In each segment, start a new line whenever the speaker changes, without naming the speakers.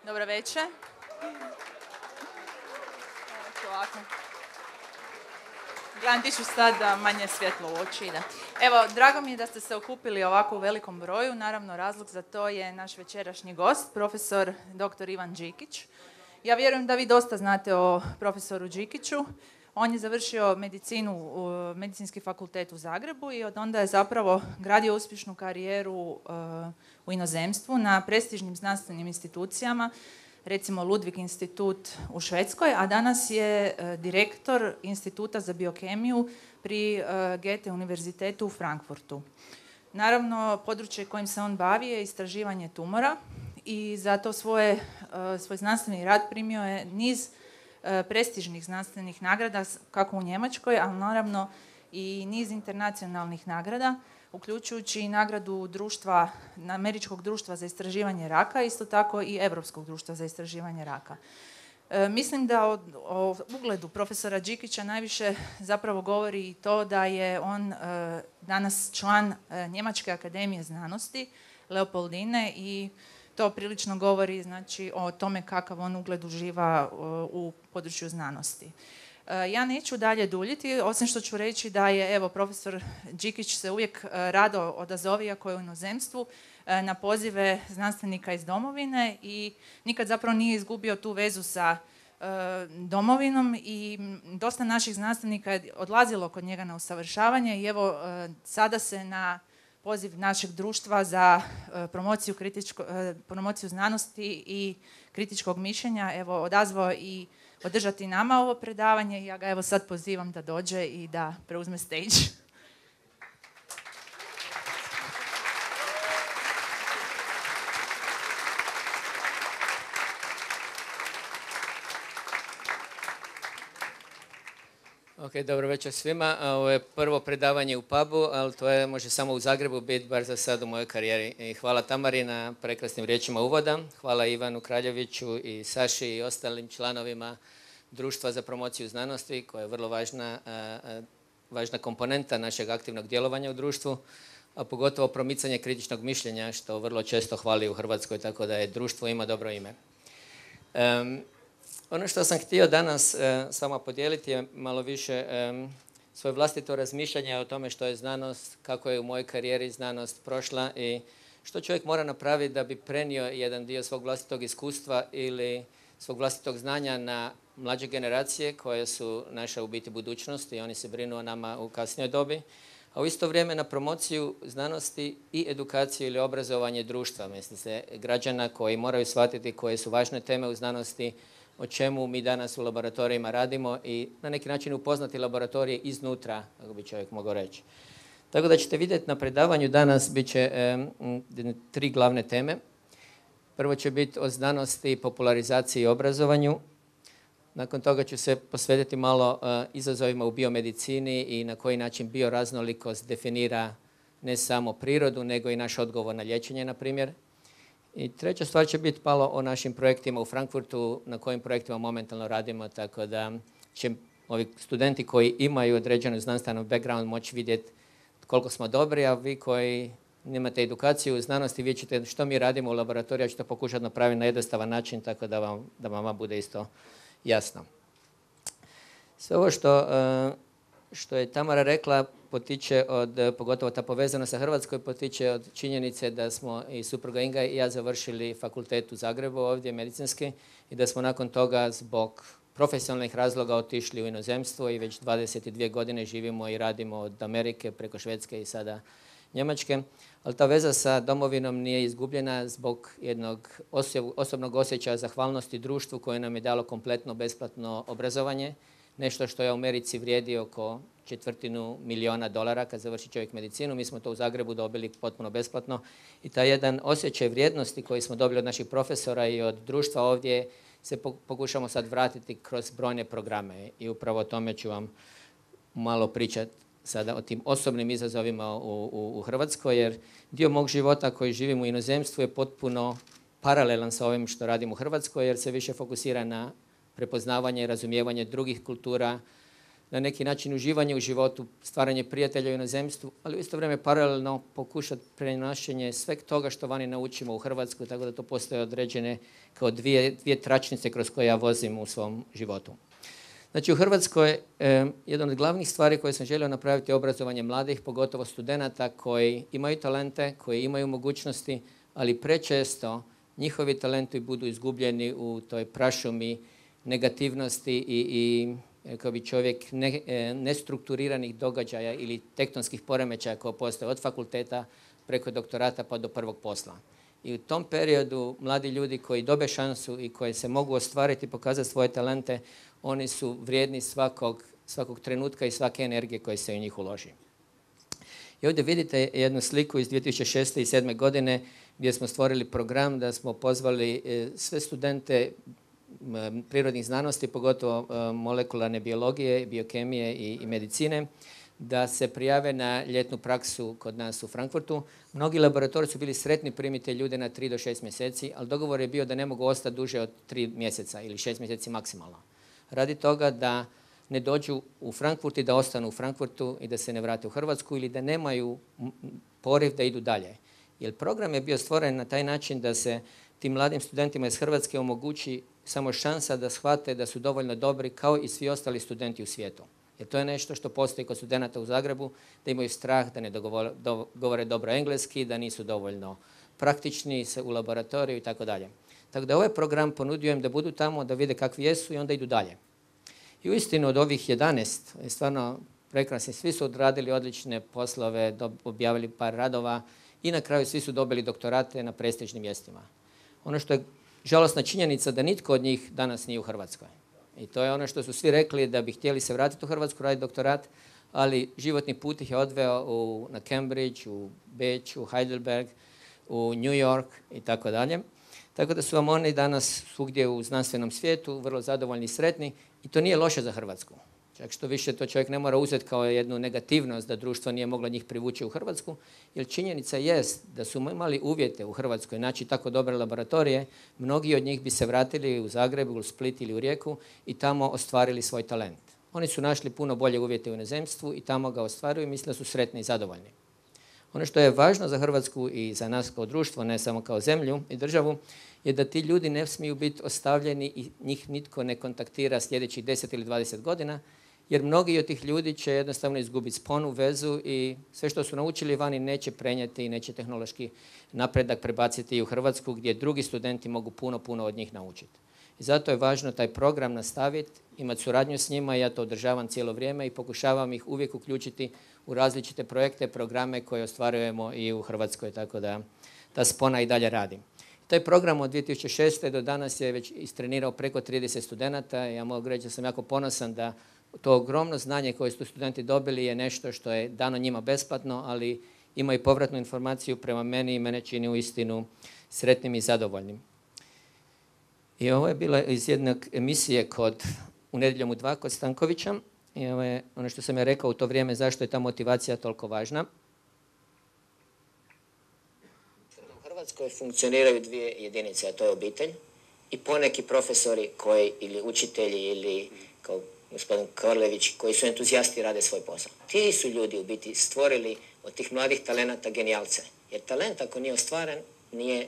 Dobro večer. Ovako. Gledam, ti ću sad da manje svjetlo u oči ide. Evo, drago mi je da ste se okupili ovako u velikom broju. Naravno, razlog za to je naš večerašnji gost, profesor dr. Ivan Đikić. Ja vjerujem da vi dosta znate o profesoru Đikiću. On je završio medicinu u Medicinski fakultet u Zagrebu i od onda je zapravo gradio uspješnu karijeru u inozemstvu na prestižnim znanstvenim institucijama, recimo Ludwig institut u Švedskoj, a danas je direktor Instituta za biokemiju pri Goethe univerzitetu u Frankfurtu. Naravno, područje kojim se on bavi je istraživanje tumora i zato svoj znanstveni rad primio je niz prestižnih znanstvenih nagrada, kako u Njemačkoj, ali naravno i niz internacionalnih nagrada, uključujući i nagradu Američkog društva za istraživanje raka, isto tako i Europskog društva za istraživanje raka. Mislim da o ugledu profesora Đikića najviše zapravo govori i to da je on danas član Njemačke akademije znanosti, Leopoldine, i to prilično govori, znači, o tome kakav on ugled uživa u području znanosti. Ja neću dalje duljiti, osim što ću reći da je, evo, profesor Đikić se uvijek rado odazove, iako je u inozemstvu, na pozive znanstvenika iz domovine i nikad zapravo nije izgubio tu vezu sa domovinom i dosta naših znanstvenika je odlazilo kod njega na usavršavanje i evo, sada se na poziv našeg društva za promociju znanosti i kritičkog mišljenja evo odazvao i održati nama ovo predavanje i ja ga evo sad pozivam da dođe i da preuzme stage.
Ok, dobro večer svima. Ovo je prvo predavanje u pubu, ali to može samo u Zagrebu biti, bar za sad u mojoj karijeri. I hvala Tamari na prekrasnim riječima uvoda. Hvala Ivanu Kraljeviću i Saši i ostalim članovima Društva za promociju znanosti, koja je vrlo važna komponenta našeg aktivnog djelovanja u društvu, a pogotovo promicanje kritičnog mišljenja, što vrlo često hvali u Hrvatskoj, tako da je društvo ima dobro ime. Ono što sam htio danas s vama podijeliti je malo više svoje vlastito razmišljanje o tome što je znanost, kako je u mojoj karijeri znanost prošla i što čovjek mora napraviti da bi prenio jedan dio svog vlastitog iskustva ili svog vlastitog znanja na mlađe generacije koje su naša u biti budućnost i oni se brinu o nama u kasnijoj dobi, a u isto vrijeme na promociju znanosti i edukaciju ili obrazovanje društva, mislim se, građana koji moraju shvatiti koje su važne teme u znanosti, o čemu mi danas u laboratorijima radimo i na neki način upoznati laboratorije iznutra, kako bi čovjek mogao reći. Tako da ćete vidjeti na predavanju danas bit će 3 glavne teme. Prvo će biti o znanosti, popularizaciji i obrazovanju. Nakon toga ću se posvetiti malo izazovima u biomedicini i na koji način bioraznolikost definira ne samo prirodu, nego i naš odgovor na liječenje, na primjer. I treća stvar će biti malo o našim projektima u Frankfurtu, na kojim projektima momentalno radimo, tako da će ovi studenti koji imaju određenu znanstvenu background moći vidjeti koliko smo dobri, a vi koji nemate edukaciju u znanosti, vidjet ćete što mi radimo u laboratoriju, ja ću to pokušati napraviti na jednostavan način, tako da vam bude isto jasno. Sve ovo što je Tamara rekla potiče pogotovo ta povezanost sa Hrvatskoj, potiče od činjenice da smo i supruga Inga i ja završili fakultet u Zagrebu ovdje, medicinski, i da smo nakon toga zbog profesionalnih razloga otišli u inozemstvo i već 22 godine živimo i radimo od Amerike preko Švedske i sada Njemačke. Ali ta veza sa domovinom nije izgubljena zbog jednog osobnog osjećaja zahvalnosti društvu koje nam je dalo kompletno besplatno obrazovanje. Nešto što je u Americi vrijedi oko $250,000 kad završi čovjek medicinu. Mi smo to u Zagrebu dobili potpuno besplatno. I taj jedan osjećaj vrijednosti koji smo dobili od naših profesora i od društva ovdje se pokušamo sad vratiti kroz brojne programe. I upravo o tome ću vam malo pričati sada o tim osobnim izazovima u Hrvatskoj, jer dio mog života koji živim u inozemstvu je potpuno paralelan sa ovim što radim u Hrvatskoj, jer se više fokusira na prepoznavanje i razumijevanje drugih kultura, na neki način uživanje u životu, stvaranje prijatelja u inozemstvu, ali u isto vrijeme paralelno pokušati prenašanje sveg toga što vani naučimo u Hrvatskoj, tako da to postoje određene kao dvije tračnice kroz koje ja vozim u svom životu. Znači u Hrvatskoj jedna od glavnih stvari koje sam želio napraviti je obrazovanje mladih, pogotovo studenata koji imaju talente, koji imaju mogućnosti, ali prečesto njihovi talenti budu izgubljeni u toj prašumi negativnosti i kao bi čovjek nestrukturiranih događaja ili tektonskih poremećaja koje postoje od fakulteta preko doktorata pa do prvog posla. I u tom periodu mladi ljudi koji dobe šansu i koji se mogu ostvariti i pokazati svoje talente, oni su vrijedni svakog trenutka i svake energije koje se u njih uloži. I ovdje vidite jednu sliku iz 2006. i 2007. godine gdje smo stvorili program da smo pozvali sve studente prirodnih znanosti, pogotovo molekularne biologije, biokemije i medicine, da se prijave na ljetnu praksu kod nas u Frankfurtu. Mnogi laboratoriji su bili sretni primiti ljude na 3 do 6 mjeseci, ali dogovor je bio da ne mogu ostati duže od 3 mjeseca ili 6 mjeseci maksimalno. Radi toga da ne dođu u Frankfurt i da ostanu u Frankfurtu i da se ne vrate u Hrvatsku ili da nemaju poriv da idu dalje. Jer program je bio stvoren na taj način da se tim mladim studentima iz Hrvatske omogući samo šansa da shvate da su dovoljno dobri kao i svi ostali studenti u svijetu. Jer to je nešto što postoji kod studenata u Zagrebu, da imaju strah, da ne govore dobro engleski, da nisu dovoljno praktični u laboratoriju i tako dalje. Tako da ovaj program ponudio im da budu tamo, da vide kakvi jesu i onda idu dalje. I uistinu od ovih 11, stvarno prekrasni, svi su odradili odlične poslove, objavili par radova i na kraju svi su dobili doktorate na prestižnim mjestima. Ono što je žalosna činjenica da nitko od njih danas nije u Hrvatskoj. I to je ono što su svi rekli da bi htjeli se vratiti u Hrvatsku, raditi doktorat, ali životni put ih je odveo na Cambridge, u Beč, u Heidelberg, u New York i tako dalje. Tako da su vam oni danas svugdje u znanstvenom svijetu vrlo zadovoljni i sretni i to nije loše za Hrvatsku. Čak što više to čovjek ne mora uzeti kao jednu negativnost da društvo nije moglo njih privući u Hrvatsku, jer činjenica jest da su imali uvjete u Hrvatskoj, znači tako dobre laboratorije, mnogi od njih bi se vratili u Zagreb, u Split ili u Rijeku i tamo ostvarili svoj talent. Oni su našli puno bolje uvjete u inozemstvu i tamo ga ostvaruju i misle da su sretni i zadovoljni. Ono što je važno za Hrvatsku i za nas kao društvo, ne samo kao zemlju i državu, je da ti ljudi ne smiju biti ostavljeni i njih nitko ne kontaktira sljedećih 10 ili 20 godina, jer mnogi od tih ljudi će jednostavno izgubiti sponu, vezu i sve što su naučili vani neće prenijeti i neće tehnološki napredak prebaciti i u Hrvatsku gdje drugi studenti mogu puno od njih naučiti. I zato je važno taj program nastaviti, imati suradnju s njima, ja to održavam cijelo vrijeme i pokušavam ih uvijek uključiti u različite projekte, programe koje ostvarujemo i u Hrvatskoj, tako da ta spona i dalje radi. Taj program od 2006. do danas je već istrenirao preko 30 studenata. Ja mogu reći da sam jako ponosan da to ogromno znanje koje su studenti dobili je nešto što je dano njima besplatno, ali ima i povratnu informaciju prema meni i mene čini uistinu sretnim i zadovoljnim. I ovo je bila iz jedne emisije u Nedjeljom u 2 kod Stankovića. I ovo je ono što sam ja rekao u to vrijeme zašto je ta motivacija toliko važna.
U Hrvatskoj funkcioniraju dvije jedinice, a to je obitelj i poneki profesori koji, ili učitelji ili kao gospodin Korlević, koji su entuzijasti i rade svoj posao. Ti su ljudi u biti stvorili od tih mladih talenata genijalce. Jer talent ako nije ostvaren, nije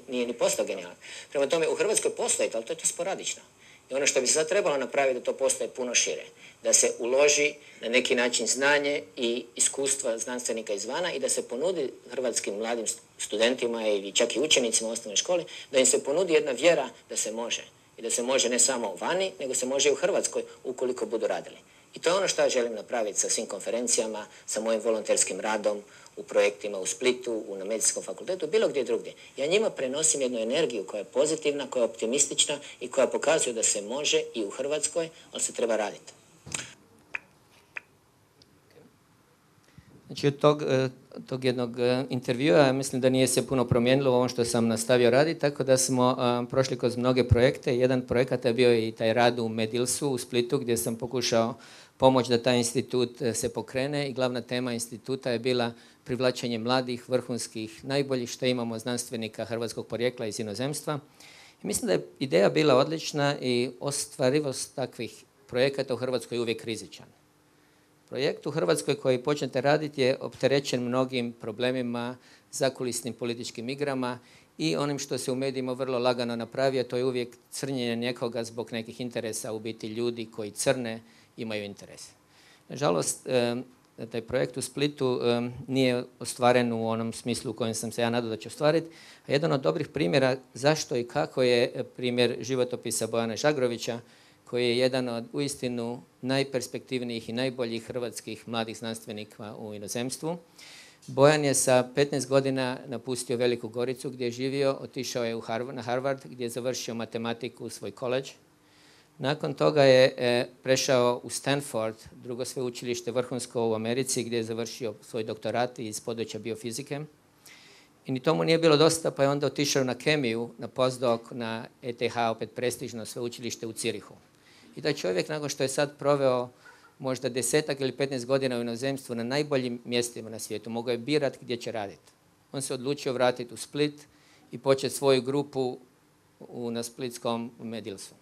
ni postao genijalan. Prema tome, u Hrvatskoj postoji, ali to je to sporadično. I ono što bi se sad trebalo napraviti da to postoje puno šire. Da se uloži na neki način znanje i iskustva znanstvenika izvana i da se ponudi hrvatskim mladim studentima ili čak i učenicima u osnovnoj školi, da im se ponudi jedna vjera da se može. I da se može ne samo vani, nego se može i u Hrvatskoj ukoliko budu radili. I to je ono što ja želim napraviti sa svim konferencijama, sa mojim volonterskim radom, u projektima u Splitu, na medicinskom fakultetu, bilo gdje drugdje. Ja njima prenosim jednu energiju koja je pozitivna, koja je optimistična i koja pokazuje da se može i u Hrvatskoj, ali se treba raditi.
Znači od tog jednog intervjua mislim da nije se puno promijenilo u ovom što sam nastavio raditi, tako da smo prošli kroz mnoge projekte. Jedan projekat je bio i taj rad u Medilsu u Splitu gdje sam pokušao pomoći da taj institut se pokrene i glavna tema instituta je bila privlačenje mladih, vrhunskih, najboljih što imamo znanstvenika hrvatskog porijekla iz inozemstva. I mislim da je ideja bila odlična i ostvarivost takvih projekata u Hrvatskoj je uvijek rizičan. Projekt u Hrvatskoj koji počnete raditi je opterećen mnogim problemima, zakulisnim političkim igrama i onim što se u medijima vrlo lagano napravi, a to je uvijek crnjenje nekoga zbog nekih interesa, u biti ljudi koji crne imaju interese. Nažalost, taj projekt u Splitu nije ostvaren u onom smislu u kojem sam se ja nadao da će ostvariti. A jedan od dobrih primjera zašto i kako je primjer životopisa Bojana Žagrovića, koji je jedan od uistinu najperspektivnijih i najboljih hrvatskih mladih znanstvenika u inozemstvu. Bojan je sa 15 godina napustio Veliku Goricu gdje je živio, otišao je na Harvard gdje je završio matematiku u svoj koledž. Nakon toga je prešao u Stanford, drugo sveučilište vrhunsko u Americi, gdje je završio svoj doktorat iz područja biofizike. I ni tomu nije bilo dosta, pa je onda otišao na kemiju, na postdoc, na ETH, opet prestižno sveučilište u Zürichu. I taj čovjek, nakon što je sad proveo možda 10 ili 15 godina u inozemstvu na najboljim mjestima na svijetu, mogao je birati gdje će raditi. On se odlučio vratiti u Split i početi svoju grupu na splitskom Medilsu.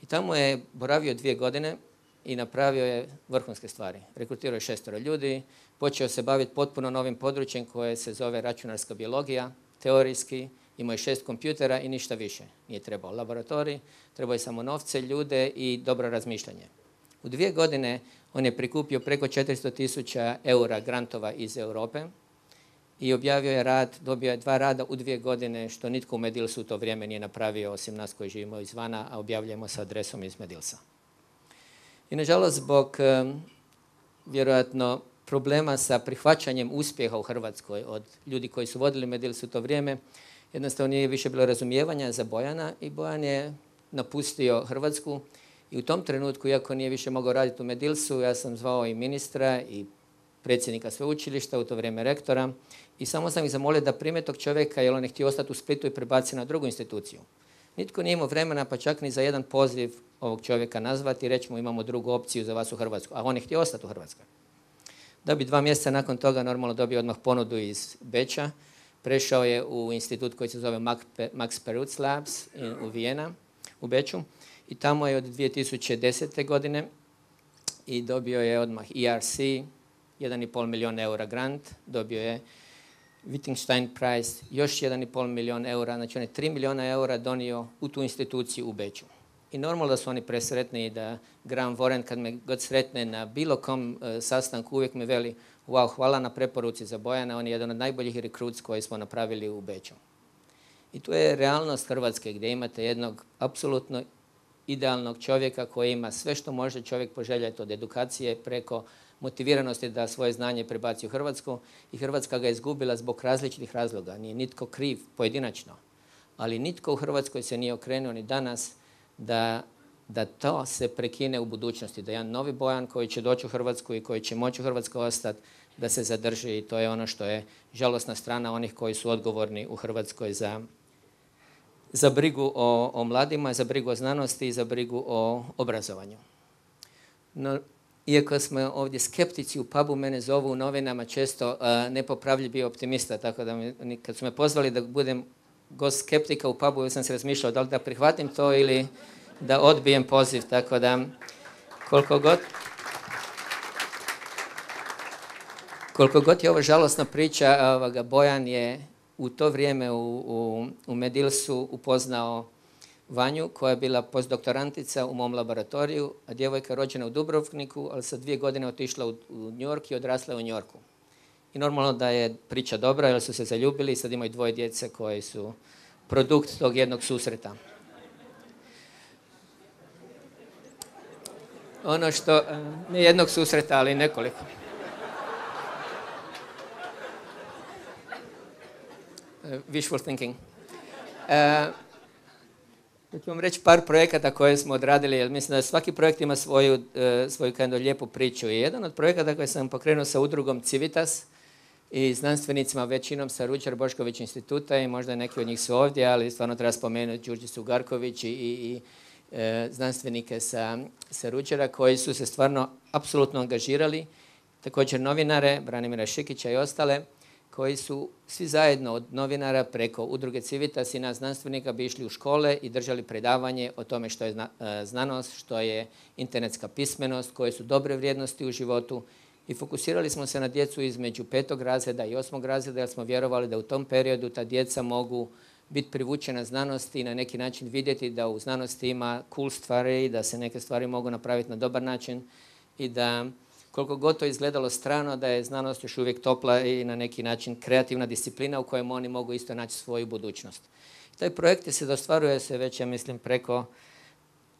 I tamo je boravio 2 godine i napravio je vrhunske stvari. Rekrutirao je 6 ljudi, počeo se baviti potpuno novim područjem koje se zove računarska biologija, teorijski, imao je 6 kompjutera i ništa više. Nije trebao laboratorij, trebao je samo novce, ljude i dobro razmišljanje. U 2 godine on je prikupio preko 400.000 eura grantova iz Europe i objavio je rad, dobio je 2 rada u 2 godine, što nitko u Medilsu u to vrijeme nije napravio, osim nas koji živimo izvana, a objavljujemo sa adresom iz Medilsa. I nažalost, zbog vjerojatno problema sa prihvaćanjem uspjeha u Hrvatskoj od ljudi koji su vodili Medilsu u to vrijeme, jednostavno nije više bilo razumijevanja za Bojana i Bojan je napustio Hrvatsku. I u tom trenutku, iako nije više mogao raditi u Medilsu, ja sam zvao i ministra i predsjednika sveučilišta, u to vrijeme rektora, i samo sam ih zamolio da prime tog čovjeka jer on je htio ostati u Splitu i prebaci na drugu instituciju. Nitko nije imao vremena, pa čak ni za jedan poziv ovog čovjeka nazvati i reći mu imamo drugu opciju za vas u Hrvatsku, a on je htio ostati u Hrvatskoj. Da bi 2 mjeseca nakon toga normalno dobio odmah ponudu iz Beča, prešao je u institut koji se zove Max Perutz Labs u Vijena, u Beču. I tamo je od 2010. godine i dobio je odmah ERC, 1,5 milijun eura grant, dobio je Wittgenstein Prize, još 1,5 milijun eura, znači on je 3 milijuna eura donio u tu instituciju u Beču. I normalno da su oni presretni i da Graham Warren kad me god sretne na bilo kom sastanku uvijek mi veli wow, hvala na preporuci za Bojana, on je jedan od najboljih rekruts koje smo napravili u Beču. I tu je realnost Hrvatske gdje imate jednog apsolutno idealnog čovjeka koji ima sve što može čovjek poželjeti od edukacije preko motiviranosti da svoje znanje prebaci u Hrvatsku i Hrvatska ga je izgubila zbog različitih razloga. Nije nitko kriv pojedinačno, ali nitko u Hrvatskoj se nije okrenuo ni danas da to se prekine u budućnosti, da jedan novi Bojan koji će doći u Hrvatsku i koji će moći u Hrvatskoj ostati, da se zadrži i to je ono što je žalosna strana onih koji su odgovorni u Hrvatskoj za brigu o mladima, za brigu o znanosti i za brigu o obrazovanju. No, iako smo ovdje skeptici u pubu, mene zovu u novinama često nepopravljivi optimista, tako da kad su me pozvali da budem gost skeptika u pubu, ja sam se razmišljao da li da prihvatim to ili da odbijem poziv, tako da koliko god je ovo žalosna priča, Bojan je u to vrijeme u Medilsu upoznao Vanju koja je bila postdoktorantica u mom laboratoriju, a djevojka rođena u Dubrovniku, ali sa 2 godine otišla u New York i odrasla u New Yorku. I normalno da je priča dobra jer su se zaljubili i sad imaju 2 djece koje su produkt tog jednog susreta. Ono što, ne jednog susreta, ali nekoliko. Wishful thinking. Ću vam reći par projekata koje smo odradili, jer mislim da svaki projekt ima svoju lijepu priču. I jedan od projekata koje sam pokrenuo sa udrugom Civitas i znanstvenicima, većinom sa Ruđer Bošković instituta i možda neki od njih su ovdje, ali stvarno treba spomenuti Đurđicu Garković i znanstvenike sa Ruđera koji su se stvarno apsolutno angažirali. Također novinare, Branimira Šikića i ostale, koji su svi zajedno od novinara preko udruge Civitas i nas znanstvenika bi išli u škole i držali predavanje o tome što je znanost, što je internetska pismenost, koje su dobre vrijednosti u životu i fokusirali smo se na djecu između 5. razreda i 8. razreda jer smo vjerovali da u tom periodu ta djeca mogu biti privučena znanosti i na neki način vidjeti da u znanosti ima cool stvari, da se neke stvari mogu napraviti na dobar način i da koliko god to izgledalo strano, da je znanost još uvijek topla i na neki način kreativna disciplina u kojem oni mogu isto naći svoju budućnost. Taj projekt se ostvaruje se već, ja mislim, preko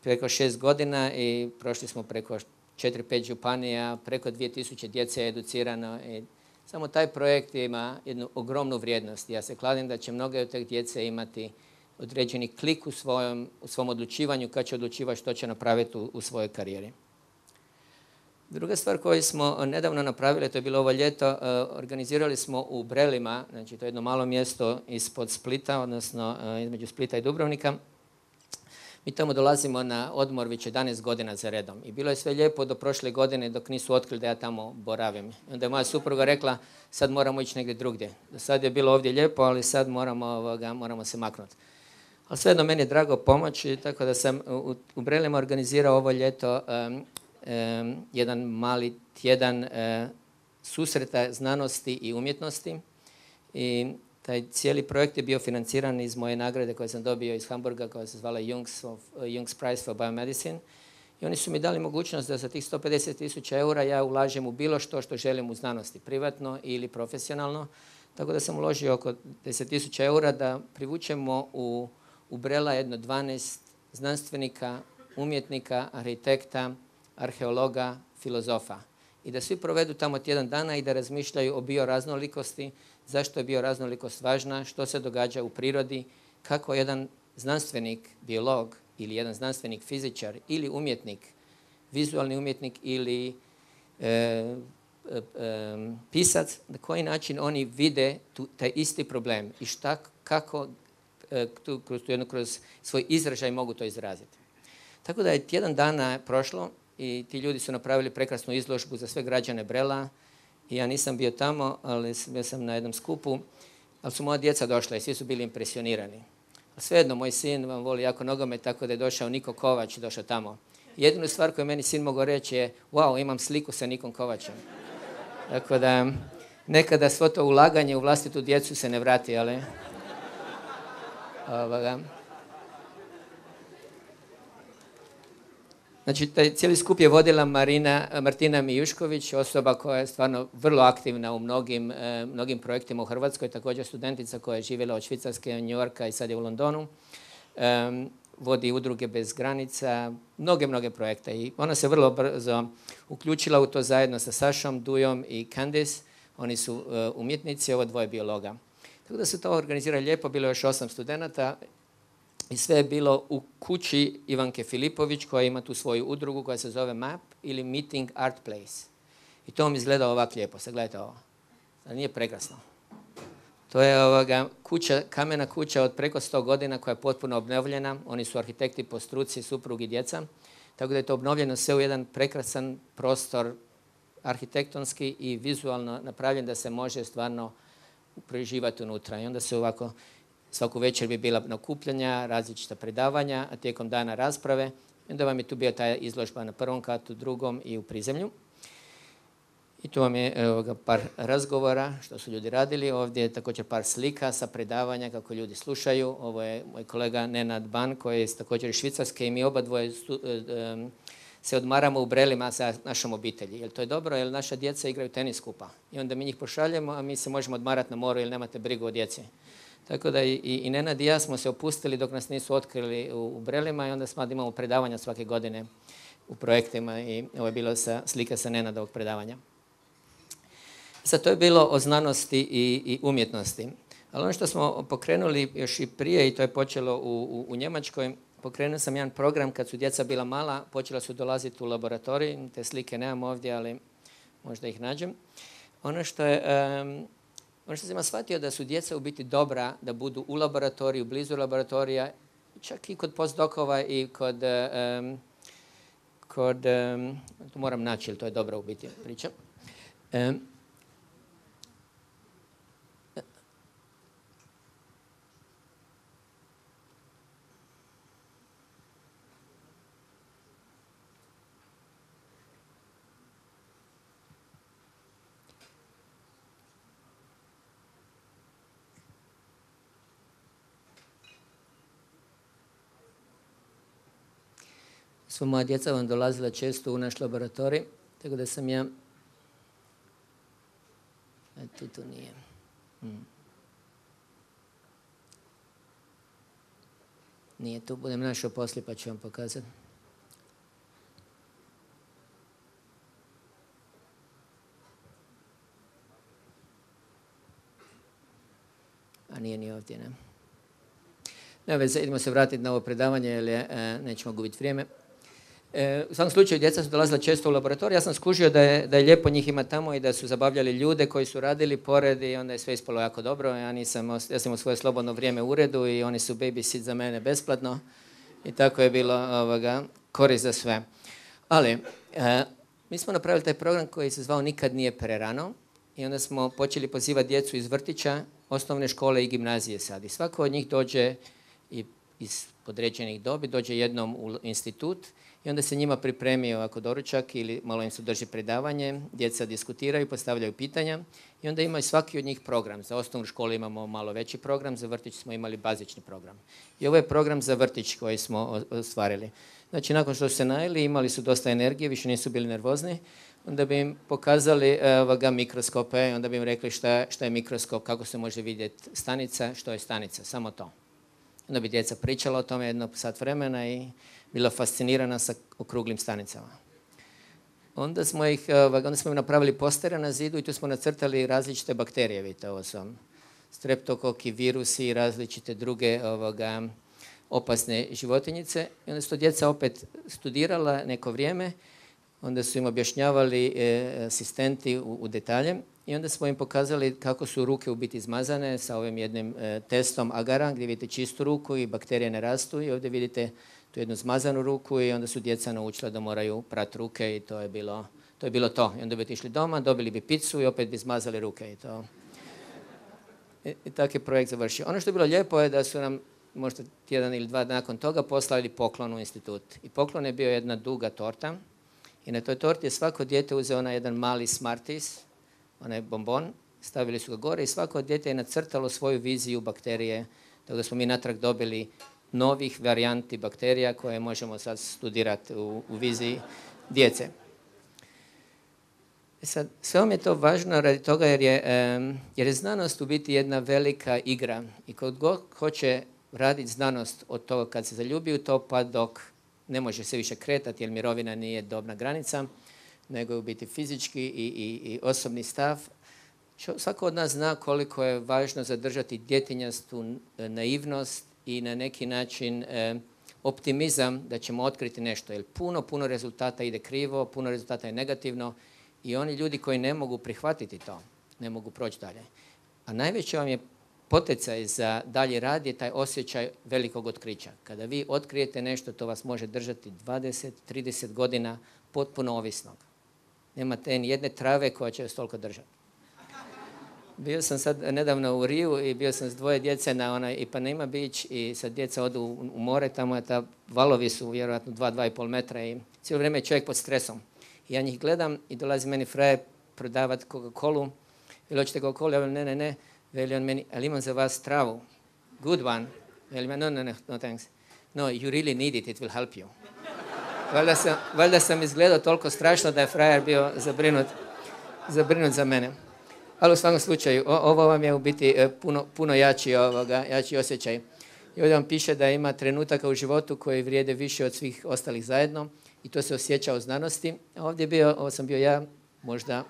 6 godina i prošli smo preko 4-5 županija, preko 2000 djece je educirano i samo taj projekt ima jednu ogromnu vrijednost. Ja se kladim da će mnoge od tih djece imati određeni klik u svom odlučivanju kad će odlučivati što će napraviti u svojoj karijeri. Druga stvar koju smo nedavno napravili, to je bilo ovo ljeto, organizirali smo u Brelima, znači to je jedno malo mjesto ispod Splita, odnosno između Splita i Dubrovnika. Mi tamo dolazimo na odmor već 11 godina za redom i bilo je sve lijepo do prošle godine dok nisu otkrili da ja tamo boravim. Onda je moja supruga rekla sad moramo ići negdje drugdje. Do sad je bilo ovdje lijepo, ali sad moramo se maknuti. Ali svejedno meni je drago pomoći, tako da sam u Brelima organizirao ovo ljeto jedan mali tjedan susreta znanosti i umjetnosti i taj cijeli projekt je bio financiran iz moje nagrade koje sam dobio iz Hamburga koja se zvala Young's Prize for Biomedicine i oni su mi dali mogućnost da za tih 150.000 eura ja ulažem u bilo što želim u znanosti, privatno ili profesionalno, tako da sam uložio oko 10.000 eura da privučemo u Brela jedno 12 znanstvenika, umjetnika, arhitekta, arheologa, filozofa i da svi provedu tamo tjedan dana i da razmišljaju o bioraznolikosti, zašto je bioraznolikost važna, što se događa u prirodi, kako jedan znanstvenik, biolog ili jedan znanstvenik, fizičar ili umjetnik, vizualni umjetnik ili pisac, na koji način oni vide taj isti problem i kako kroz svoj izražaj mogu to izraziti. Tako da je tjedan dana prošlo i ti ljudi su napravili prekrasnu izložbu za sve građane Brela i ja nisam bio tamo, ali bio sam na jednom skupu, ali su moja djeca došla i svi su bili impresionirani. A svejedno, moj sin vam voli jako nogomet, tako da je došao Niko Kovač, došao tamo. Jedinu stvar koju meni sin mogao reći je, wow, imam sliku sa Nikom Kovačem. Tako da nekada svo to ulaganje u vlastitu djecu se ne vrati, ali Znači, taj cijeli skup je vodila Martina Mijušković, osoba koja je stvarno vrlo aktivna u mnogim projektima u Hrvatskoj, također studentica koja je živjela od Švicarske, New Yorka i sad je u Londonu. Vodi udruge bez granica, mnoge projekte i ona se vrlo brzo uključila u to zajedno sa Sašom, Dujom i Candice. Oni su umjetnici, ovo dvoje biologa. Tako da se to organizira lijepo, bilo je još 8 studenata. I sve je bilo u kući Ivanke Filipović koja ima tu svoju udrugu koja se zove MAP ili Meeting Art Place. I to vam izgleda ovako lijepo. Sad gledajte ovo. Sad nije prekrasno. To je kamena kuća od preko 100 godina koja je potpuno obnovljena. Oni su arhitekti po struci, suprug i djeca. Tako da je to obnovljeno sve u jedan prekrasan prostor arhitektonski i vizualno napravljen da se može stvarno preživati unutra. I onda se ovako svaku večer bi bila nakupljanja, različita predavanja, a tijekom dana rasprave. I onda vam je tu bio ta izložba na prvom katu, drugom i u prizemlju. I tu vam je par razgovora što su ljudi radili. Ovdje je također par slika sa predavanja kako ljudi slušaju. Ovo je moj kolega Nenad Ban koji je također iz Švicarske i mi oba dvoje se odmaramo u Brelima sa našom obitelji. Jer to je dobro jer naša djeca igraju tenis skupa. I onda mi njih pošaljemo, a mi se možemo odmarati na moru jer nemate brigu o djeci. Tako da i Nenad i ja smo se opustili dok nas nisu otkrili u Brelima i onda smo imamo predavanja svake godine u projektima i ovo je bilo slika sa Nenadovog predavanja. Sad to je bilo o znanosti i umjetnosti. Ali ono što smo pokrenuli još i prije i to je počelo u Njemačkoj, pokrenuo sam jedan program kad su djeca bila mala, počela su dolaziti u laboratorij, te slike nemam ovdje, ali možda ih nađem. Ono što sam shvatio da su djeca u biti dobra da budu u laboratoriju, blizu laboratorija, čak i kod postdokova i to moram naći jer to je dobra u biti priča. Sva moja djeca vam dolazila često u naš laboratorij, tako da sam ja... Tu nije. Nije tu, budem našao poslije pa ću vam pokazati. A nije ni ovdje, ne? Ne veze, idemo se vratiti na ovo predavanje jer nećemo gubiti vrijeme. U svakom slučaju, djeca su dolazila često u laboratorij. Ja sam skužio da je lijepo njih ima tamo i da su zabavljali ljude koji su radili pored i onda je sve ispalo jako dobro. Ja sam imao svoje slobodno vrijeme u uredu i oni su babysit za mene besplatno i tako je bilo korist za sve. Ali, mi smo napravili taj program koji se zvao Nikad nije prerano i onda smo počeli pozivati djecu iz vrtića, osnovne škole i gimnazije sad. I svako od njih dođe iz određenih dobi, dođe jednom u institut i onda se njima pripremi ovako doručak ili malo im se drži predavanje, djeca diskutiraju, postavljaju pitanja i onda ima svaki od njih program. Za osnovnu školu imamo malo veći program, za vrtić smo imali bazični program. I ovo je program za vrtić koji smo ostvarili. Znači, nakon što su se najeli, imali su dosta energije, više nisu bili nervozni, onda bi im pokazali mikroskope, onda bi im rekli šta je mikroskop, kako se može vidjeti stanica, što je stanica, samo to. Onda bi djeca pričala o tome jedno sat vremena i bila fascinirana sa okruglim stanicama. Onda smo im napravili postere na zidu i tu smo nacrtali različite bakterije, vidite, ovo su streptokoki, virusi i različite druge opasne životinjice. I onda su to djeca opet studirala neko vrijeme, onda su im objašnjavali asistenti u detalje i onda smo im pokazali kako su ruke u biti izmazane sa ovim jednim testom agara gdje vidite čistu ruku i bakterije ne rastu i ovdje vidite tu jednu zmazanu ruku i onda su djeca naučila da moraju prati ruke i to je bilo to. I onda bi otišli doma, dobili bi picu i opet bi izmazali ruke i to. I tako je projekt završio. Ono što je bilo lijepo je da su nam možda tjedan ili dva nakon toga poslali poklon u institut. I poklon je bio jedna duga torta i na toj torti je svako dijete uzeo onaj jedan mali Smarties, onaj bombon, stavili su ga gore i svako dijete je nacrtalo svoju viziju bakterije, tako da smo mi natrag dobili novih varijanti bakterija koje možemo sad studirati u viziji djece. Sad, sve vam je to važno radi toga jer je znanost u biti jedna velika igra i kod god hoće raditi znanost od toga kad se zaljubi u to pa dok ne može se više kretati jer mirovina nije dobna granica, nego je u biti fizički i osobni stav. Svako od nas zna koliko je važno zadržati djetinjastu naivnost i na neki način optimizam da ćemo otkriti nešto. Jer puno rezultata ide krivo, puno rezultata je negativno i oni ljudi koji ne mogu prihvatiti to, ne mogu proći dalje. A najveći vam je poticaj za dalji rad je taj osjećaj velikog otkrića. Kada vi otkrijete nešto, to vas može držati 20-30 godina potpuno ovisnog. Nemate ni jedne trave koja će vas toliko držati. Bio sam sad nedavno u Riju i bio sam s dvoje djece na onaj Ipanema Beach i sad djeca odu u more, tamo je valovi su vjerojatno 2-2,5 metra i cijelo vrijeme je čovjek pod stresom. I ja njih gledam i dolazi meni frajer prodavati Coca-Colu. Veli, hoćete Coca-Colu? Ja velim, ne. Veli on meni, ali imam za vas travu. Good one. Veli, no thanks. No, you really need it, it will help you. Valjda sam izgledao toliko strašno da je frajer bio zabrinut za mene. Ali u svakom slučaju, ovo vam je u biti puno jači osjećaj. I ovdje vam piše da ima trenutaka u životu koji vrijede više od svih ostalih zajedno i to se osjeća u znanosti. Ovo sam bio ja, možda,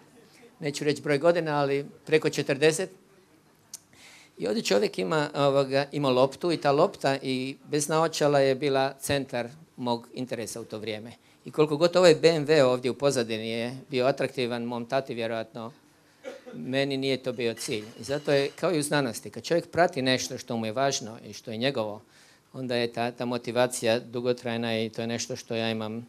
neću reći broj godina, ali preko 40. I ovdje čovjek ima loptu i ta lopta i bez naočala je bila centar mog interesa u to vrijeme. I koliko god ovaj BMW ovdje u pozadini je bio atraktivan mom tati vjerojatno, meni nije to bio cilj. I zato je kao i u znanosti. Kad čovjek prati nešto što mu je važno i što je njegovo, onda je ta motivacija dugotrajna i to je nešto što ja imam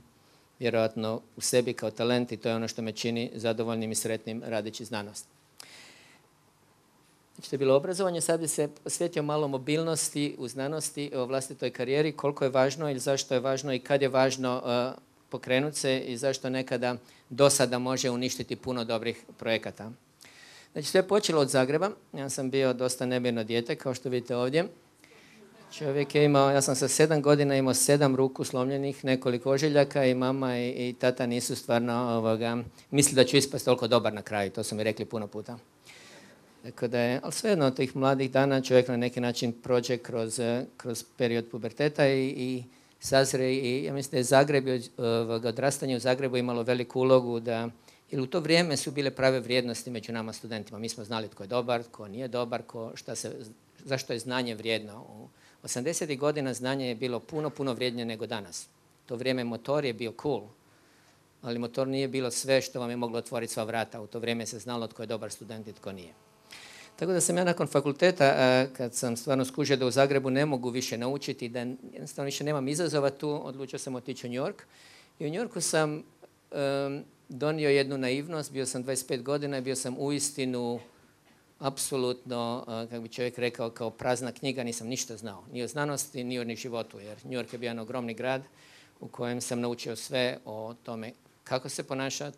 vjerojatno u sebi kao talent i to je ono što me čini zadovoljnim i sretnim radeći znanost. Znači, to je bilo obrazovanje, sad bi se posvetio malo mobilnosti u znanosti, o vlastitoj karijeri, koliko je važno ili zašto je važno i kad je važno pokrenuti se i zašto nekada dosada može uništiti puno dobrih projekata. Znači, sve je počelo od Zagreba. Ja sam bio dosta nemirno dijete, kao što vidite ovdje. Čovjek je imao, ja sam sa 7 godina imao 7 ruku slomljenih, nekoliko ožiljaka i mama i tata nisu stvarno mislili da ću ispasti toliko dobar na kraju, to su mi rekli puno puta. Tako da je, ali svejedno od tih mladih dana čovjek na neki način prođe kroz period puberteta i sazre i ja mislim da je Zagreb, odrastanje u Zagrebu imalo veliku ulogu da, jer u to vrijeme su bile prave vrijednosti među nama studentima. Mi smo znali tko je dobar, tko nije dobar, zašto je znanje vrijedno. U 80. godina znanje je bilo puno vrijednije nego danas. To vrijeme motor je bio cool, ali motor nije bilo sve što vam je moglo otvoriti sva vrata. U to vrijeme se znalo tko je dobar student i tko nije. Tako da sam ja nakon fakulteta, kad sam stvarno skužio da u Zagrebu ne mogu više naučiti, da jednostavno više nemam izazova tu, odlučio sam otići u New York. I u New Yorku sam donio jednu naivnost, bio sam 25 godina i bio sam uistinu apsolutno, kako bi čovjek rekao, kao prazna knjiga, nisam ništa znao. Ni o znanosti, ni o životu, jer New York je bio jedan ogromni grad u kojem sam naučio sve o tome kako se ponašati,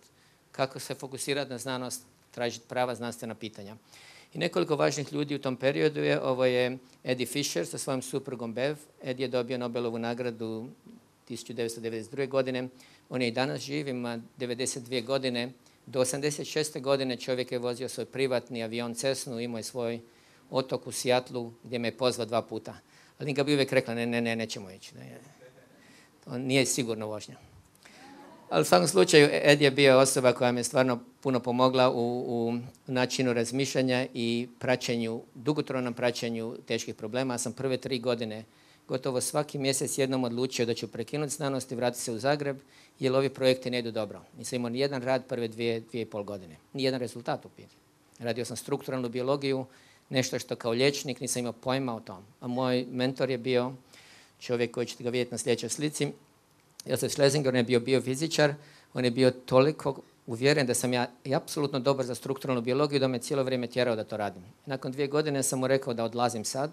kako se fokusirati na znanost, tražiti prava znanstvena pitanja. I nekoliko važnih ljudi u tom periodu ovo je Eddie Fisher sa svojom suprugom Bev. Eddie je dobio Nobelovu nagradu 1992. godine. On je i danas živ, ima 92 godine. Do 86. godine čovjek je vozio svoj privatni avion Cessnu, imao je svoj otok u Seattlu gdje me je pozvao 2 puta. Ali ga bi uvijek rekla, nećemo ići. To nije sigurno vožnja. Ali u svakom slučaju Ed je bio osoba koja mi je stvarno puno pomogla u načinu razmišljanja i dugotrajnom praćenju teških problema. Ja sam prve 3 godine gotovo svaki mjesec jednom odlučio da ću prekinuti znanost i vratiti se u Zagreb, jer ovi projekti ne idu dobro. Nisam imao ni jedan rad prve 2,5 godine. Ni jedan rezultat u pitanju. Radio sam strukturalnu biologiju, nešto što kao liječnik nisam imao pojma o tom. A moj mentor je bio čovjek koji ćete ga vidjeti na sljedećoj slici. Josef Schlesinger, on je bio biofizičar, on je bio toliko uvjeren da sam ja apsolutno dobar za strukturalnu biologiju da me cijelo vrijeme tjerao da to radim. Nakon 2 godine sam mu rekao da odlazim sad.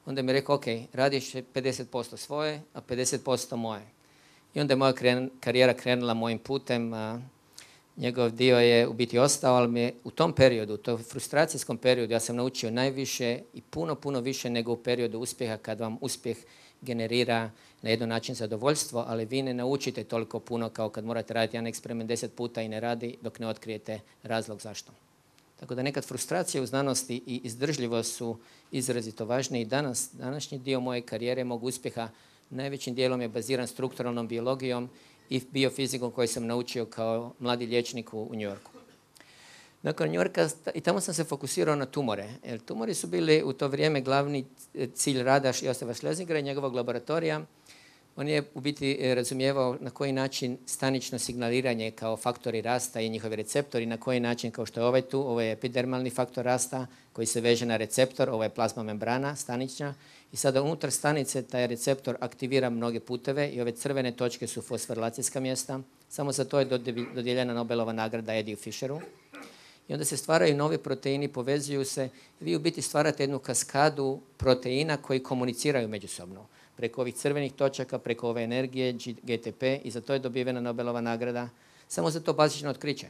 Onda mi je rekao, ok, radiš 50% svoje, a 50% moje. I onda je moja karijera krenula mojim putem. Njegov dio je u biti ostao, ali mi je u tom periodu, u tom frustracijskom periodu, ja sam naučio najviše i puno više nego u periodu uspjeha, kad vam uspjeh generira na jedan način zadovoljstvo, ali vi ne naučite toliko puno kao kad morate raditi jedan eksperiment 10 puta i ne radi dok ne otkrijete razlog zašto. Tako da nekad frustracije u znanosti i izdržljivost su izrazito važne i današnji dio moje karijere, mog uspjeha, najvećim dijelom je baziran strukturalnom biologijom i biofizikom koju sam naučio kao mladi liječnik u New Yorku. Nakon New Yorka, i tamo sam se fokusirao na tumore. Jer tumori su bili u to vrijeme glavni cilj rada Josefa Schlesingera i njegovog laboratorija. On je u biti razumijevao na koji način stanično signaliranje kao faktori rasta i njihovi receptori, na koji način, kao što je ovaj tu, ovo je epidermalni faktor rasta koji se veže na receptor, ovo je plazma membrana stanična i sada unutar stanice taj receptor aktivira mnoge puteve i ove crvene točke su fosforilacijska mjesta. Samo za to je dodijeljena Nobelova nagrada Eddie Fisheru. I onda se stvaraju novi proteini, povezuju se. Vi u biti stvarate jednu kaskadu proteina koji komuniciraju međusobno. Preko ovih crvenih točaka, preko ove energije, GTP, i za to je dobivena Nobelova nagrada. Samo za to bazično otkriće.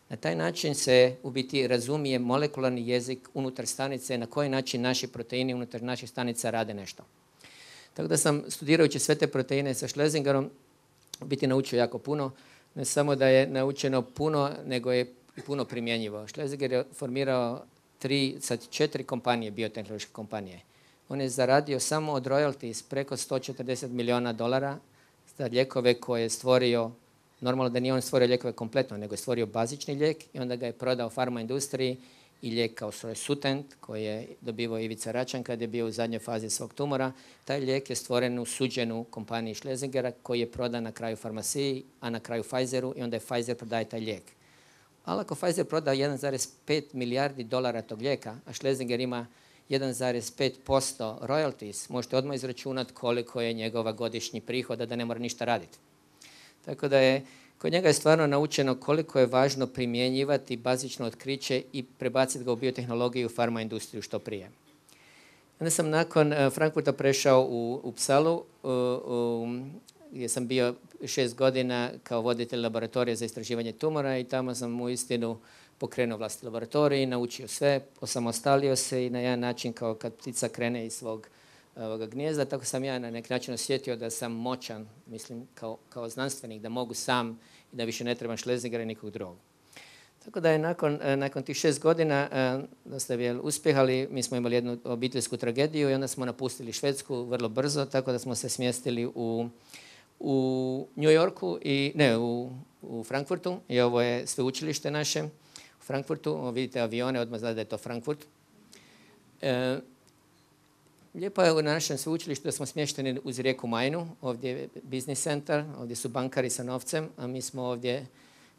Na taj način se u biti razumije molekularni jezik unutar stanice, na koji način naši proteini unutar naših stanica rade nešto. Tako da sam, studirajući sve te proteine sa Schlesingerom, u biti naučio jako puno. Ne samo da je naučeno puno, nego je i puno primjenjivo. Schlesinger je formirao 4 kompanije, biotehnološke kompanije. On je zaradio samo od royalties preko $140 milijuna za lijekove koje je stvorio. Normalno da nije on stvorio lijekove kompletno, nego je stvorio bazični lijek i onda ga je prodao farma industriji i lijek kao što je Sutent, koji je dobivao Ivica Račan kad je bio u zadnjoj fazi svog tumora. Taj lijek je stvoren u suđenu kompaniji Schlesingera koji je prodan na kraju farmaciji, a na kraju Pfizeru i onda je Pfizer prodaje taj lijek. Ali ako Pfizer proda $1,5 milijardi tog lijeka, a Schlesinger ima 1,5% royalties, možete odmah izračunati koliko je njegova godišnji prihod, da ne mora ništa raditi. Tako da je kod njega je stvarno naučeno koliko je važno primjenjivati bazično otkriće i prebaciti ga u biotehnologiju i farma industriju što prije. Onda sam nakon Frankfurta prešao u Uppsalu, gdje sam bio 6 godina kao voditelj laboratorija za istraživanje tumora i tamo sam uistinu pokrenuo vlastiti laboratorij, naučio sve, osamostalio se i na jedan način kao kad ptica krene iz svog gnijezda, tako sam ja na neki način osjetio da sam moćan, mislim, kao znanstvenik, da mogu sam i da više ne trebam Schlesingera i nikog drugog. Tako da je nakon tih 6 godina dosta bi uspjeh, ali mi smo imali jednu obiteljsku tragediju i onda smo napustili Švedsku vrlo brzo, tako da smo se smjestili u New Yorku u Frankfurtu, i ovo je sveučilište naše u Frankfurtu. Vidite avione, odmah znate da je to Frankfurt. Lijepo je u našem sveučilištu da smo smješteni uz rijeku Majnu, ovdje je business center, ovdje su bankari sa novcem, a mi smo ovdje,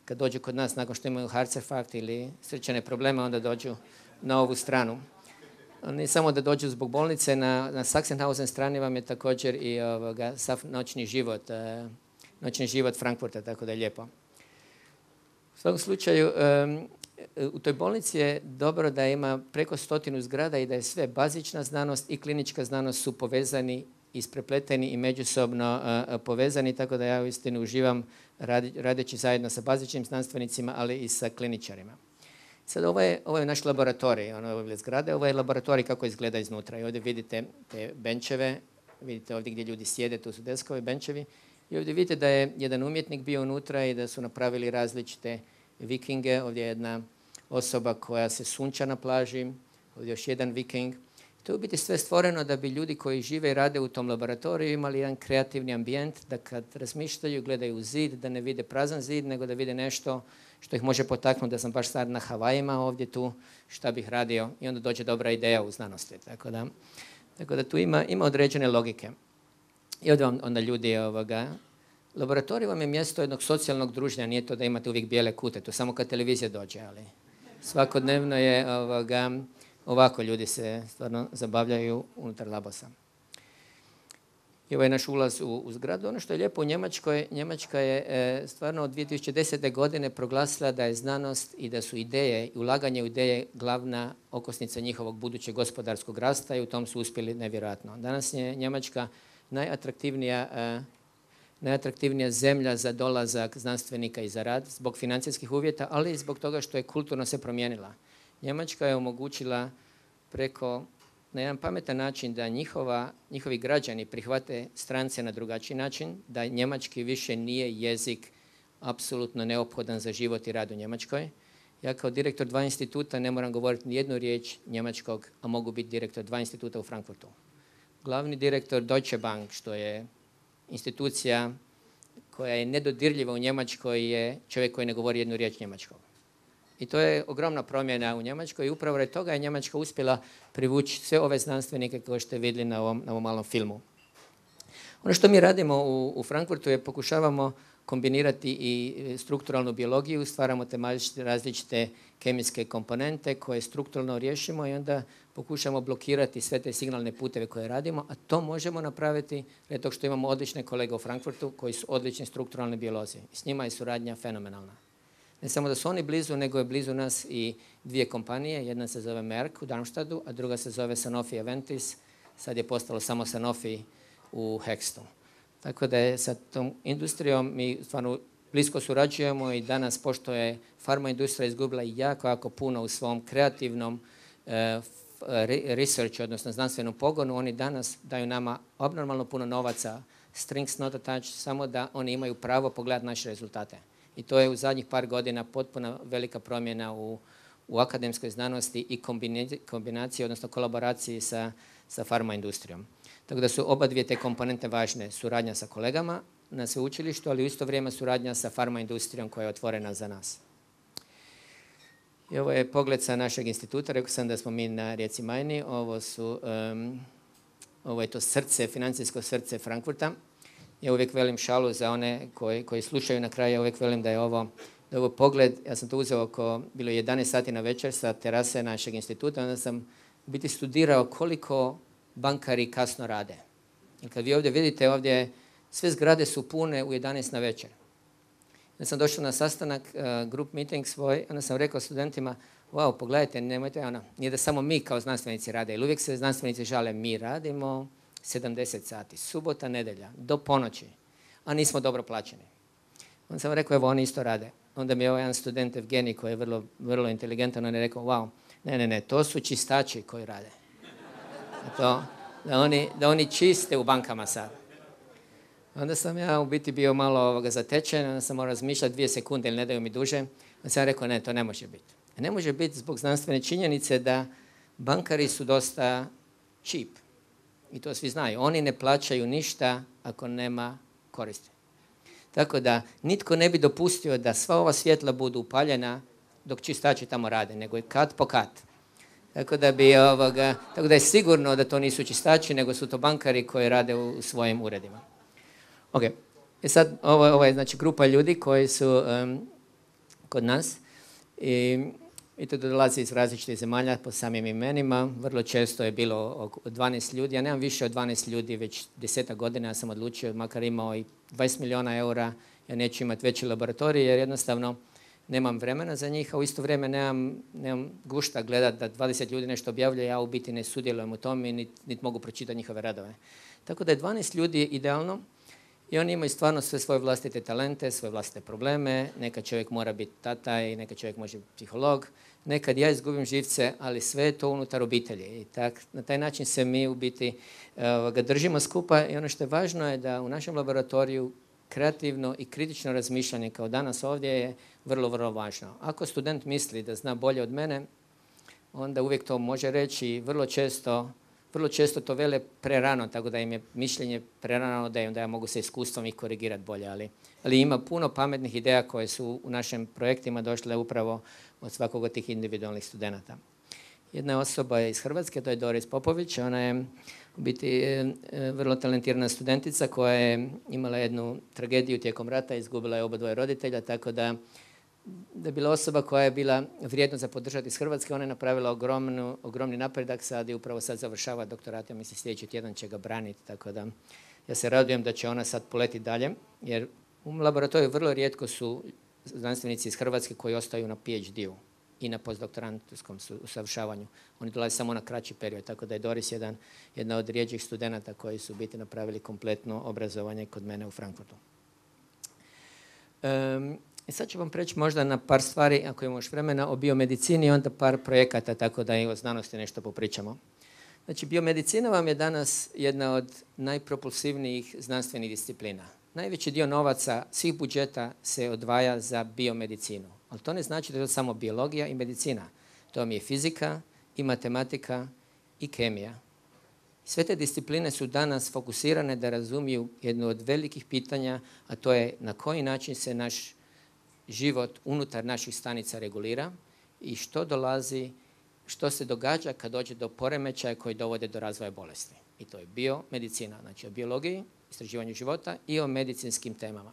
kad dođu kod nas nakon što imaju Herzinfarkt ili srčane probleme, onda dođu na ovu stranu. Ne samo da dođu zbog bolnice, na Sachsenhausen strani vam je također i sav noćni život Frankfurta, tako da je lijepo. U svakom slučaju, u toj bolnici je dobro da ima preko 100 zgrada i da je sve bazična znanost i klinička znanost su povezani, isprepleteni i međusobno povezani, tako da ja uistinu uživam radeći zajedno sa bazičnim znanstvenicima, ali i sa kliničarima. Sad ovo je naš laboratorij, ove zgrade, ovo je laboratorij kako izgleda iznutra. I ovdje vidite te benčeve, vidite ovdje gdje ljudi sjede, tu su deskovi, benčevi. I ovdje vidite da je jedan umjetnik bio unutra i da su napravili različite vikinge. Ovdje je jedna osoba koja se sunča na plaži, ovdje još jedan viking. To je u biti sve stvoreno da bi ljudi koji žive i rade u tom laboratoriju imali jedan kreativni ambijent, da kad razmišljaju, gledaju u zid, da ne vide prazan zid, nego da vide nešto što ih može potaknuti da sam baš sad na Havajima ovdje tu, šta bih radio, i onda dođe dobra ideja u znanosti. Tako da tu ima određene logike. I ovdje vam onda ljudi, laboratorij vam je mjesto jednog socijalnog druženja, nije to da imate uvijek bijele kute, to samo kad televizija dođe, ali svakodnevno je ovako ljudi se stvarno zabavljaju unutar labosa. I ovo je naš ulaz u zgradu. Ono što je lijepo u Njemačkoj, Njemačka je stvarno od 2010. godine proglasila da je znanost i da su ideje i ulaganje u ideje glavna okosnica njihovog budućeg gospodarskog rasta i u tom su uspjeli nevjerojatno. Danas je Njemačka najatraktivnija zemlja za dolazak znanstvenika i za rad zbog financijskih uvjeta, ali i zbog toga što je kulturno se promijenila. Njemačka je omogućila na jedan pametan način da njihovi građani prihvate strance na drugačiji način, da njemački više nije jezik apsolutno neophodan za život i rad u Njemačkoj. Ja kao direktor 2 instituta ne moram govoriti ni jednu riječ njemačkog, a mogu biti direktor 2 instituta u Frankfurtu. Glavni direktor Deutsche Bank, što je institucija koja je nedodirljiva u Njemačkoj, je čovjek koji ne govori jednu riječ njemačkog. I to je ogromna promjena u Njemačkoj i upravo radi toga je Njemačka uspjela privući sve ove znanstvenike koje ste vidjeli na ovom malom filmu. Ono što mi radimo u Frankfurtu je pokušavamo kombinirati i strukturalnu biologiju, stvaramo te različite kemijske komponente koje strukturalno riješimo i onda pokušamo blokirati sve te signalne puteve koje radimo, a to možemo napraviti radi toga što imamo odlične kolege u Frankfurtu koji su odlični strukturalni biolozi. S njima je suradnja fenomenalna. Ne samo da su oni blizu, nego je blizu nas i 2 kompanije. Jedna se zove Merck u Darmstadtu, a druga se zove Sanofi Aventis. Sad je postalo samo Sanofi u Hextu. Tako da je sa tom industrijom mi stvarno blisko surađujemo i danas, pošto je farma industrija izgubila jako puno u svom kreativnom research, odnosno znanstvenom pogonu, oni danas daju nama abnormalno puno novaca, strings not attached, samo da oni imaju pravo pogledati naše rezultate. I to je u zadnjih par godina potpuno velika promjena u akademskoj znanosti i kombinaciji, odnosno kolaboraciji sa farma industrijom. Tako da su oba 2 te komponente važne, suradnja sa kolegama na sveučilištu, ali u isto vrijeme suradnja sa farma industrijom koja je otvorena za nas. I ovo je pogled sa našeg instituta, rekao sam da smo mi na rijeci Majni, ovo je to srce, financijsko srce Frankfurta. Ja uvijek velim šalu za one koji slušaju na kraju, ja uvijek velim da je ovo pogled, ja sam to uzeo bilo je 11 sati na večer sa terase našeg instituta, onda sam u biti studirao koliko bankari kasno rade. I kad vi ovdje vidite, ovdje sve zgrade su pune u 11 na večer. Onda sam došao na sastanak, group meeting svoj, onda sam rekao studentima, wow, pogledajte, nemojte, nije da samo mi kao znanstvenici rade, jer uvijek se znanstvenici žale, mi radimo 70 sati, subota, nedjelja, do ponoći, a nismo dobro plaćeni. Onda sam rekao, evo, oni isto rade. Onda mi je ovaj jedan student Evgenij, koji je vrlo inteligentan, on je rekao, wow, ne, to su čistači koji rade. da oni čiste u bankama sad. Onda sam ja u biti bio malo zatečen, onda sam morao razmišljati 2 sekunde ili ne daju mi duže. Onda sam rekao ne, to ne može biti. Ne može biti zbog znanstvene činjenice da bankari su dosta cheap. I to svi znaju. Oni ne plaćaju ništa ako nema koristi. Tako da nitko ne bi dopustio da sva ova svjetla budu upaljena dok čistači tamo rade, nego je kat po kat. Tako da je sigurno da to nisu čistači, nego su to bankari koji rade u svojim uredima. Ok, sad ovo je znači grupa ljudi koji su kod nas i to dolazi iz različitih zemalja po samim imenima. Vrlo često je bilo oko 12 ljudi. Ja nemam više od 12 ljudi, već 10 godina ja sam odlučio, makar imao i 20 milijuna eura, ja neću imati veći laboratorij jer jednostavno nemam vremena za njih, a u isto vrijeme nemam gušta gledati da 20 ljudi nešto objavljuje, ja u biti ne sudjelujem u tome i niti mogu pročitati njihove radove. Tako da je 12 ljudi idealno i oni imaju stvarno sve svoje vlastite talente, svoje vlastite probleme. Nekad čovjek mora biti tata i nekad čovjek može biti psiholog. Nekad ja izgubim živce, ali sve je to unutar obitelji. I na taj način se mi u biti ga držimo skupa i ono što je važno je da u našem laboratoriju kreativno i kritično razmišljanje kao danas ovdje je vrlo, vrlo važno. Ako student misli da zna bolje od mene, onda uvijek to može reći i vrlo često to vele prerano, tako da im je mišljenje prerano da ja mogu se iskustvom ih korigirati bolje. Ali ima puno pametnih ideja koje su u našim projektima došle upravo od svakog od tih individualnih studenata. Jedna osoba je iz Hrvatske, to je Doris Popović. Ona je u biti vrlo talentirana studentica koja je imala jednu tragediju tijekom rata, izgubila je obadvoje roditelja, tako da je bila osoba koja je bila vrijedna za podržati iz Hrvatske. Ona je napravila ogromni napredak sad i upravo sad završava doktorat. Ja mislim sljedeći tjedan će ga braniti, tako da ja se radujem da će ona sad poletiti dalje, jer u laboratoriju vrlo rijetko su znanstvenici iz Hrvatske koji ostaju na PhD-u i na postdoktorantskom usavršavanju. Oni dolaze samo na kraći period, tako da je Doris jedna od rijeđih studenata koji su biti napravili kompletno obrazovanje kod mene u Frankfurtu. I sad ću vam preći možda na par stvari, ako imamo još vremena, o biomedicini i onda par projekata, tako da i o znanosti nešto popričamo. Znači, biomedicina vam je danas jedna od najpropulsivnijih znanstvenih disciplina. Najveći dio novaca svih budžeta se odvaja za biomedicinu. Ali to ne znači da je to samo biologija i medicina. To vam je fizika i matematika i kemija. Sve te discipline su danas fokusirane da razumiju jedno od velikih pitanja, a to je na koji način se naš život unutar naših stanica regulira i što se događa kad dođe do poremećaja koji dovode do razvoja bolesti. I to je biomedicina, znači o biologiji, istraživanju života i o medicinskim temama.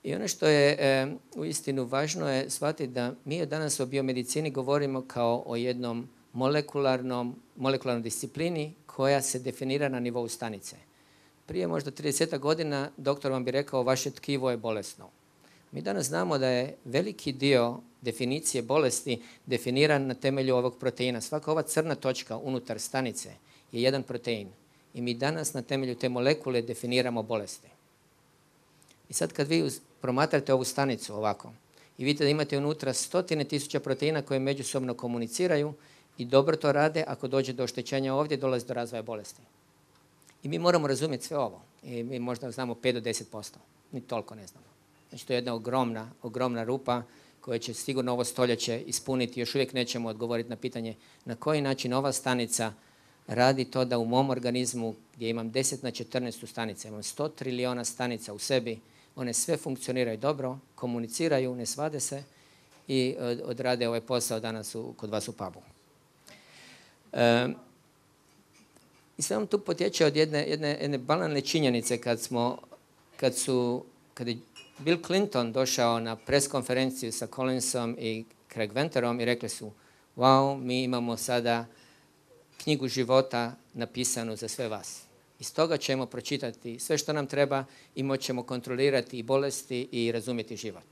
I ono što je uistinu važno je shvatiti da mi danas o biomedicini govorimo kao o jednom molekularnoj disciplini koja se definira na nivou stanice. Prije možda 30 godina doktor vam bi rekao vaše tkivo je bolesno. Mi danas znamo da je veliki dio definicije bolesti definiran na temelju ovog proteina. Svaka ova crna točka unutar stanice je jedan protein. I mi danas na temelju te molekule definiramo bolesti. I sad kad vi promatrate ovu stanicu ovako i vidite da imate unutra 100.000 proteina koje međusobno komuniciraju i dobro to rade, ako dođe do oštećenja ovdje, dolazi do razvoja bolesti. I mi moramo razumjeti sve ovo. I mi možda znamo 5 do 10%. Ni toliko ne znamo. Znači to je jedna ogromna rupa koja će sigurno ovo stoljeće ispuniti. Još uvijek nećemo odgovoriti na pitanje na koji način ova stanica radi to da u mom organizmu gdje imam 10 na 14 stanica, imam 100 trilijona stanica u sebi, one sve funkcioniraju dobro, komuniciraju, ne svade se i odrade ovaj posao danas kod vas u pubu. I sve vam tu potječe od jedne banalne činjenice kad je Bill Clinton došao na pres konferenciju sa Collinsom i Craig Venterom i rekli su wow, mi imamo sada knjigu života napisanu za sve vas. Iz toga ćemo pročitati sve što nam treba i moćemo kontrolirati i bolesti i razumjeti život.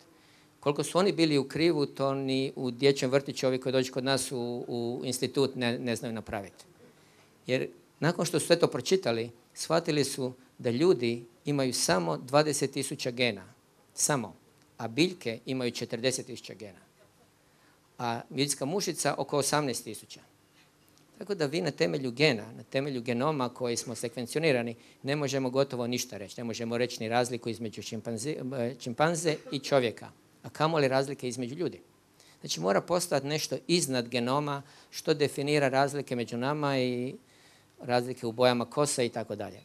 Koliko su oni bili u krivu, to ni u dječjem vrtiću ovi koji dođu kod nas u institut ne znaju napraviti. Jer nakon što su sve to pročitali, shvatili su da ljudi imaju samo 20.000 gena. Samo. A biljke imaju 40.000 gena. A ljudska mušica oko 18.000. Tako da vi na temelju gena, na temelju genoma koji smo sekvencionirani, ne možemo gotovo ništa reći. Ne možemo reći ni razliku između čimpanze i čovjeka, a kamoli razlike između ljudi. Znači mora postojati nešto iznad genoma što definira razlike među nama i razlike u bojama kosa i tako dalje.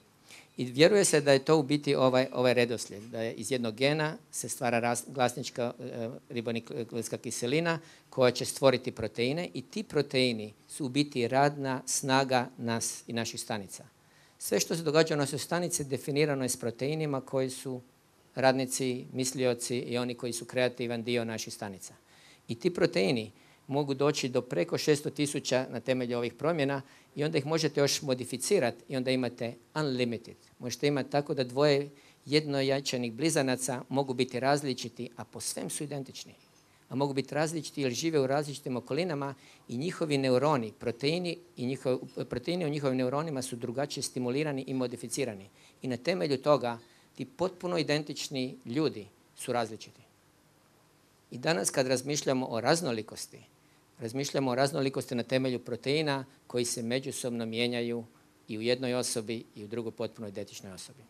I vjeruje se da je to u biti ovaj redoslijed, da je iz jednog gena se stvara glasnička ribonukleinska kiselina koja će stvoriti proteine i ti proteini su u biti radna snaga nas i naših stanica. Sve što se događa u našoj stanici definirano je s proteinima koji su radnici, mislioci i oni koji su kreativan dio naših stanica. I ti proteini mogu doći do preko 600.000 na temelju ovih promjena i onda ih možete još modificirati i onda imate unlimited. Možete imati tako da dvoje jednojajčanih blizanaca mogu biti različiti, a po svem su identični. A mogu biti različiti jer žive u različitim okolinama i njihovi neuroni, proteini u njihovim neuronima su drugačije stimulirani i modificirani. I na temelju toga ti potpuno identični ljudi su različiti. I danas kad razmišljamo o raznolikosti na temelju proteina koji se međusobno mijenjaju i u jednoj osobi i u drugoj potpuno identičnoj osobi.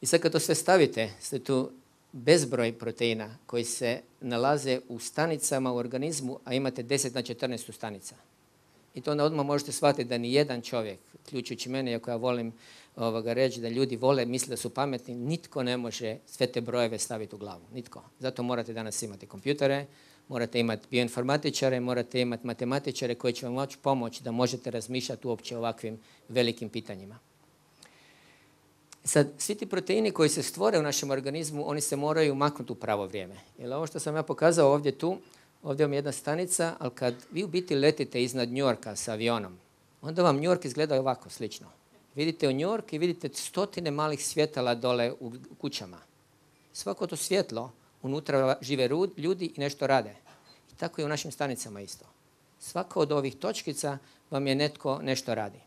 I sad kad to sve stavite, ste tu bezbroj proteina koji se nalaze u stanicama u organizmu, a imate 10 na 14 stanica. I to onda odmah možete shvatiti da ni jedan čovjek, uključujući mene, iako ja volim reći da ljudi vole, misle da su pametni, nitko ne može sve te brojeve staviti u glavu. Nitko. Zato morate danas imati kompjutere, morate imati bioinformatičare, morate imati matematičare koji će vam moći pomoći da možete razmišljati uopće o ovakvim velikim pitanjima. Sad, svi ti proteini koji se stvore u našem organizmu, oni se moraju maknuti u pravo vrijeme. Jer ovo što sam ja pokazao ovdje vam je jedna stanica, ali kad vi u biti letite iznad New Yorka sa avionom, onda vam New York izgleda ovako slično. Vidite u New York i vidite stotine malih svjetala dole u kućama. Svako to svjetlo, unutra žive ljudi i nešto rade. I tako je u našim stanicama isto. Svaka od ovih točkica vam je netko nešto radi.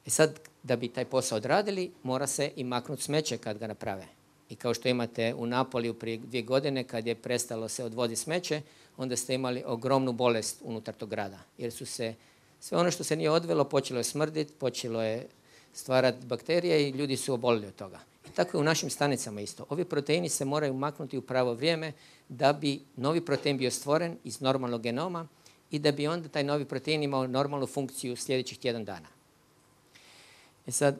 I sad, da bi taj posao odradili, mora se i maknuti smeće kad ga naprave. I kao što imate u Napoliju prije 2 godine, kad je prestalo se odvoditi smeće, onda ste imali ogromnu bolest unutar tog grada. Jer su se, sve ono što se nije odvelo, počelo je smrditi, počelo je stvarati bakterije i ljudi su obolili od toga. I tako je u našim stanicama isto. Ovi proteini se moraju maknuti u pravo vrijeme da bi novi protein bio stvoren iz normalnog genoma i da bi onda taj novi protein imao normalnu funkciju sljedećih tjedan dana. I sad,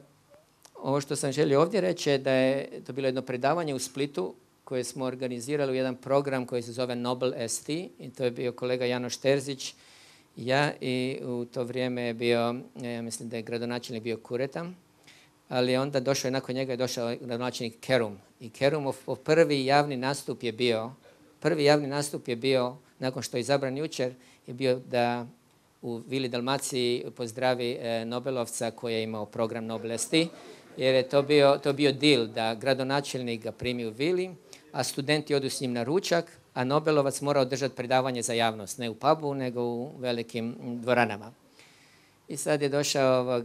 ovo što sam želio ovdje reći je da je to bilo jedno predavanje u Splitu koje smo organizirali u jedan program koji se zove Nobel ST i to je bio kolega Janoš Terzić, ja i u to vrijeme je bio, ja mislim da je gradonačelnik bio Kureta, ali onda došao je nakon njega je došao gradonačelnik Kerum. I Kerumov prvi javni nastup je bio, nakon što je izabran jučer, je bio da u Vili Dalmaciji pozdravi Nobelovca koji je imao program Nobel ST, jer je to bio deal da gradonačelnik ga primi u Vili, a studenti odu s njim na ručak, a Nobelovac mora održati predavanje za javnost, ne u pubu, nego u velikim dvoranama. I sad je došao,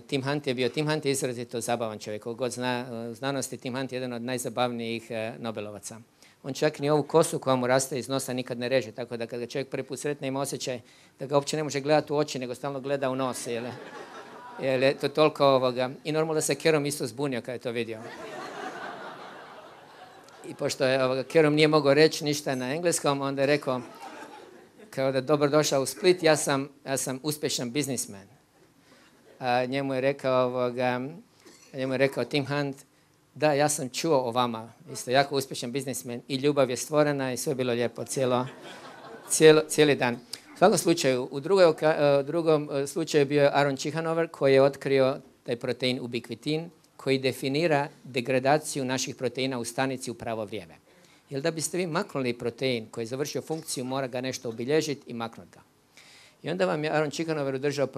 Tim Hunt je bio, Tim Hunt je izrazito zabavan čovjek, koliko god zna znanosti, Tim Hunt je jedan od najzabavnijih Nobelovaca. On čak ni ovu kosu koja mu raste iz nosa nikad ne reže, tako da kad ga čovjek prvi put sretne ima osjećaj da ga uopće ne može gledati u oči, nego stalno gleda u nos, jer je to toliko I normalno da se Kerum isto zbunio kad je to vidio. I pošto je Kerum nije mogao reći ništa na engleskom, onda je rekao, kao da dobro došao u Split, ja sam uspješan biznismen. A njemu je rekao Tim Hunt, da, ja sam čuo o vama, isto jako uspješan biznismen i ljubav je stvorena i sve je bilo lijepo cijeli dan. U svakom slučaju, u drugom slučaju bio je Aaron Cichanover koji je otkrio taj protein ubikvitin koji definira degradaciju naših proteina u stanici u pravo vrijeme. Jer da biste vi maknuli protein koji je završio funkciju, mora ga nešto obilježiti i maknuti ga. I onda vam je Aaron Cichanover održao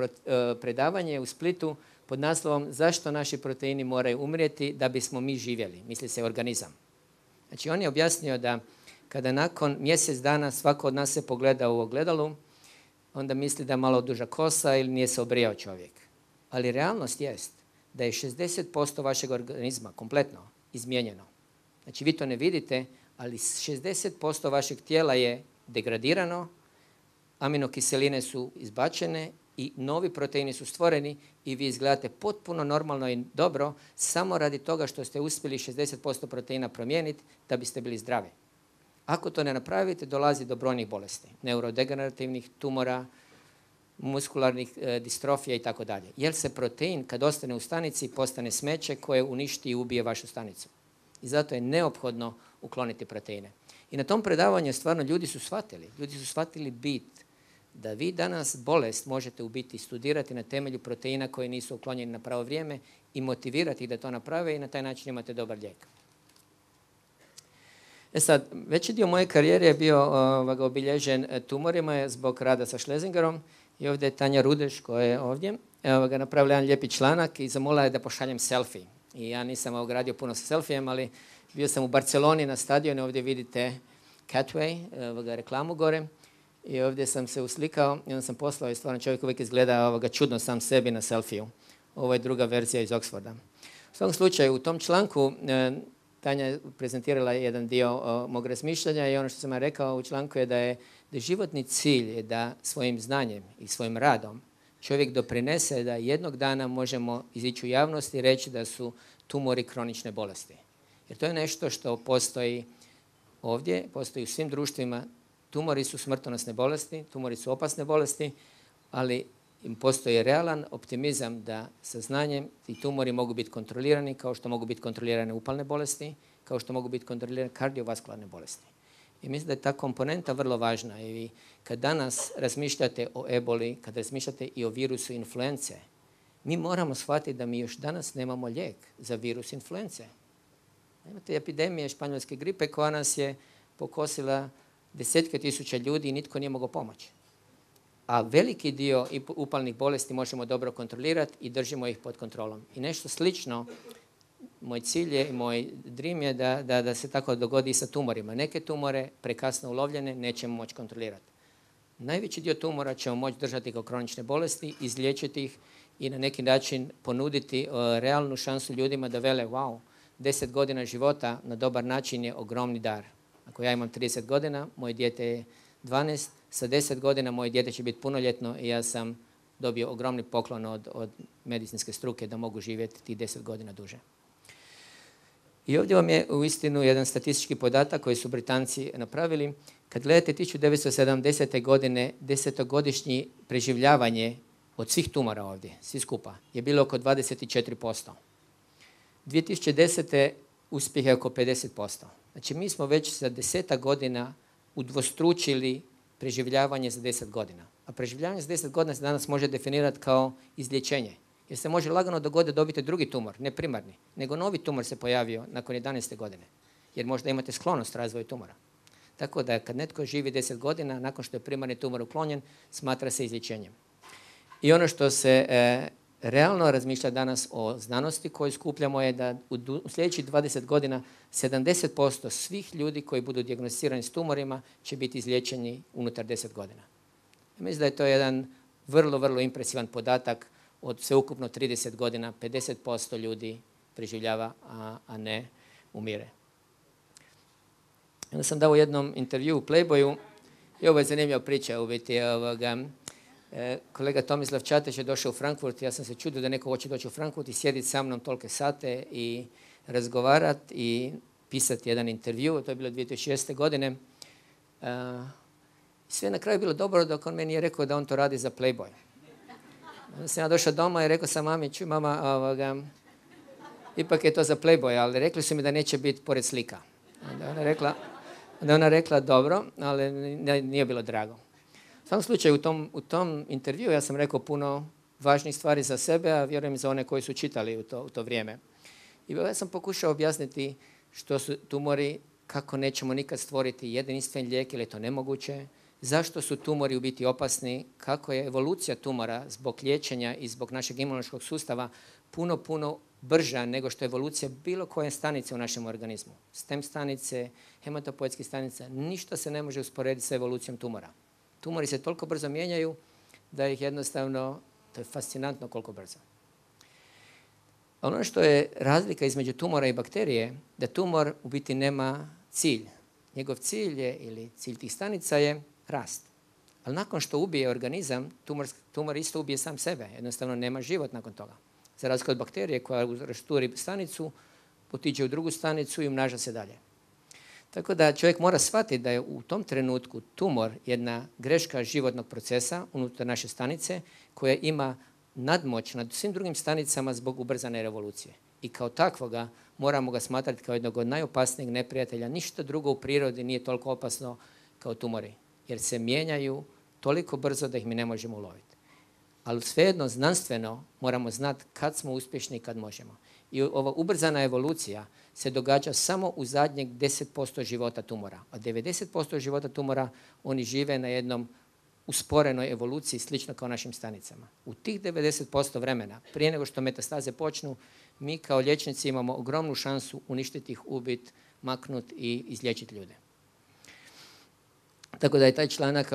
predavanje u Splitu pod naslovom zašto naši proteini moraju umrijeti da bismo mi živjeli, misli se organizam. Znači on je objasnio da kada nakon mjesec dana svako od nas se pogleda u ogledalu, onda misli da je malo duža kosa ili nije se obrijao čovjek. Ali realnost jest da je 60% vašeg organizma kompletno izmijenjeno. Znači vi to ne vidite, ali 60% vašeg tijela je degradirano, aminokiseline su izbačene i novi proteini su stvoreni i vi izgledate potpuno normalno i dobro samo radi toga što ste uspjeli 60% proteina promijeniti da biste bili zdravi. Ako to ne napravite, dolazi do brojnih bolesti, neurodegenerativnih tumora, muskularnih distrofija i tako dalje. Jer se protein kad ostane u stanici postane smeće koje uništi i ubije vašu stanicu. I zato je neophodno ukloniti proteine. I na tom predavanju stvarno ljudi su shvatili bit da vi danas bolest možete u biti studirati na temelju proteina koji nisu uklonjeni na pravo vrijeme i motivirati ih da to naprave i na taj način imate dobar lijek. Sad, veći dio moje karijere je bio obilježen tumorima zbog rada sa Schlesingerom i ovdje je Tanja Rudeš koja je ovdje. Napravila jedan lijepi članak i zamolila je da pošaljem selfie. I ja nisam gradio puno sa selfijem, ali bio sam u Barceloni na stadionu, ovdje vidite Catway, reklamu gore. I ovdje sam se uslikao i onda sam poslao i stvarno čovjek uvijek izgleda čudno sam sebi na selfiju. Ovo je druga verzija iz Oxforda. U svakom slučaju, u tom članku Tanja je prezentirala jedan dio mog razmišljanja i ono što sam ja rekao u članku je da je životni cilj je da svojim znanjem i svojim radom čovjek doprinese da jednog dana možemo izići u javnost i reći da su tumori kronične bolesti. Jer to je nešto što postoji ovdje, postoji u svim društvima. Tumori su smrtonosne bolesti, tumori su opasne bolesti, ali im postoji realan optimizam da sa znanjem ti tumori mogu biti kontrolirani kao što mogu biti kontrolirane upalne bolesti, kao što mogu biti kontrolirane kardiovaskularne bolesti. I mislim da je ta komponenta vrlo važna. I vi kad danas razmišljate o eboli, kad razmišljate i o virusu influence, mi moramo shvatiti da mi još danas nemamo lijek za virus influence. Imate epidemije španjolske gripe koja nas je pokosila desetke tisuća ljudi i nitko nije mogao pomoći. A veliki dio upalnih bolesti možemo dobro kontrolirati i držimo ih pod kontrolom. I nešto slično, moj cilj je i moj dream je da se tako dogodi i sa tumorima. Neke tumore prekasno ulovljene nećemo moći kontrolirati. Najveći dio tumora ćemo moći držati kao kronične bolesti, izliječiti ih i na neki način ponuditi realnu šansu ljudima da vele wow, 10 godina života na dobar način je ogromni dar. Ako ja imam 30 godina, moje dijete je 12, sa 10 godina moje dijete će biti punoljetno i ja sam dobio ogromni poklon od medicinske struke da mogu živjeti tih 10 godina duže. I ovdje vam je uistinu jedan statistički podatak koji su Britanci napravili. Kad gledate 1970. godine, 10-godišnji preživljavanje od svih tumora ovdje, svi skupa, je bilo oko 24%. 2010. uspjeh je oko 50%. Znači mi smo već za 10 godina udvostručili preživljavanje za 10 godina. A preživljavanje za 10 godina se danas može definirati kao izlječenje. Jer se može lagano dogoditi da dobite drugi tumor, ne primarni, nego novi tumor se pojavio nakon 11. godine. Jer možda imate sklonost razvoju tumora. Tako da kad netko živi 10 godina, nakon što je primarni tumor uklonjen, smatra se izlječenjem. I ono što se realno razmišlja danas o znanosti koju skupljamo je da u sljedećih 20 godina 70% svih ljudi koji budu dijagnosticirani s tumorima će biti izliječeni unutar 10 godina. Mislim da je to jedan vrlo, vrlo impresivan podatak. Od sveukupno 30 godina 50% ljudi preživljava, a ne umire. Onda sam dao u jednom intervju u Playboyu i ovo je zanimljiva priča u biti. Kolega Tomislav Čateš je došao u Frankfurt, ja sam se čudio da neko hoće doći u Frankfurt i sjediti sa mnom tolike sate i razgovarati i pisati jedan intervju. To je bilo 2006. godine. Sve na kraju bilo dobro dok on meni je rekao da on to radi za Playboy. Onda sam ja došao doma i rekao sam mami, čuj mama, ipak je to za Playboy, ali rekli su mi da neće biti pored slika. Onda ona rekla dobro, ali nije bilo drago. U svakom slučaju u tom intervju ja sam rekao puno važnih stvari za sebe, a vjerujem za one koji su čitali u to vrijeme. I ja sam pokušao objasniti što su tumori, kako nećemo nikad stvoriti jedinstven lijek, ili je to nemoguće, zašto su tumori u biti opasni, kako je evolucija tumora zbog liječenja i zbog našeg imunološkog sustava puno brža nego što je evolucija bilo koje stanice u našem organizmu. Stem stanice, hematopoetske stanice, ništa se ne može usporediti sa evolucijom tumora. Tumori se toliko brzo mijenjaju da ih jednostavno, to je fascinantno koliko brzo. Ono što je razlika između tumora i bakterije, da tumor u biti nema cilj. Njegov cilj je, ili cilj tih stanica je rast. Ali nakon što ubije organizam, tumor isto ubije sam sebe. Jednostavno nema život nakon toga. Za razliku od bakterije koja rasturi stanicu, otiđe u drugu stanicu i umnaža se dalje. Tako da čovjek mora shvatiti da je u tom trenutku tumor jedna greška životnog procesa unutar naše stanice koja ima nadmoć nad svim drugim stanicama zbog ubrzane revolucije. I kao takvoga moramo ga smatrati kao jednog od najopasnijeg neprijatelja. Ništa drugo u prirodi nije toliko opasno kao tumori, jer se mijenjaju toliko brzo da ih mi ne možemo uloviti. Ali svejedno znanstveno moramo znati kad smo uspješni i kad možemo. I ova ubrzana evolucija se događa samo u zadnjeg 10% života tumora. A 90% života tumora oni žive na jednom usporenoj evoluciji, slično kao našim stanicama. U tih 90% vremena, prije nego što metastaze počnu, mi kao liječnici imamo ogromnu šansu uništiti ih, ubiti, maknuti i izliječiti ljude. Tako da je taj članak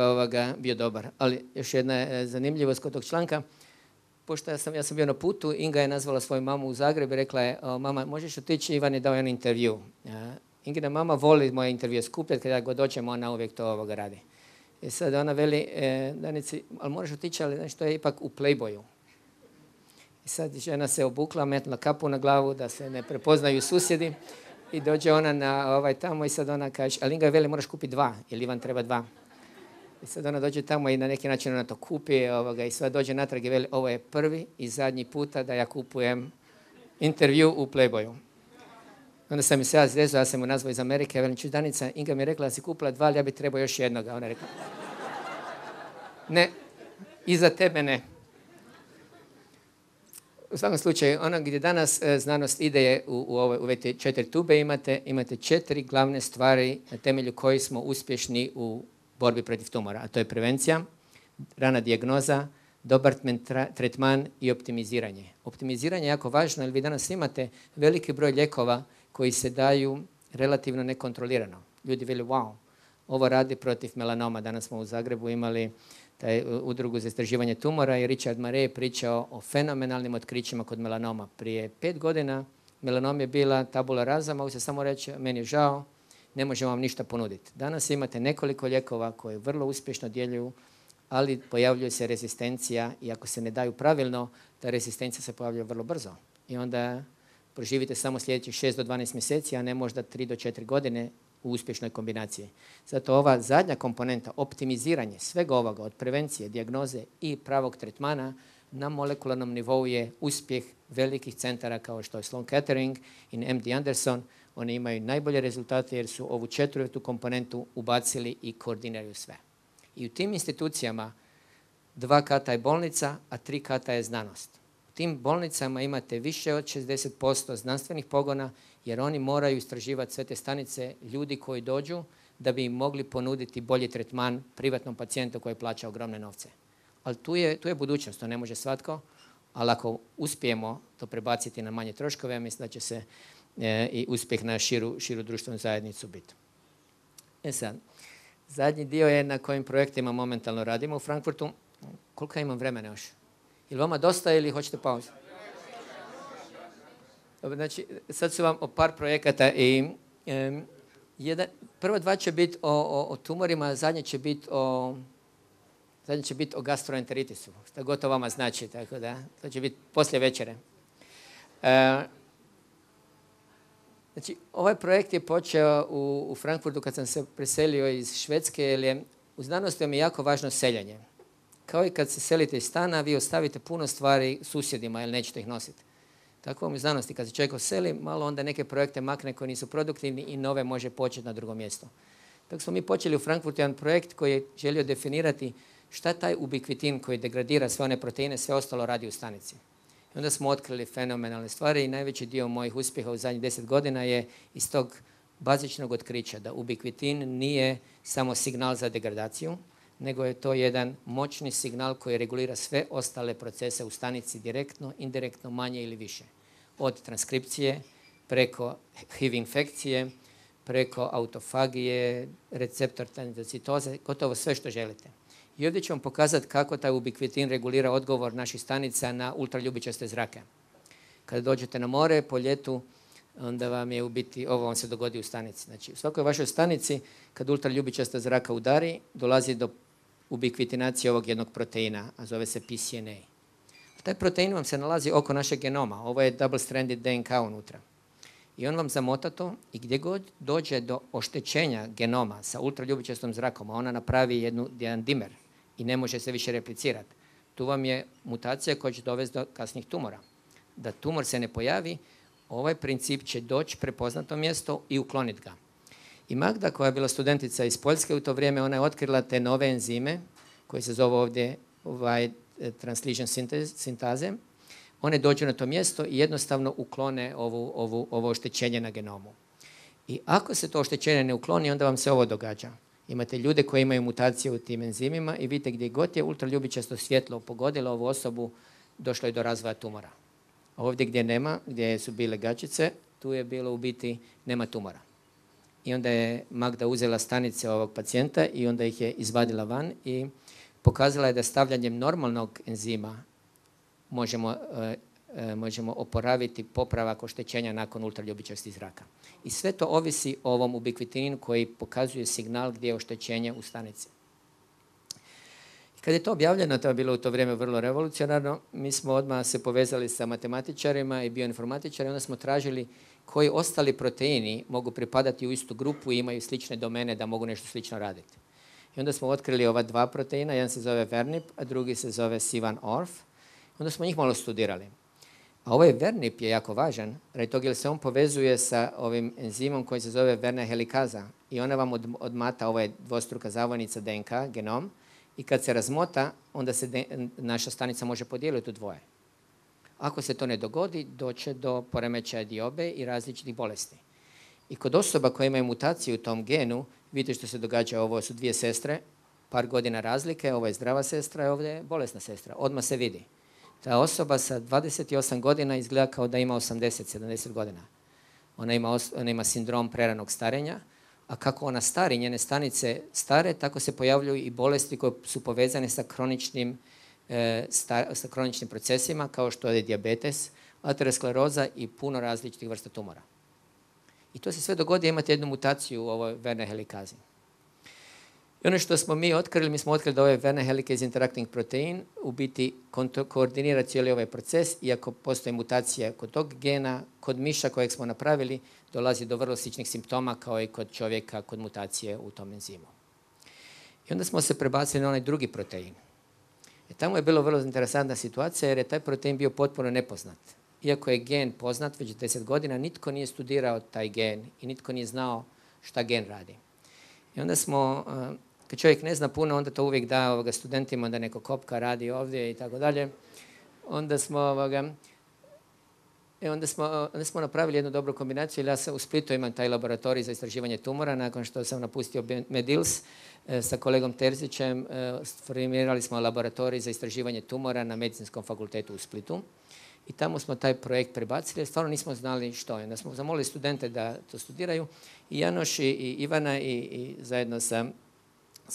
bio dobar. Ali još jedna zanimljivost kod tog članka. Pošto ja sam bio na putu, Inga je nazvala svoju mamu u Zagreb i rekla je, mama, možeš otići, Ivan je dao jedan intervju. Ingina mama voli moje intervjue skupljati, kada god dođemo, ona uvijek to radi. I sad ona veli, Danici, ali moraš otići, ali nešto je ipak u Playboyu. I sad žena se obukla, metnula kapu na glavu da se ne prepoznaju susjedi i dođe ona na tamo i sad ona kaže, ali Inga veli, moraš kupiti 2, jer Ivan treba 2. I sad ona dođe tamo i na neki način ona to kupi i sad dođe natrag i veli, ovo je prvi i zadnji puta da ja kupujem intervju u Playboyu. Onda sam se ja zrezao, ja sam mu nazvao iz Amerike, velim, čuj Danica, Inga mi je rekla da si kupila 2, ali ja bi trebao još jednoga. Ona je rekla, ne, iza tebe ne. U svakom slučaju, ono gdje danas znanost ide je u ove 4 tube, imate 4 glavne stvari na temelju kojih smo uspješni u borbi protiv tumora, a to je prevencija, rana dijagnoza, dobar tretman i optimiziranje. Optimiziranje je jako važno jer vi danas imate veliki broj lijekova koji se daju relativno nekontrolirano. Ljudi veli, wow, ovo radi protiv melanoma. Danas smo u Zagrebu imali taj udrugu za istraživanje tumora i Richard Mare je pričao o fenomenalnim otkrićima kod melanoma. Prije 5 godina melanom je bila tabula rasa, mogu se samo reći, meni je žao, ne možemo vam ništa ponuditi. Danas imate nekoliko lijekova koji vrlo uspješno djeluju, ali pojavljuje se rezistencija i ako se ne daju pravilno, ta rezistencija se pojavljuje vrlo brzo. I onda proživite samo sljedećih 6 do 12 mjeseci, a ne možda 3 do 4 godine u uspješnoj kombinaciji. Zato ova zadnja komponenta, optimiziranje svega ovoga od prevencije, dijagnoze i pravog tretmana na molekularnom nivou je uspjeh velikih centara kao što je Sloan Kettering i MD Anderson. Oni imaju najbolje rezultate jer su ovu 4. komponentu ubacili i koordiniraju sve. I u tim institucijama 2 kata je bolnica, a 3 kata je znanost. U tim bolnicama imate više od 60% znanstvenih pogona jer oni moraju istraživati sve te stanice ljudi koji dođu da bi im mogli ponuditi bolji tretman privatnom pacijentu koji plaća ogromne novce. Ali tu je budućnost, to ne može svatko, ali ako uspijemo to prebaciti na manje troškove, ja mislim da će se i uspjeh na širu društvenu zajednicu biti. Sad, zadnji dio je na kojim projektima momentalno radimo u Frankfurtu. Koliko imam vremena još? Je li vama dosta ili hoćete pauzu? Znači, sad su vam o par projekata i prva 2 će biti o tumorima, zadnje će biti o gastroenteritisu, što gotovo vama znači, tako da to će biti poslije večere. Znači, ovaj projekt je počeo u Frankfurtu kad sam se preselio iz Švedske, jer je u znanosti vam je jako važno seljenje. Kao i kad se selite iz stana, vi ostavite puno stvari susjedima jer nećete ih nositi. Tako vam u znanosti, kad se čovjek oseli, malo onda neke projekte makne koji nisu produktivni i nove može početi na drugom mjestu. Tako smo mi počeli u Frankfurtu jedan projekt koji je želio definirati šta taj ubikvitin koji degradira sve one proteine, sve ostalo radi u stanici. I onda smo otkrili fenomenalne stvari i najveći dio mojih uspjeha u zadnjih 10 godina je iz tog bazičnog otkrića da ubikvitin nije samo signal za degradaciju, nego je to jedan moćni signal koji regulira sve ostale procese u stanici direktno, indirektno, manje ili više. Od transkripcije, preko HIV infekcije, preko autofagije, receptor tendocitoze, gotovo sve što želite. I ovdje ću vam pokazati kako taj ubikvitin regulira odgovor naših stanica na ultraljubičaste zrake. Kada dođete na more po ljetu, onda vam je u biti, ovo vam se dogodi u stanici. Znači, u svakoj vašoj stanici, kad ultraljubičasta zraka udari, dolazi do ubikvitinacije ovog jednog proteina, a zove se PCNA. Taj protein vam se nalazi oko našeg genoma. Ovo je double-stranded DNK unutra. I on vam zamota to i gdje god dođe do oštećenja genoma sa ultraljubičastom zrakom, a ona napravi jedan dimer i ne može se više replicirati, tu vam je mutacija koja će dovesti do kasnih tumora. Da tumor se ne pojavi, ovaj princip će doći prepoznato mjesto i ukloniti ga. I Magda, koja je bila studentica iz Poljske u to vrijeme, ona je otkrila te nove enzime koje se zove ovdje translation sintaze. One dođu na to mjesto i jednostavno uklone ovo oštećenje na genomu. I ako se to oštećenje ne ukloni, onda vam se ovo događa. Imate ljude koji imaju mutacije u tim enzimima i vidite gdje god je ultraljubičasto svjetlo pogodilo ovu osobu, došlo je do razvoja tumora. Ovdje gdje nema, gdje su bile gačice, tu je bilo u biti nema tumora. I onda je Magda uzela stanice ovog pacijenta i onda ih je izvadila van i pokazala je da stavljanjem normalnog enzima možemo oporaviti popravak oštećenja nakon ultraljubičasti zraka. I sve to ovisi o ovom ubikvitininu koji pokazuje signal gdje je oštećenje u stanici. I kad je to objavljeno, to je bilo u to vrijeme vrlo revolucionarno, mi smo odmah se povezali sa matematičarima i bioinformatičarima, onda smo tražili koji ostali proteini mogu pripadati u istu grupu i imaju slične domene da mogu nešto slično raditi. I onda smo otkrili ova dva proteina, jedan se zove Vernip, a drugi se zove C1orf. Onda smo njih malo studirali. A ovaj Vernip je jako važan, radi toga jer se on povezuje sa ovim enzimom koji se zove Werner helikaza i ona vam odmata, ovo je dvostruka zavojnica DNK, genom, i kad se razmota, onda se naša stanica može podijeliti u dvoje. Ako se to ne dogodi, doće do poremećaja diobe i različitih bolesti. I kod osoba koje imaju mutaciju u tom genu, vidite što se događa, ovo su dvije sestre, par godina razlike, ovo je zdrava sestra i ovdje je bolesna sestra. Odmah se vidi. Ta osoba sa 28 godina izgleda kao da ima 80-70 godina. Ona ima sindrom preranog starenja, a kako ona stari, njene stanice stare, tako se pojavljuju i bolesti koje su povezane sa kroničnim procesima, kao što je dijabetes, ateroskleroza i puno različitih vrsta tumora. I to se sve dogodi, imate jednu mutaciju u ovoj Werner helikazi. I ono što smo mi otkrili, mi smo otkrili da ovaj Werner helicase interacting protein u biti koordinira cijeli ovaj proces, iako postoji mutacija kod tog gena, kod miša kojeg smo napravili, dolazi do vrlo sličnih simptoma kao i kod čovjeka kod mutacije u tom enzimu. I onda smo se prebacili na onaj drugi protein. I tamo je bilo vrlo interesantna situacija jer je taj protein bio potpuno nepoznat. Iako je gen poznat već 10 godina, nitko nije studirao taj gen i nitko nije znao šta gen radi. I onda smo, kad čovjek ne zna puno, onda to uvijek da studentima da neko kopka radi ovdje i tako dalje. Onda smo napravili jednu dobru kombinaciju. Ja sam u Splitu imam taj laboratorij za istraživanje tumora. Nakon što sam napustio Medils sa kolegom Terzićem, formirali smo laboratorij za istraživanje tumora na Medicinskom fakultetu u Splitu. I tamo smo taj projekt prebacili, jer stvarno nismo znali što je. Onda smo zamolili studente da to studiraju. I Janoš i Ivana i zajedno sa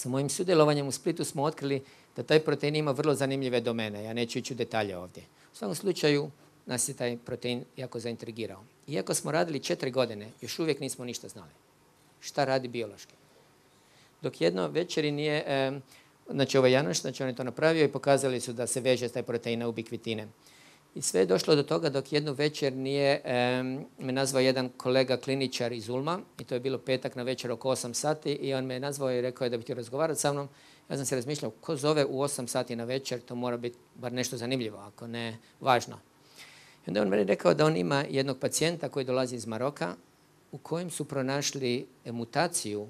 mojim sudjelovanjem u Splitu smo otkrili da taj protein ima vrlo zanimljive domene. Ja neću ići u detalje ovdje. U svakom slučaju nas je taj protein jako zaintrigirao. Iako smo radili 4 godine, još uvijek nismo ništa znali. Šta radi biološki? Dok jedno večeri nije, znači ovaj Janoš, znači on je to napravio i pokazali su da se veže taj protein na ubikvitine. I sve je došlo do toga dok jednu večer nije me nazvao jedan kolega kliničar iz Ulma i to je bilo petak na večer oko 8 sati i on me nazvao i rekao je da bi htio razgovarati sa mnom. Ja sam se razmišljao ko zove u 8 sati na večer, to mora biti bar nešto zanimljivo, ako ne važno. I onda on meni rekao da on ima jednog pacijenta koji dolazi iz Maroka u kojem su pronašli mutaciju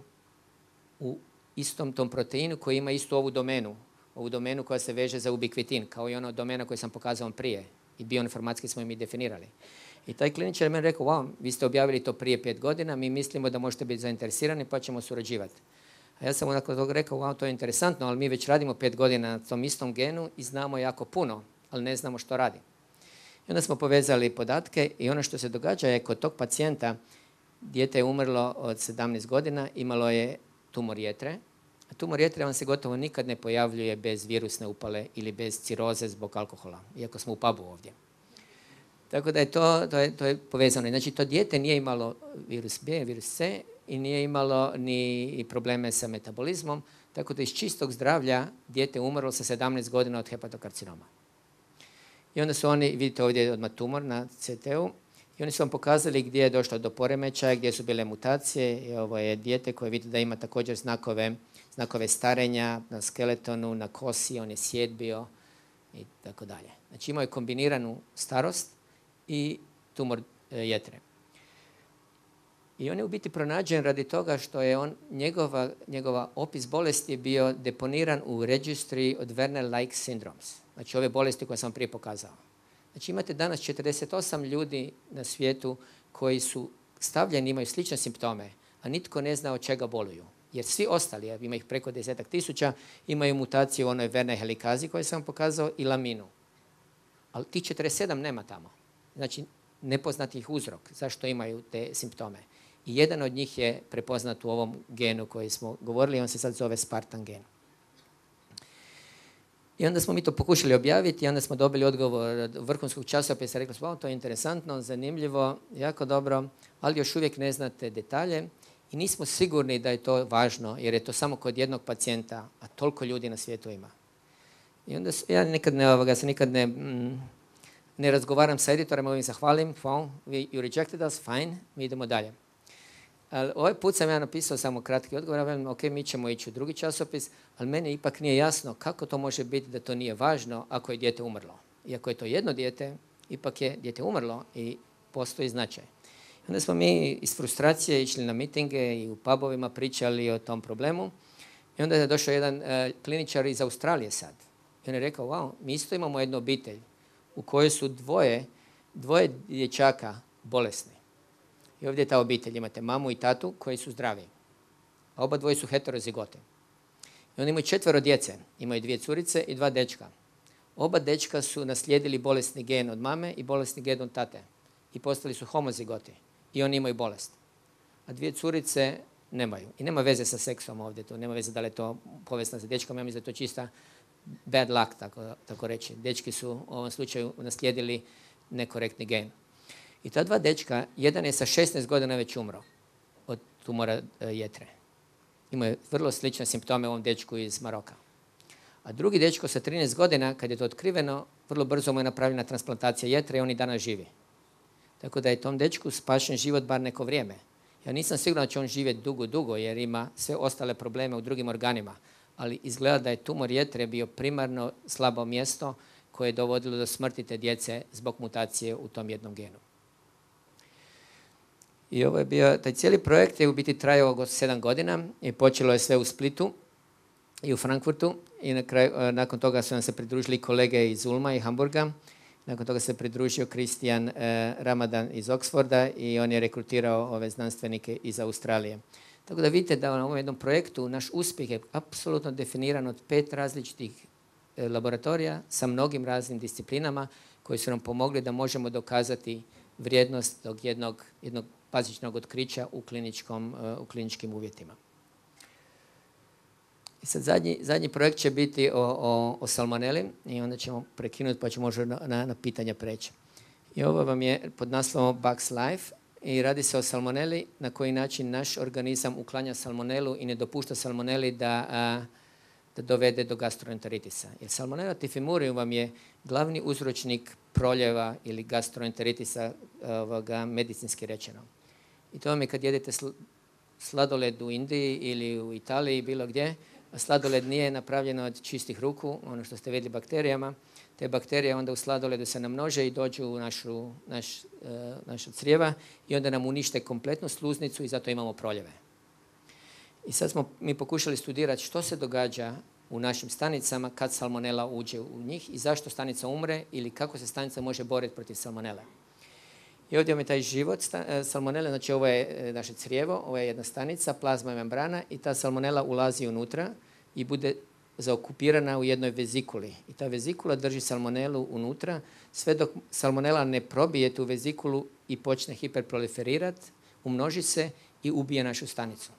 u istom tom proteinu koji ima istu ovu domenu koja se veže za ubikvitin, kao i ona domena koju sam pokazao prije. I bioinformatski smo im i definirali. I taj kliničar je meni rekao, wow, vi ste objavili to prije 5 godina, mi mislimo da možete biti zainteresirani pa ćemo surađivati. A ja sam nakon toga rekao, wow, to je interesantno, ali mi već radimo 5 godina na tom istom genu i znamo jako puno, ali ne znamo što radi. I onda smo povezali podatke i ono što se događa je kod tog pacijenta, dijete je umrlo od 17 godina, imalo je tumor jetre. A tumor jetre vam se gotovo nikad ne pojavljuje bez virusne upale ili bez ciroze zbog alkohola, iako smo u pubu ovdje. Tako da je to je povezano. Znači, to dijete nije imalo virus B, virus C i nije imalo ni probleme sa metabolizmom. Tako da iz čistog zdravlja dijete umrlo sa 17 godina od hepatokarcinoma. I onda su oni, vidite ovdje odmah tumor na CT-u, i oni su vam pokazali gdje je došlo do poremećaja, gdje su bile mutacije. I ovo je dijete koje vidite da ima također znakove starenja na skeletonu, na kosi, on je sjedbio i tako dalje. Znači imao je kombiniranu starost i tumor jetre. I on je u biti pronađen radi toga što je njegova opis bolesti je bio deponiran u Registry of Werner-like syndromes. Znači ove bolesti koje sam vam prije pokazao. Znači imate danas 48 ljudi na svijetu koji su stavljeni, imaju slične simptome, a nitko ne zna od čega boluju. Jer svi ostali, ima ih preko 10.000, imaju mutaciju u onoj Werner helikazi koju sam vam pokazao i laminu. Ali tih 47 nema tamo. Znači nepoznati ih uzrok zašto imaju te simptome. I jedan od njih je prepoznat u ovom genu koji smo govorili, on se sad zove Spartan gen. I onda smo mi to pokušali objaviti i onda smo dobili odgovor od vrhunskog časopisa. Rekli smo, to je interesantno, zanimljivo, jako dobro, ali još uvijek ne znate detalje i nismo sigurni da je to važno jer je to samo kod jednog pacijenta, a toliko ljudi na svijetu ima. I onda ja nikad ne razgovaram sa editorima, ovim zahvalim, you rejected us, fine, mi idemo dalje. Ali ovaj put sam ja napisao samo kratki odgovor, ja velim, ok, mi ćemo ići u drugi časopis, ali meni ipak nije jasno kako to može biti da to nije važno ako je dijete umrlo. Iako je to jedno dijete, ipak je dijete umrlo i postoji značaj. Onda smo mi iz frustracije išli na mitinge i u pubovima pričali o tom problemu. I onda je došao jedan kliničar iz Australije sad. I on je rekao, wow, mi isto imamo jednu obitelj u kojoj su dvoje dječaka bolesni. I ovdje je ta obitelj, imate mamu i tatu koji su zdravi. A oba dvoje su heterozigote. I oni imaju 4 djece, imaju 2 curice i 2 dečka. Oba dečka su naslijedili bolesni gen od mame i bolesni gen od tate. I postali su homozigoti. I oni imaju bolest. A 2 curice nemaju. I nema veze sa seksom ovdje. To nema veze da li je to povezano sa dečkom. Ja mislim da je to čista bad luck, tako reći. Dečki su u ovom slučaju naslijedili nekorektni gen. I ta 2 dečka, jedan je sa 16 godina već umro od tumora jetre. Imao je vrlo slične simptome ovom dečku iz Maroka. A drugi dečko sa 13 godina, kad je to otkriveno, vrlo brzo mu je napravljena transplantacija jetre i on i danas živi. Tako da je tom dečku spašen život bar neko vrijeme. Ja nisam siguran da će on živjeti dugo jer ima sve ostale probleme u drugim organima. Ali izgleda da je tumor jetre bio primarno slabo mjesto koje je dovodilo do smrti te djece zbog mutacije u tom jednom genu. I ovo je bio, taj cijeli projekt je u biti trajao oko 7 godina i počelo je sve u Splitu i u Frankfurtu i nakon toga su nam se pridružili kolege iz Ulma i Hamburga. Nakon toga se pridružio Kristijan Ramadan iz Oxforda i on je rekrutirao ove znanstvenike iz Australije. Tako da vidite da na ovom jednom projektu naš uspjeh je apsolutno definiran od 5 različitih laboratorija sa mnogim raznim disciplinama koji su nam pomogli da možemo dokazati vrijednost tog jednog bazičnog otkrića u kliničkim uvjetima. I sad zadnji projekt će biti o salmoneli i onda ćemo prekinuti pa ćemo možda na pitanja preći. I ovo vam je pod naslovom Bugs Life i radi se o salmoneli, na koji način naš organizam uklanja salmonelu i ne dopušta salmoneli da dovede do gastroenteritisa. Jer Salmonella typhimurium vam je glavni uzročnik proljeva ili gastroenteritisa medicinski rečeno. I to vam je kad jedete sladoled u Indiji ili u Italiji, bilo gdje, a sladoled nije napravljen od čistih ruku, ono što ste vidjeli bakterijama. Te bakterije onda u sladoledu se namnože i dođu u naša crijeva i onda nam unište kompletnu sluznicu i zato imamo proljeve. I sad smo mi pokušali studirati što se događa u našim stanicama kad salmonela uđe u njih i zašto stanica umre ili kako se stanica može boriti protiv salmonele. I ovdje je taj život salmonele, znači ovo je naše crijevo, ovo je jedna stanica, plazma i membrana i ta salmonela ulazi unutra i bude zaokupirana u jednoj vezikuli. I ta vezikula drži salmonelu unutra sve dok salmonela ne probije tu vezikulu i počne hiperproliferirati, umnoži se i ubije našu stanicu.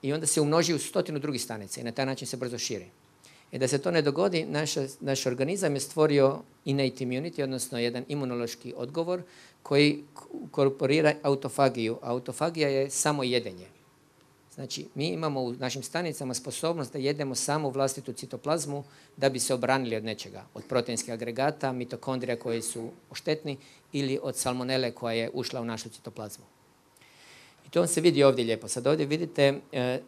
I onda se umnoži u 100 drugih stanica i na taj način se brzo širi. I da se to ne dogodi, naš organizam je stvorio innate immunity, odnosno jedan imunološki odgovor koji korporira autofagiju. Autofagija je samo jedenje. Znači, mi imamo u našim stanicama sposobnost da jedemo samo vlastitu citoplazmu da bi se obranili od nečega, od proteinskih agregata, mitokondrija koji su štetni ili od salmonele koja je ušla u našu citoplazmu. I to vam se vidi ovdje lijepo. Sad ovdje vidite,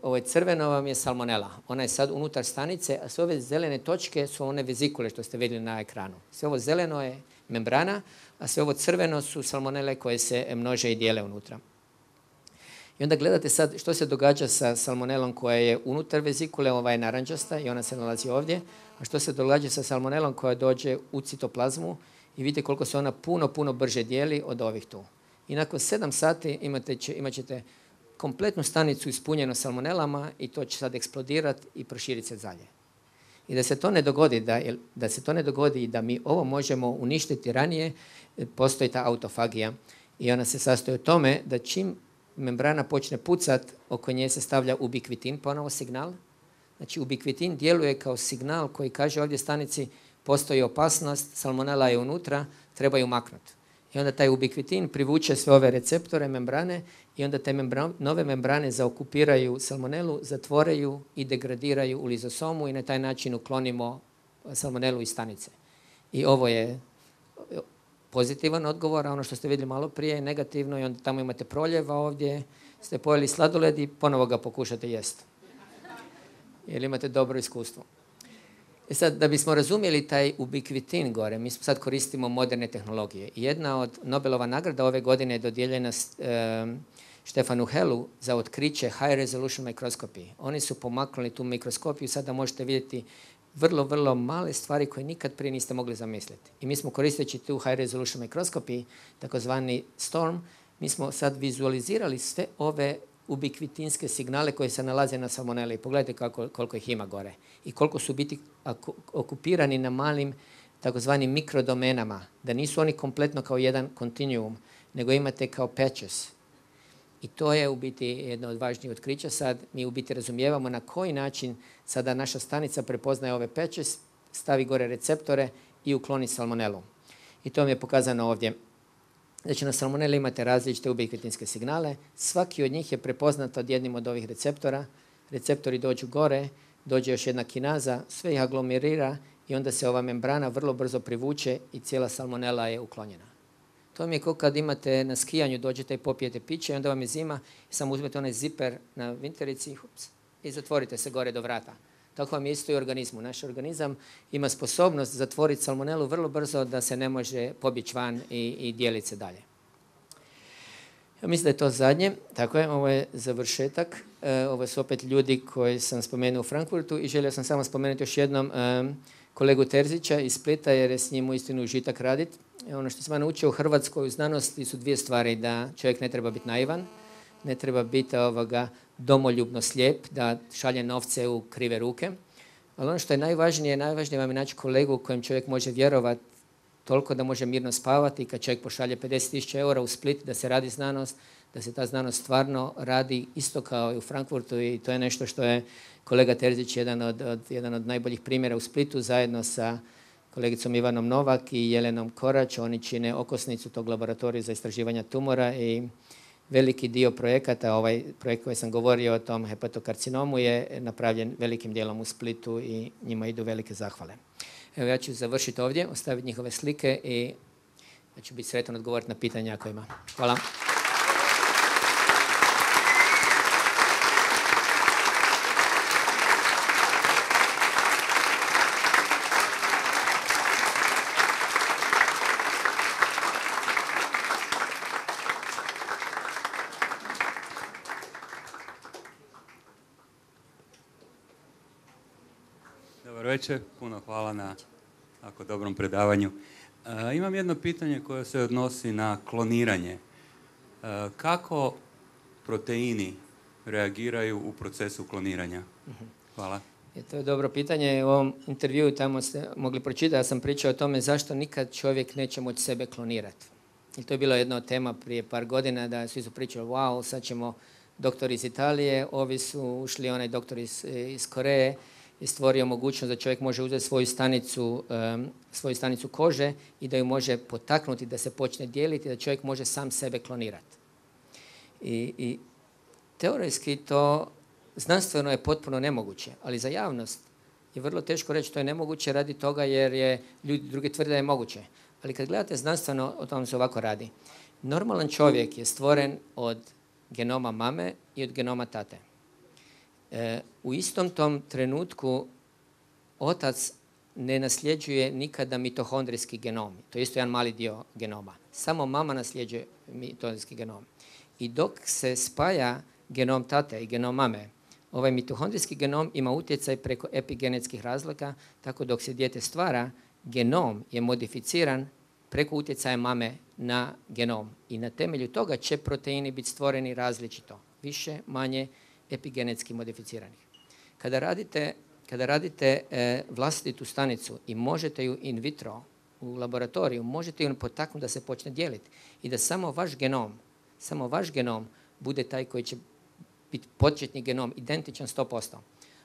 ovo crveno vam je salmonela. Ona je sad unutar stanice, a sve ove zelene točke su one vezikule što ste vidjeli na ekranu. Sve ovo zeleno je membrana, a sve ovo crveno su salmonele koje se množe i dijele unutra. I onda gledate sad što se događa sa salmonelom koja je unutar vezikule, ova je narančasta i ona se nalazi ovdje, a što se događa sa salmonelom koja dođe u citoplazmu i vidite koliko se ona puno brže dijeli od ovih tu. I nakon 7 sati imat ćete kompletnu stanicu ispunjenu salmonelama i to će sad eksplodirati i proširiti se dalje. I da se to ne dogodi i da mi ovo možemo uništiti ranije, postoji ta autofagija i ona se sastoji u tome da čim membrana počne pucat, oko nje se stavlja ubikvitin, ponovo signal. Znači ubikvitin djeluje kao signal koji kaže ovdje stanici postoji opasnost, salmonela je unutra, treba ju maknuti. I onda taj ubikvitin privuče sve ove receptore, membrane i onda te nove membrane zaokupiraju salmonelu, zatvore ju i degradiraju u lizosomu i na taj način uklonimo salmonelu iz stanice. I ovo je pozitivan odgovor, a ono što ste vidjeli malo prije je negativno i onda tamo imate proljeva ovdje, ste pojeli sladoled i ponovo ga pokušate jesti. Jer imate dobro iskustvo. I sad, da bismo razumjeli taj ubikvitin gore, mi sad koristimo moderne tehnologije. Jedna od Nobelova nagrada ove godine je dodijeljena Štefanu Helu za otkriće High Resolution Microscopy. Oni su pomaknuli tu mikroskopiju, sada možete vidjeti vrlo male stvari koje nikad prije niste mogli zamisliti. I mi smo koristeći tu High Resolution Microscopy, takozvani STORM, mi smo sad vizualizirali sve ove ubikvitinske signale koje se nalaze na salmoneli. Pogledajte koliko ih ima gore i koliko su biti okupirani na malim takozvanim mikrodomenama, da nisu oni kompletno kao jedan kontinuum, nego imate kao patches. I to je u biti jedno od važnijih otkrića. Sad mi u biti razumijevamo na koji način sada naša stanica prepoznaje ove patches, stavi gore receptore i ukloni salmonelu. I to mi je pokazano ovdje. Znači na salmoneli imate različite ubikvitinske signale, svaki od njih je prepoznat od jednim od ovih receptora, receptori dođu gore, dođe još jedna kinaza, sve ih aglomerira i onda se ova membrana vrlo brzo privuče i cijela salmonela je uklonjena. To mi je kao kad imate na skijanju, dođete i popijete piće i onda vam je zima i samo uzmete onaj ziper na vinterici i zatvorite se gore do vrata. Tako vam je isto i u organizmu. Naš organizam ima sposobnost zatvoriti salmonelu vrlo brzo da se ne može pobjeći van i dijeliti se dalje. Ja mislim da je to zadnje. Tako je, ovo je završetak. Ovo su opet ljudi koji sam spomenuo u Frankfurtu i želio sam samo spomenuti još jednom kolegu Terzića iz Splita jer je s njim uistinu užitak raditi. Ono što sam ja naučio u Hrvatskoj u znanosti su 2 stvari, da čovjek ne treba biti naivan, ne treba biti domoljubno slijep, da šalje novce u krive ruke. Ali ono što je najvažnije vam je naći kolegu kojem čovjek može vjerovati toliko da može mirno spavati i kad čovjek pošalje 50.000 eura u Split da se radi znanost, da se ta znanost stvarno radi isto kao i u Frankfurtu i to je nešto što je kolega Terzić jedan od najboljih primjera u Splitu zajedno sa kolegicom Ivanom Novak i Jelenom Korać. Oni čine okosnicu tog laboratorija za istraživanje tumora i veliki dio projekata, ovaj projekt koji sam govorio o tom hepatokarcinomu je napravljen velikim dijelom u Splitu i njima idu velike zahvale. Evo ja ću završiti ovdje, ostaviti njihove slike i ja ću biti sretan odgovoriti na pitanja ako ima. Hvala.
Dobar večer, puno hvala na tako dobrom predavanju. Imam jedno pitanje koje se odnosi na kloniranje. Kako proteini reagiraju u procesu kloniranja? Hvala.
To je dobro pitanje. U ovom intervjuu tamo ste mogli pročitati, ja sam pričao o tome zašto nikad čovjek neće moći sebe klonirati. I to je bilo jedna od tema prije par godina da svi su pričali, wow, sad ćemo doktori iz Italije, ovi su ušli, onaj doktor iz Koreje, i stvorio mogućnost da čovjek može uzeti svoju stanicu kože i da ju može potaknuti da se počne dijeliti, da čovjek može sam sebe klonirati. I teoretski to znanstveno je potpuno nemoguće, ali za javnost je vrlo teško reći to je nemoguće radi toga jer je ljudi drugi tvrde da je moguće. Ali kad gledate znanstveno, o tom se ovako radi. Normalan čovjek je stvoren od genoma mame i od genoma tate. U istom tom trenutku otac ne nasljeđuje nikada mitohondrijski genom. To je isto jedan mali dio genoma. Samo mama nasljeđuje mitohondrijski genom. I dok se spaja genom tate i genom mame, ovaj mitohondrijski genom ima utjecaj preko epigenetskih razlika, tako dok se dijete stvara, genom je modificiran preko utjecaja mame na genom. I na temelju toga će proteini biti stvoreni različito, više, manje epigenetski modificiranih. Kada radite vlastitu stanicu i možete ju in vitro u laboratoriju, možete ju potaknuti da se počne dijeliti i da samo vaš genom bude taj koji će biti početni genom, identičan 100%.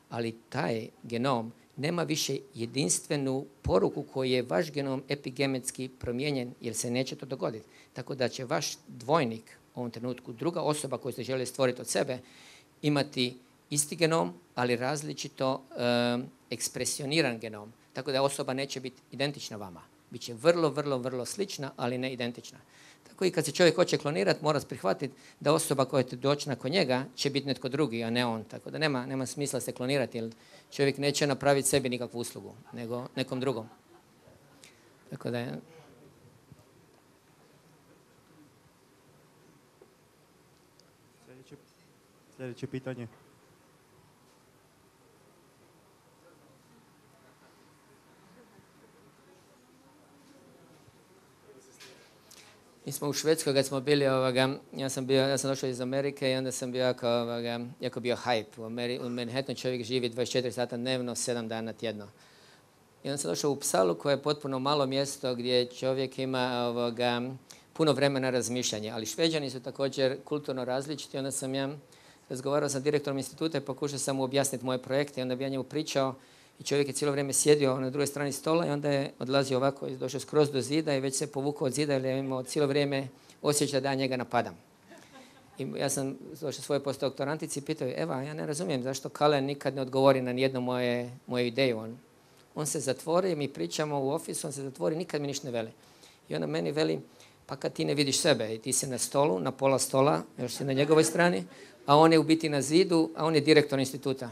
Ali taj genom nema više jedinstvenu poruku koji je vaš genom epigenetski promijenjen jer se neće to dogoditi. Tako da će vaš dvojnik u ovom trenutku, druga osoba koju ste želi stvoriti od sebe, imati isti genom, ali različito ekspresioniran genom. Tako da osoba neće biti identična vama. Biće vrlo, vrlo, vrlo slična, ali ne identična. Tako i kad se čovjek hoće klonirati, mora prihvatiti da osoba koja će doći nakon njega će biti netko drugi, a ne on. Tako da nema smisla se klonirati, jer čovjek neće napraviti sebi nikakvu uslugu, nego nekom drugom. Tako da je...
Sljedeće pitanje.
Mi smo u Švedskoj kad smo bili, ja sam došao iz Amerike i onda sam bio jako bio hype. U Manhattanu čovjek živi 24 sata dnevno, 7 dana tjedno. I onda sam došao u Uppsalu koje je potpuno malo mjesto gdje čovjek ima puno vremena razmišljanja. Ali Šveđani su također kulturno različiti. Onda sam ja razgovarao sa direktorom instituta i pokušao sam mu objasniti moje projekte. I onda bi ja njemu pričao i čovjek je cijelo vrijeme sjedio na drugoj strani stola i onda je odlazio ovako i došao skroz do zida i već se povukao od zida jer je imao cijelo vrijeme osjećaj da ja njega napadam. I ja sam došao svoje postdoktorantici i pitao, Eva, ja ne razumijem zašto Kalen nikad ne odgovori na nijednu moju ideju. On se zatvori, mi pričamo u ofisu, on se zatvori, nikad mi ništa ne veli. I ona meni veli, pa kad ti ne vidiš sebe i ti si na stolu, na pola stola, još si na njegovoj strani, a on je u biti na zidu, a on je direktor instituta.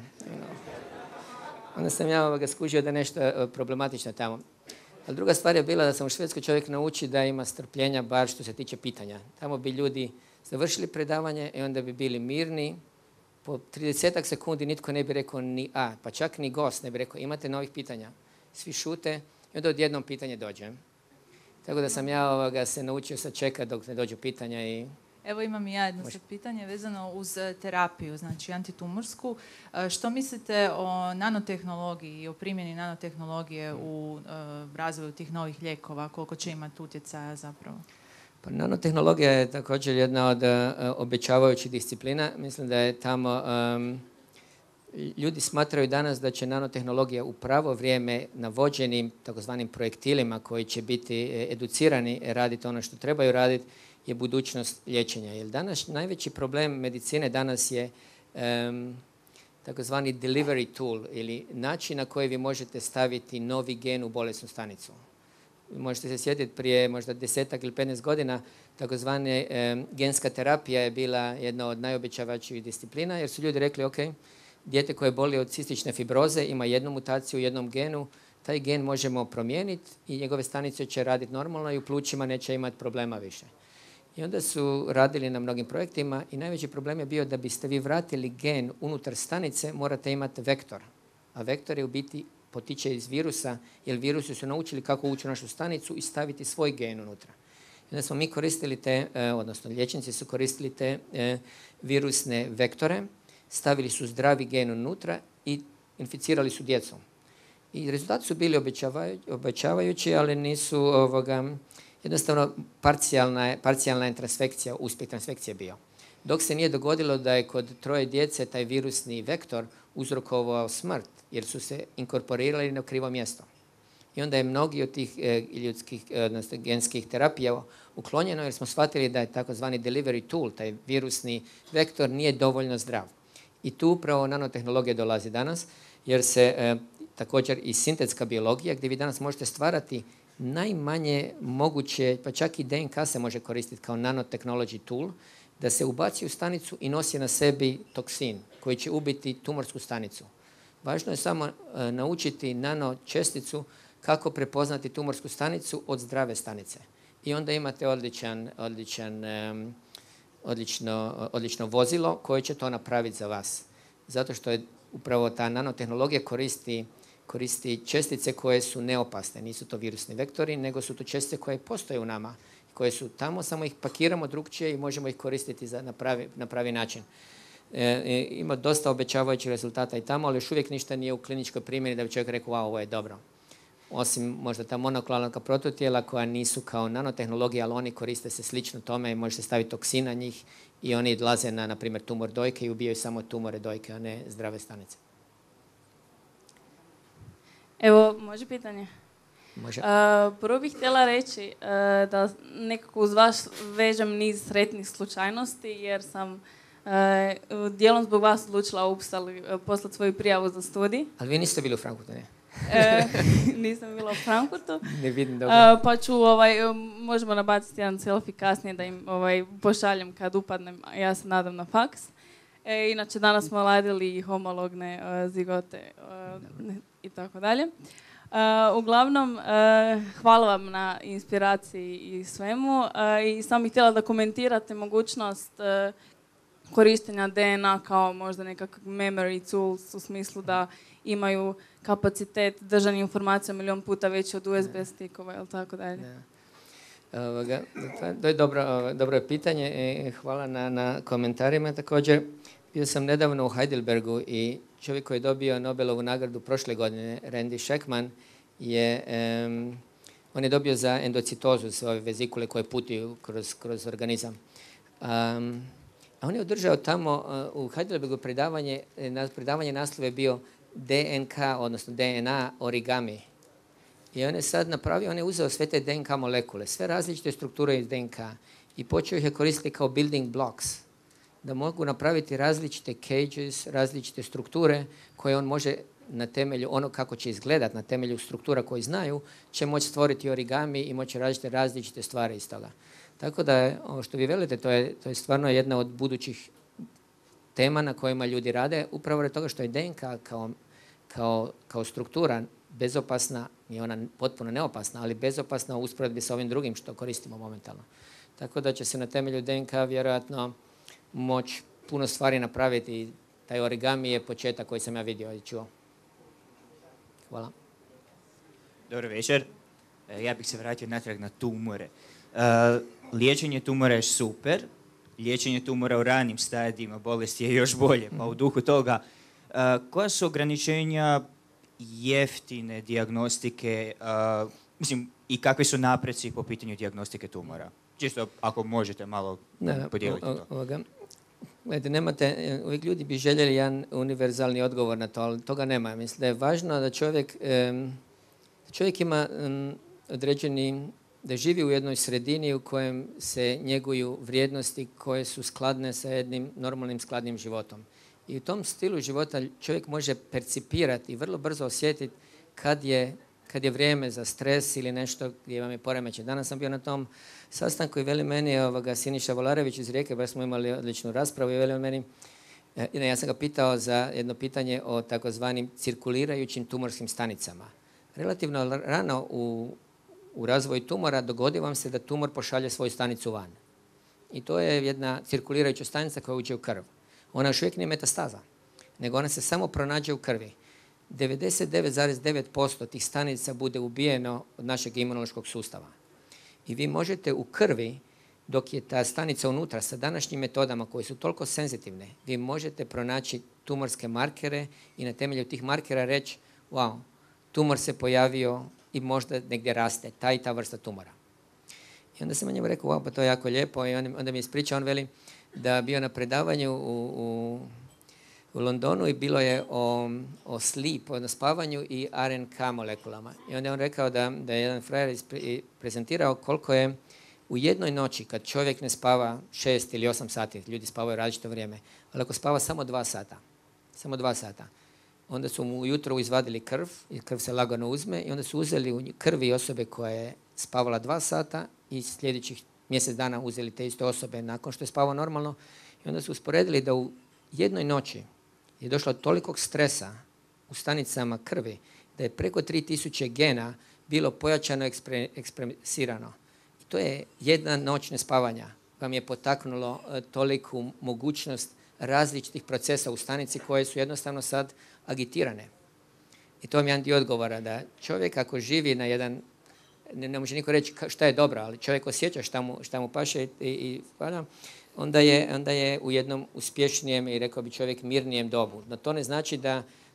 Onda sam ja skužio da je nešto problematično tamo. Ali druga stvar je bila da sam u Švedskoj čovjek nauči da ima strpljenja bar što se tiče pitanja. Tamo bi ljudi završili predavanje i onda bi bili mirni. Po 30 sekundi nitko ne bi rekao ni a, pa čak ni gost ne bi rekao imate novih pitanja. Svi šute i onda odjednom pitanje dođe. Tako da sam ja se naučio sačekati dok ne dođu pitanja i...
Evo imam i ja jedno pitanje vezano uz terapiju, znači antitumorsku. Što mislite o nanotehnologiji i o primjeni nanotehnologije u razvoju tih novih lijekova? Koliko će imati utjecaja zapravo?
Pa nanotehnologija je također jedna od obećavajućih disciplina. Mislim da je tamo... Ljudi smatraju danas da će nanotehnologija u pravo vrijeme na vođenim takozvanim projektilima koji će biti educirani raditi ono što trebaju raditi je budućnost liječenja. Jer danas najveći problem medicine danas je takozvani delivery tool ili način na koji vi možete staviti novi gen u bolesnu stanicu. Možete se sjetiti prije možda 10 ili 15 godina takozvane genska terapija je bila jedna od najobećavajućih disciplina jer su ljudi rekli ok, dijete koje boli od cistične fibroze ima jednu mutaciju u jednom genu, taj gen možemo promijeniti i njegove stanice će raditi normalno i u plućima neće imati problema više. I onda su radili na mnogim projektima i najveći problem je bio da biste vi vratili gen unutar stanice, morate imati vektor. A vektor je u biti potiče iz virusa, jer virusi su naučili kako ući u našu stanicu i staviti svoj gen unutra. I onda smo mi koristili odnosno liječnici su koristili te virusne vektore, stavili su zdravi gen unutra i inficirali su djecom. I rezultati su bili obećavajući, ali nisu jednostavno parcijalna je transfekcija, uspjeh transfekcije bio. Dok se nije dogodilo da je kod 3 djece taj virusni vektor uzrokovao smrt, jer su se inkorporirali na krivo mjesto. I onda je mnogi od tih ljudskih, odnosno genskih terapija uklonjeno jer smo shvatili da je takozvani delivery tool, taj virusni vektor, nije dovoljno zdrav. I tu upravo nanotehnologija dolazi danas, jer se također i sintetska biologija, gdje vi danas možete stvarati najmanje moguće, pa čak i DNK se može koristiti kao nanotechnology tool, da se ubaci u stanicu i nosi na sebi toksin koji će ubiti tumorsku stanicu. Važno je samo naučiti nanočesticu kako prepoznati tumorsku stanicu od zdrave stanice. I onda imate odlično vozilo koje će to napraviti za vas. Zato što je upravo ta nanotehnologija koristi čestice koje su neopasne. Nisu to virusni vektori, nego su to čestice koje postoje u nama, koje su tamo, samo ih pakiramo drugčije i možemo ih koristiti na pravi način. Ima dosta obećavajućih rezultata i tamo, ali još uvijek ništa nije u kliničkoj primjeni da bi čovjek rekao, wow, ovo je dobro. Osim možda ta monoklonalna prototijela koja nisu kao nanotehnologija, ali oni koriste se slično tome i može se staviti toksin na njih i oni odlaze na primjer, tumor dojke i ubijaju samo tumore dojke, a ne zdrave stanice.
Evo, može pitanje?
Može.
Prvo bih htjela reći da nekako uz vas vežem niz sretnih slučajnosti jer sam dijelom zbog vas odlučila u Uppsali poslati svoju prijavu za studij.
Ali vi niste bili u Frankfurtu, ne?
Nisam bila u Frankfurtu.
Ne vidim dobro.
Pa ću, možemo nabaciti jedan selfie kasnije da im pošaljem kad upadnem. Ja se nadam na faks. Inače, danas smo radili homologne zigote i tako dalje. Uglavnom, hvala vam na inspiraciji i svemu. I sam bih htjela da komentirate mogućnost korištenja DNA kao možda nekakav memory tools u smislu da imaju kapacitet držanja informacija milion puta veći od USB stikova ili tako dalje.
To je dobro pitanje. Hvala na komentarima. Također, bio sam nedavno u Heidelbergu i čovjek koji je dobio Nobelovu nagradu prošle godine, Randy Sheckman, on je dobio za endocitozu, sve ove vezikule koje putuju kroz organizam. A on je održao tamo u Heidelbergu predavanje naslov je bio DNK, odnosno DNA origami. I on je sad napravio, on je uzeo sve te DNK molekule, sve različite strukture iz DNK i počeo ih je koristiti kao building blocks, da mogu napraviti različite cages, različite strukture koje on može na temelju ono kako će izgledat, na temelju struktura koji znaju, će moći stvoriti origami i moći raditi različite stvari iz toga. Tako da, ovo što vi velite, to je stvarno jedna od budućih tema na kojima ljudi rade, upravo radi toga što je DNK kao struktura bezopasna, nije ona potpuno neopasna, ali bezopasna u usporedbi sa ovim drugim što koristimo momentalno. Tako da će se na temelju DNK vjerojatno moći puno stvari napraviti i taj origami je početak koji sam ja vidio i čuo. Hvala.
Dobro večer. Ja bih se vratio natrag na tumore. Liječenje tumora je super. Liječenje tumora u ranim stadijima bolesti je još bolje. Pa u duhu toga, koja su ograničenja jeftine dijagnostike, i kakvi su napreci po pitanju dijagnostike tumora? Čisto ako možete malo podijeliti to.
Gledajte, nemate, uvijek ljudi bi željeli jedan univerzalni odgovor na to, ali toga nema. Mislim da je važno da čovjek ima određeni, da živi u jednoj sredini u kojem se njeguju vrijednosti koje su skladne sa jednim normalnim skladnim životom. I u tom stilu života čovjek može percipirati i vrlo brzo osjetiti kad je vrijeme za stres ili nešto gdje vam je poremećaj. Danas sam bio na tom sastanku i veli meni Siniša Volarević iz Rijeke, baš smo imali odličnu raspravu i veli meni, ja sam ga pitao za jedno pitanje o takozvanim cirkulirajućim tumorskim stanicama. Relativno rano u razvoju tumora dogodi vam se da tumor pošalje svoju stanicu van. I to je jedna cirkulirajuća stanica koja uđe u krv. Ona još uvijek nije metastaza, nego ona se samo pronađe u krvi. 99,9% tih stanica bude ubijeno od našeg imunološkog sustava. I vi možete u krvi, dok je ta stanica unutra sa današnjim metodama koje su toliko senzitivne, vi možete pronaći tumorske markere i na temelju tih markera reći wow, tumor se pojavio i možda negdje raste, ta i ta vrsta tumora. I onda sam njemu rekao, wow, pa to je jako lijepo. I onda mi je ispričao, on veli da bio na predavanju u Londonu i bilo je o sleep, o spavanju i RNK molekulama. I onda je on rekao da je jedan frajer prezentirao koliko je u jednoj noći, kad čovjek ne spava 6 ili 8 sati, ljudi spavaju različito vrijeme, ali ako spava samo 2 sata, samo 2 sata. Onda su mu ujutro izvadili krv, i krv se lagano uzme, i onda su uzeli u krvi osobe koja je spavala 2 sata i sljedećih mjesec dana uzeli te iste osobe nakon što je spavao normalno, i onda su usporedili da u jednoj noći je došlo do tolikog stresa u stanicama krvi da je preko 3000 gena bilo pojačano ekspresirano. I to je jedna noć nespavanja vam je potaknulo toliku mogućnost različitih procesa u stanici koje su jednostavno sad agitirane. I to vam je jedan dio odgovora, da čovjek ako živi na jedan, ne može niko reći šta je dobro, ali čovjek osjeća šta mu paše i onda je u jednom uspješnijem i rekao bi čovjek mirnijem dobu. No to ne znači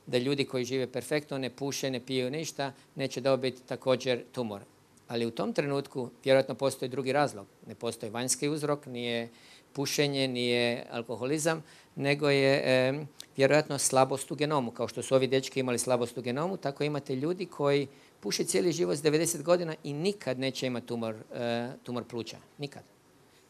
da ljudi koji žive perfektno, ne puše, ne piju ništa, neće dobiti također tumor. Ali u tom trenutku vjerojatno postoji drugi razlog. Ne postoji vanjski uzrok, nije pušenje, nije alkoholizam, nego je vjerojatno slabost u genomu. Kao što su ovi dečki imali slabost u genomu, tako imate ljudi koji puše cijeli život s 90 godina i nikad neće imati tumor pluća. Nikad.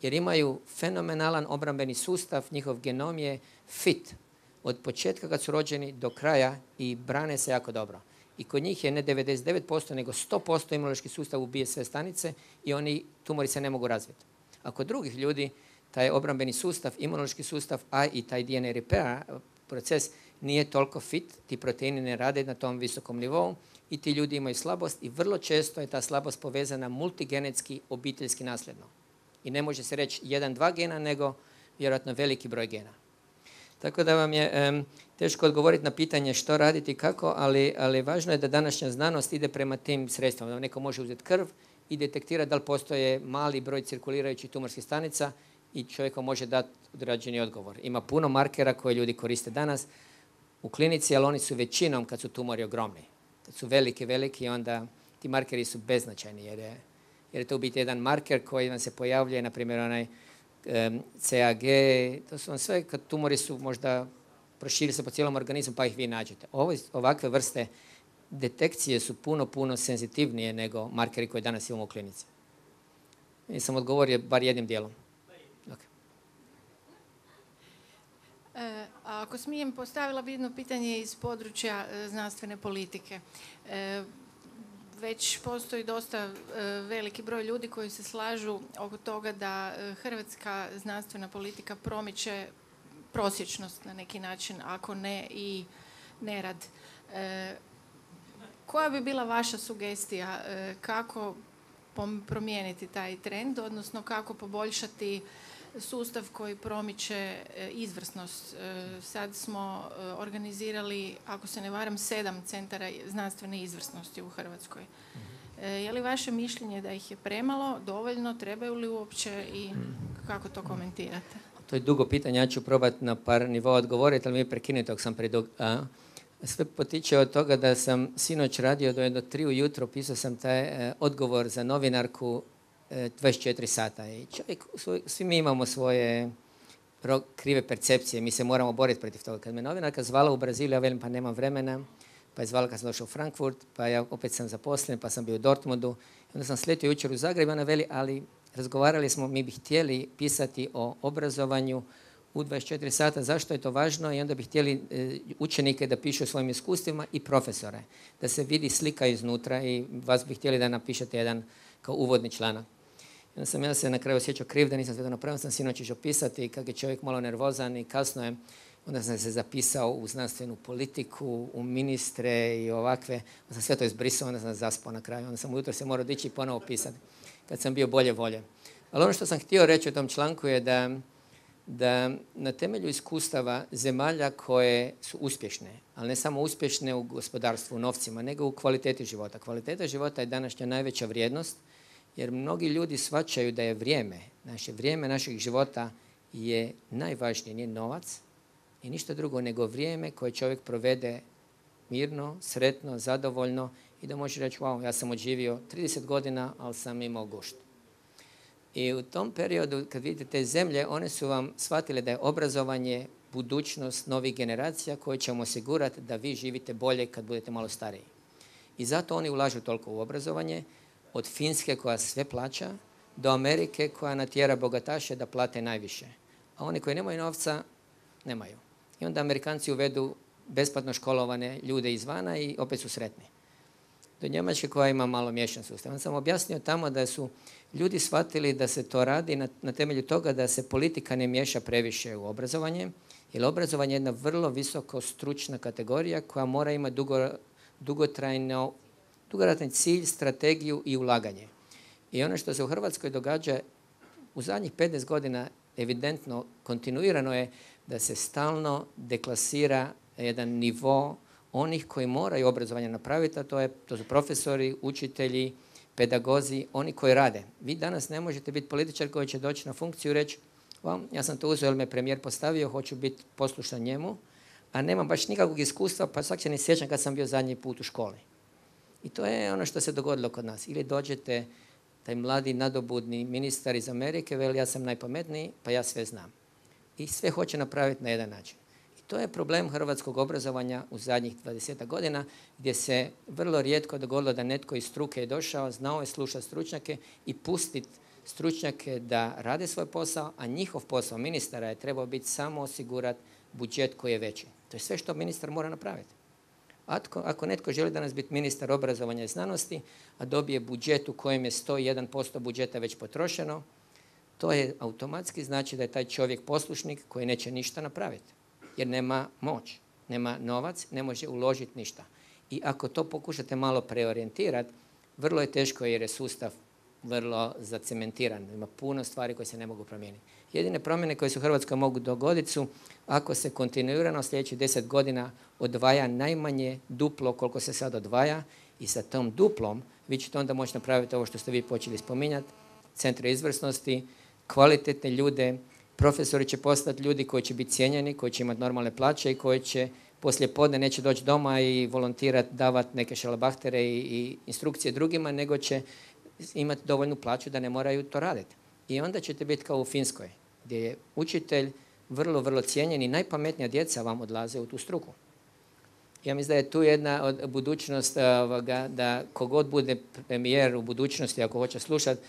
Jer imaju fenomenalan obrambeni sustav, njihov genom je fit. Od početka kad su rođeni do kraja i brane se jako dobro. I kod njih je ne 99%, nego 100% imunološki sustav ubije sve stanice i oni tumori se ne mogu razviti. A kod drugih ljudi taj obrambeni sustav, imunološki sustav, a i taj DNA repair proces nije toliko fit, ti proteini ne rade na tom visokom nivou i ti ljudi imaju slabost i vrlo često je ta slabost povezana multigenetski, obiteljski nasljedno. I ne može se reći 1-2 gena, nego vjerojatno veliki broj gena. Tako da vam je teško odgovoriti na pitanje što raditi i kako, ali važno je da današnja znanost ide prema tim sredstvima. Da neko može uzeti krv i detektirati da li postoje mali broj cirkulirajućih tumorskih stanica i čovjeku može dati određeni odgovor. Ima puno markera koje ljudi koriste danas u klinici, ali oni su većinom kad su tumori ogromni. Kad su veliki, onda ti markeri su beznačajni jer je to u biti jedan marker koji vam se pojavljuje, na primjer onaj CAG, to su vam sve kad tumori su možda proširi se po cijelom organizmu pa ih vi nađete. Ovakve vrste detekcije su puno senzitivnije nego markeri koje danas imamo u klinici. Nisam odgovorio bar jednim dijelom. Okay.
Ako smijem, postavila bi jedno pitanje iz područja znanstvene politike. Već postoji dosta veliki broj ljudi koji se slažu oko toga da hrvatska znanstvena politika promiče prosječnost na neki način, ako ne i nerad. Koja bi bila vaša sugestija kako promijeniti taj trend, odnosno kako poboljšati sustav koji promiče izvrsnost? Sad smo organizirali, ako se ne varam, 7 centara znanstvene izvrsnosti u Hrvatskoj. Je li vaše mišljenje da ih je premalo, dovoljno, trebaju li uopće i kako to komentirate?
To je dugo pitanje, ja ću probati na par nivoa odgovoriti, ali mi prekinuti ako sam predug. Sve potiče od toga da sam sinoć radio do 3 ujutro, pisao sam taj odgovor za novinarku 24 sata. I čovjek, svi mi imamo svoje krive percepcije, mi se moramo boriti protiv toga. Kad me novinarka zvala u Brazilu, ja velim pa nemam vremena, pa je zvala kad sam došao u Frankfurt, pa ja opet sam zaposlen, pa sam bio u Dortmundu. Onda sam sletio jučer u Zagreb, ona veli, ali razgovarali smo, mi bi htjeli pisati o obrazovanju u 24 sata, zašto je to važno, i onda bi htjeli učenike da pišu o svojim iskustvima i profesore, da se vidi slika iznutra i vas bi htjeli da napišete jedan kao uvodni članak. Onda sam ja se na kraju osjećao kriv da nisam sve to napravio, sam sinoć išao pisati i kako je čovjek malo nervozan i kasno je, onda sam se zapisao u znanstvenu politiku, u ministre i ovakve, onda sam sve to izbrisao, onda sam zaspao na kraju, onda sam ujutro se morao dići i ponovo pisati kad sam bio bolje volje. Ali ono što sam htio reći u tom članku je da na temelju iskustava zemalja koje su uspješne, ali ne samo uspješne u gospodarstvu, u novcima, nego u kvaliteti života. Kvaliteta života je današnja najveća vrijednost, jer mnogi ljudi shvaćaju da je vrijeme našeg života je najvažnije, nije novac i ništa drugo nego vrijeme koje čovjek provede mirno, sretno, zadovoljno i da može reći, wow, ja sam odživio 30 godina, ali sam imao gušt. I u tom periodu, kad vidite te zemlje, one su vam shvatile da je obrazovanje budućnost novih generacija koje će vam osigurati da vi živite bolje kad budete malo stariji. I zato oni ulažu toliko u obrazovanje, od Finske koja sve plaća, do Amerike koja natjera bogataše da plate najviše. A oni koji nemaju novca, nemaju. I onda Amerikanci uvedu besplatno školovane ljude izvana i opet su sretni. Do Njemačke koja ima malo miješan sustav. On sam objasnio tamo da su ljudi shvatili da se to radi na temelju toga da se politika ne miješa previše u obrazovanje, jer obrazovanje je jedna vrlo visoko stručna kategorija koja mora imati dugotrajni cilj, strategiju i ulaganje. I ono što se u Hrvatskoj događa u zadnjih 15 godina evidentno, kontinuirano je da se stalno deklasira jedan nivo onih koji moraju obrazovanje napraviti, a to su profesori, učitelji, pedagozi, oni koji rade. Vi danas ne možete biti političar koji će doći na funkciju i reći ja sam to uzeo jer me premijer postavio, hoću biti poslušan njemu, a nemam baš nikakvog iskustva, pa svak se ne sjećam kad sam bio zadnji put u školi. I to je ono što se dogodilo kod nas. Ili dođete, taj mladi nadobudni ministar iz Amerike, veli ja sam najpametniji, pa ja sve znam. I sve hoće napraviti na jedan način. I to je problem hrvatskog obrazovanja u zadnjih 20 godina, gdje se vrlo rijetko dogodilo da netko iz struke je došao, znao je slušati stručnjake i pustiti stručnjake da rade svoj posao, a njihov posao ministara je trebao biti samo osigurati budžet koji je veći. To je sve što ministar mora napraviti. Ako netko želi danas biti ministar obrazovanja i znanosti, a dobije budžet u kojem je 101% budžeta već potrošeno, to je automatski znači da je taj čovjek poslušnik koji neće ništa napraviti. Jer nema moć, nema novac, ne može uložiti ništa. I ako to pokušate malo preorijentirati, vrlo je teško jer je sustav vrlo zacementiran. Ima puno stvari koje se ne mogu promijeniti. Jedine promjene koje se u Hrvatskoj mogu dogoditi su ako se kontinuirano sljedećih 10 godina odvaja najmanje duplo koliko se sad odvaja i sa tom duplom vi ćete onda moći napraviti ovo što ste vi počeli spominjati, centre izvrsnosti, kvalitetne ljude, profesori će postati ljudi koji će biti cijenjeni, koji će imati normalne plaće i koji će poslije podne neće doći doma i volontirati, davati neke šalabahtere i instrukcije drugima, nego će imati dovoljnu plaću da ne moraju to raditi. I onda ćete biti kao u Finskoj, gdje je učitelj vrlo, vrlo cijenjen i najpametnija djeca vam odlaze u tu struku. Ja mislim da je tu jedna od budućnost da kogod bude premijer u budućnosti, ako hoće slušati,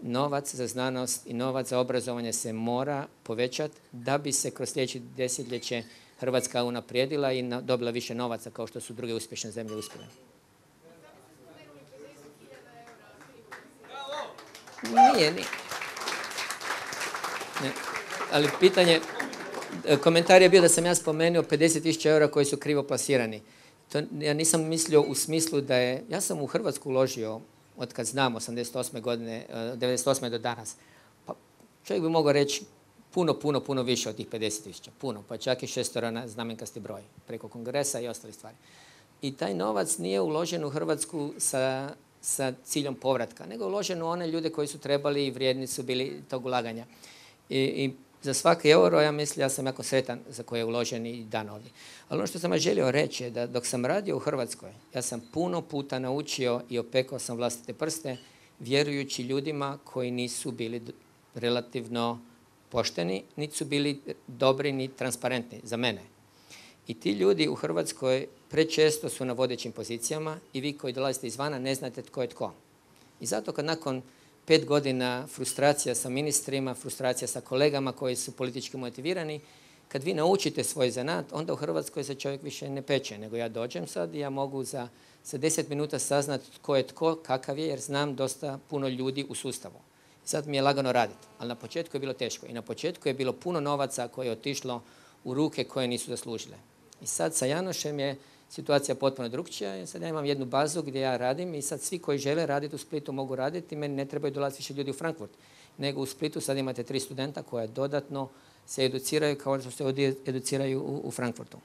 novac za znanost i novac za obrazovanje se mora povećati da bi se kroz sljedeće desetljeće Hrvatska unaprijedila i dobila više novaca kao što su druge uspješne zemlje uspjele. Nije. Ne. Ali pitanje, komentar je bio da sam ja spomenuo 50.000 eura koji su krivo plasirani. To ja nisam mislio u smislu da je, ja sam u Hrvatsku uložio od kad znam 88. godine, 98. do danas. Pa čovjek bi mogao reći puno više od tih 50.000. Puno, pa čak i 6 znamenkasti broj preko kongresa i ostali stvari. I taj novac nije uložen u Hrvatsku sa ciljom povratka, nego uložen u one ljude koji su trebali i vrijedni su bili tog ulaganja. I za svaki euro, ja sam jako sretan za koje je uložen i dan ovdje. Ali ono što sam želio reći je da dok sam radio u Hrvatskoj, ja sam puno puta naučio i opekao sam vlastite prste, vjerujući ljudima koji nisu bili relativno pošteni, niti su bili dobri ni transparentni za mene. I ti ljudi u Hrvatskoj prečesto su na vodećim pozicijama i vi koji dolazite izvana ne znate tko je tko. I zato kad nakon 5 godina frustracija sa ministrima, frustracija sa kolegama koji su politički motivirani, kad vi naučite svoj zanat, onda u Hrvatskoj se čovjek više ne peče, nego ja dođem sad i ja mogu za 10 minuta saznati tko je tko, kakav je, jer znam dosta puno ljudi u sustavu. I sad mi je lagano raditi, ali na početku je bilo teško. I na početku je bilo puno novaca koje je otišlo u ruke koje nisu zaslužile. I sad sa Janošem je situacija potpuno drukčija. Sad ja imam jednu bazu gdje ja radim i sad svi koji žele raditi u Splitu mogu raditi. Meni ne trebaju dolaziti više ljudi u Frankfurt. Nego u Splitu sad imate 3 studenta koja dodatno se educiraju kao što se educiraju u Frankfurtu.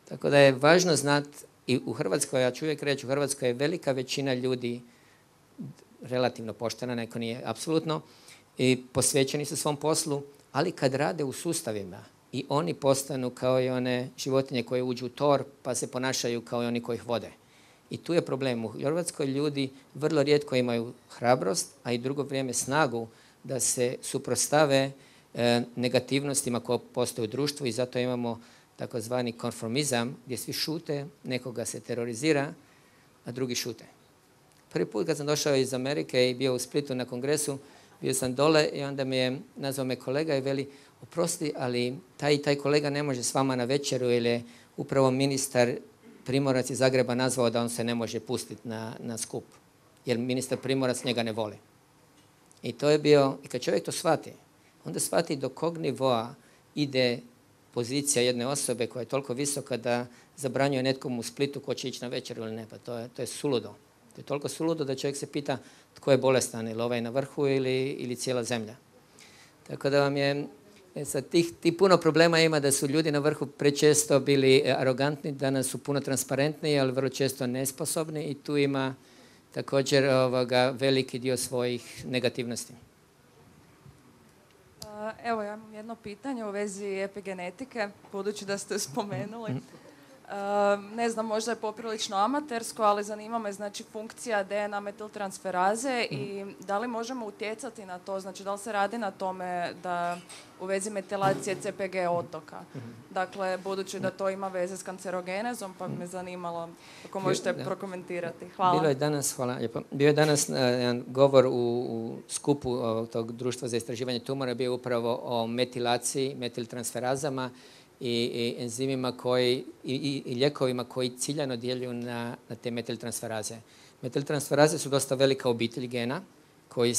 Tako da je važno znati i u Hrvatskoj, ja ću uvijek reći, u Hrvatskoj je velika većina ljudi relativno poštena, neko nije apsolutno, i posvećeni su svom poslu, ali kad rade u sustavima i oni postanu kao i one životinje koje uđu u tor pa se ponašaju kao i oni koji ih vode. I tu je problem. U Hrvatskoj ljudi vrlo rijetko imaju hrabrost, a i drugo vrijeme snagu da se suprotstave negativnostima koje postoje u društvu i zato imamo takozvani konformizam gdje svi šute, nekoga se terorizira, a drugi šute. Prvi put kad sam došao iz Amerike i bio u Splitu na kongresu, Bio sam dole i onda mi je nazvao me kolega i veli, oprosti, ali taj kolega ne može s vama na večeru jer je upravo ministar Primorac iz Zagreba nazvao da on se ne može pustiti na skup. Jer ministar Primorac njega ne voli. I to je bio, i kad čovjek to shvati, onda shvati do kog nivoa ide pozicija jedne osobe koja je toliko visoka da zabranjuje netkom u Splitu ko će ići na večeru ili ne. Pa to je suludo. To je toliko suludo da čovjek se pita tko je bolestan, ili ovaj na vrhu ili cijela zemlja. Tako da vam je, sad tih puno problema ima da su ljudi na vrhu prečesto bili arogantni, danas su puno transparentni, ali vrlo često nesposobni i tu ima također veliki dio svojih negativnosti.
Evo, ja imam jedno pitanje u vezi epigenetike, budući da ste spomenuli. Ne znam, možda je poprilično amatersko, ali zanima me znači funkcija DNA metiltransferaze i da li možemo utjecati na to, znači da li se radi na tome da u vezi metilacije CPG otoka. Dakle, budući da to ima veze s kancerogenezom, pa bi me zanimalo ako možete prokomentirati. Hvala.
Bio je danas jedan govor u skupu tog društva za istraživanje tumora, bio upravo o metilaciji, metiltransferazama i enzimima i lijekovima koji ciljano djeluju na te metiltransferaze. Metiltransferaze su dosta velika obitelj gena koji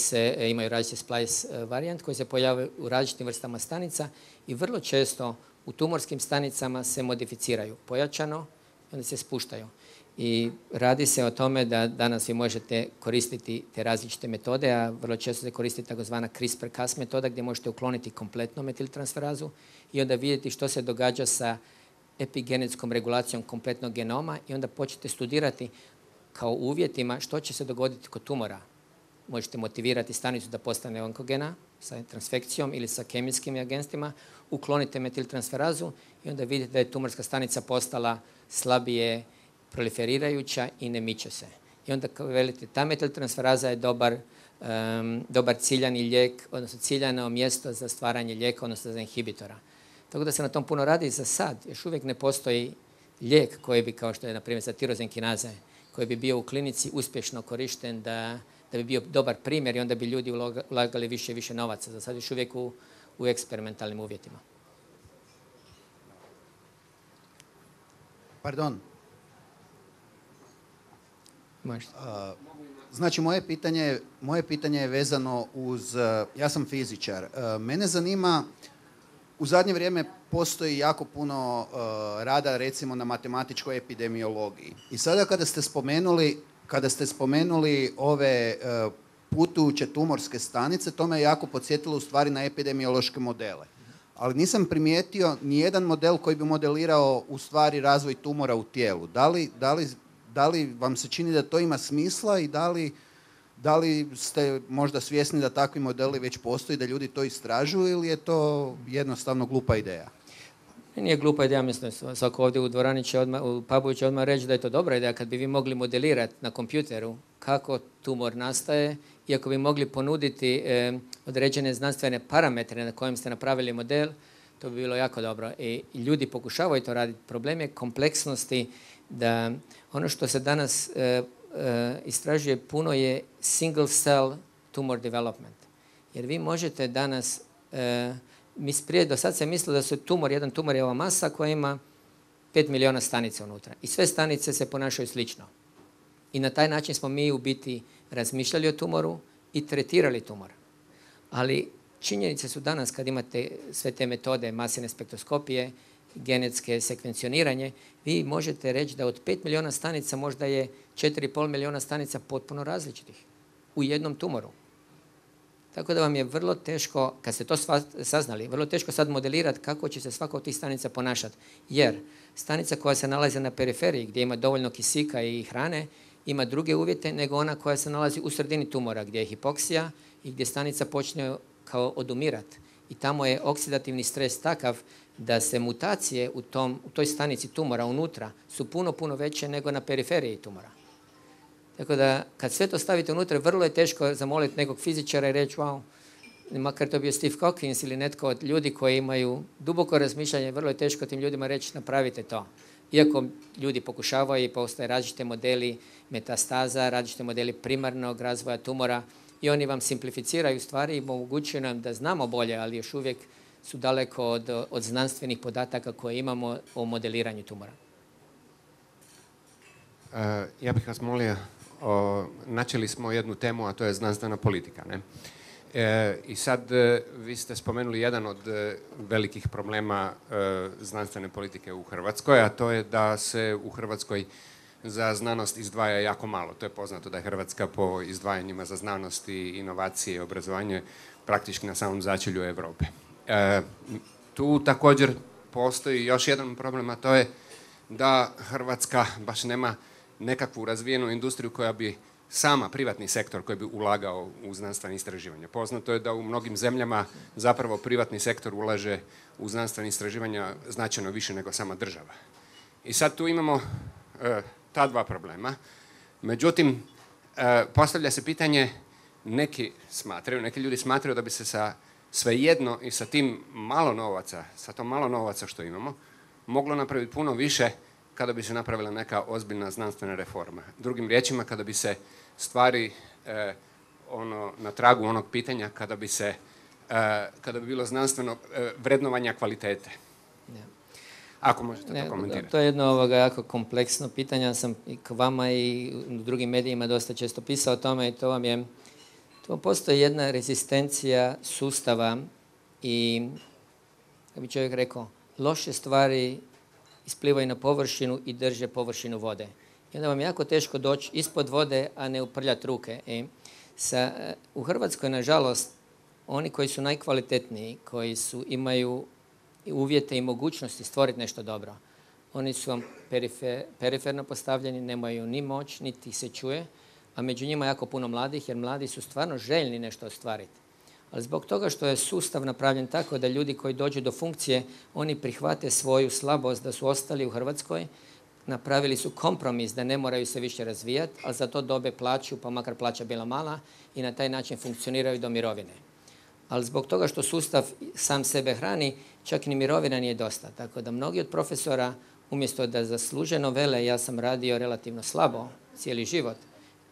imaju različite splice varijant, koji se pojavaju u različitim vrstama stanica i vrlo često u tumorskim stanicama se modificiraju pojačano i onda se spuštaju. I radi se o tome da danas vi možete koristiti te različite metode, a vrlo često se koristi takozvana CRISPR-Cas metoda gdje možete ukloniti kompletno metiltransferazu i onda vidjeti što se događa sa epigenetskom regulacijom kompletnog genoma i onda počnete studirati kao uvjetima što će se dogoditi kod tumora. Možete motivirati stanicu da postane onkogena sa transfekcijom ili sa kemijskim agentima, uklonite metiltransferazu i onda vidite da je tumorska stanica postala slabije proliferirajuća i ne miče se. I onda kao velite, ta metiltransferaza je dobar ciljani lijek, odnosno ciljano mjesto za stvaranje lijeka, odnosno za inhibitora. Tako da se na tom puno radi. Za sad još uvijek ne postoji lijek koji bi, kao što je na primjer za tirozenkinaze, koji bi bio u klinici uspješno korišten da bi bio dobar primjer i onda bi ljudi ulagali više i više novaca. Za sad još uvijek u eksperimentalnim uvjetima.
Pardon.
Možete.
Znači, moje pitanje je vezano uz, ja sam fizičar, mene zanima, u zadnje vrijeme postoji jako puno rada recimo na matematičkoj epidemiologiji. I sada kada ste spomenuli ove putujuće tumorske stanice, to me jako podsjetilo u stvari na epidemiološke modele. Ali nisam primijetio nijedan model koji bi modelirao u stvari razvoj tumora u tijelu. Da li vam se čini da to ima smisla i da li ste možda svjesni da takvi modeli već postoji, da ljudi to istražuju ili je to jednostavno glupa ideja?
Nije glupa ideja, mislim, svako ovdje u dvorani će u pubu će odmah reći da je to dobra ideja kad bi vi mogli modelirati na kompjuteru kako tumor nastaje i ako bi mogli ponuditi određene znanstvene parametre na kojem ste napravili model, to bi bilo jako dobro. I ljudi pokušavaju to raditi. Problem je kompleksnosti da ono što se danas istražuje puno je single cell tumor development. Jer vi možete danas, prije do sad se mislilo da su jedan tumor je ova masa koja ima 5 milijuna stanica unutra. I sve stanice se ponašaju slično. I na taj način smo mi u biti razmišljali o tumoru i tretirali tumor. Ali činjenice su danas kad imate sve te metode masivne spektroskopije, genetske sekvencioniranje, vi možete reći da od 5 milijuna stanica možda je 4,5 milijuna stanica potpuno različitih u jednom tumoru. Tako da vam je vrlo teško, kad ste to saznali, vrlo teško sad modelirati kako će se svaka od tih stanica ponašati. Jer stanica koja se nalazi na periferiji gdje ima dovoljno kisika i hrane, ima druge uvjete nego ona koja se nalazi u sredini tumora gdje je hipoksija i gdje stanica počne kao odumirati. I tamo je oksidativni stres takav da se mutacije u toj stanici tumora unutra su puno veće nego na periferiji tumora. Tako da kad sve to stavite unutra, vrlo je teško zamoliti nekog fizičara i reći wow, makar to bio Steve Hawkins ili netko od ljudi koji imaju duboko razmišljanje, vrlo je teško tim ljudima reći napravite to. Iako ljudi pokušavaju i postoje različite modeli metastaza, različite modeli primarnog razvoja tumora i oni vam simplificiraju stvari i omogućuju nam da znamo bolje, ali još uvijek su daleko od znanstvenih podataka koje imamo o modeliranju tumora.
Ja bih vas molio, načeli smo jednu temu, a to je znanstvena politika. Ne? I sad vi ste spomenuli jedan od velikih problema znanstvene politike u Hrvatskoj, a to je da se u Hrvatskoj za znanost izdvaja jako malo. To je poznato da je Hrvatska po izdvajanjima za znanost i inovacije i obrazovanje praktički na samom začelju Europe. Tu također postoji još jedan problem, a to je da Hrvatska baš nema nekakvu razvijenu industriju koja bi sama, privatni sektor koji bi ulagao u znanstvene istraživanja. Poznato je da u mnogim zemljama zapravo privatni sektor ulaže u znanstvene istraživanja značajno više nego sama država. I sad tu imamo ta dva problema. Međutim, postavlja se pitanje, neki ljudi smatraju da bi se sa svejedno i sa tim malo novaca, sa tom malo novaca što imamo, moglo napraviti puno više kada bi se napravila neka ozbiljna znanstvena reforma. Drugim riječima, kada bi se stvari na tragu onog pitanja, kada bi bilo znanstveno vrednovanja kvalitete. Ako možete to komentirati.
To je jedno jako kompleksno pitanje. Ja sam i k vama i u drugim medijima dosta često pisao o tome i to postoji jedna rezistencija sustava i, kako bi čovjek rekao, loše stvari isplivaju na površinu i drže površinu vode. I onda vam je jako teško doći ispod vode, a ne uprljati ruke. U Hrvatskoj, nažalost, oni koji su najkvalitetniji, koji imaju uvjete i mogućnosti stvoriti nešto dobro, oni su vam periferno postavljeni, nemaju ni moć, niti se čuje, a među njima jako puno mladih, jer mladi su stvarno željni nešto ostvariti. Ali zbog toga što je sustav napravljen tako da ljudi koji dođu do funkcije, oni prihvate svoju slabost da su ostali u Hrvatskoj, napravili su kompromis da ne moraju se više razvijati, ali za to dobe plaću, pa makar plaća bila mala, i na taj način funkcioniraju do mirovine. Ali zbog toga što sustav sam sebe hrani, čak ni mirovina nije dosta. Tako da mnogi od profesora, umjesto da zasluženo vele, ja sam radio relativno slabo cijeli život,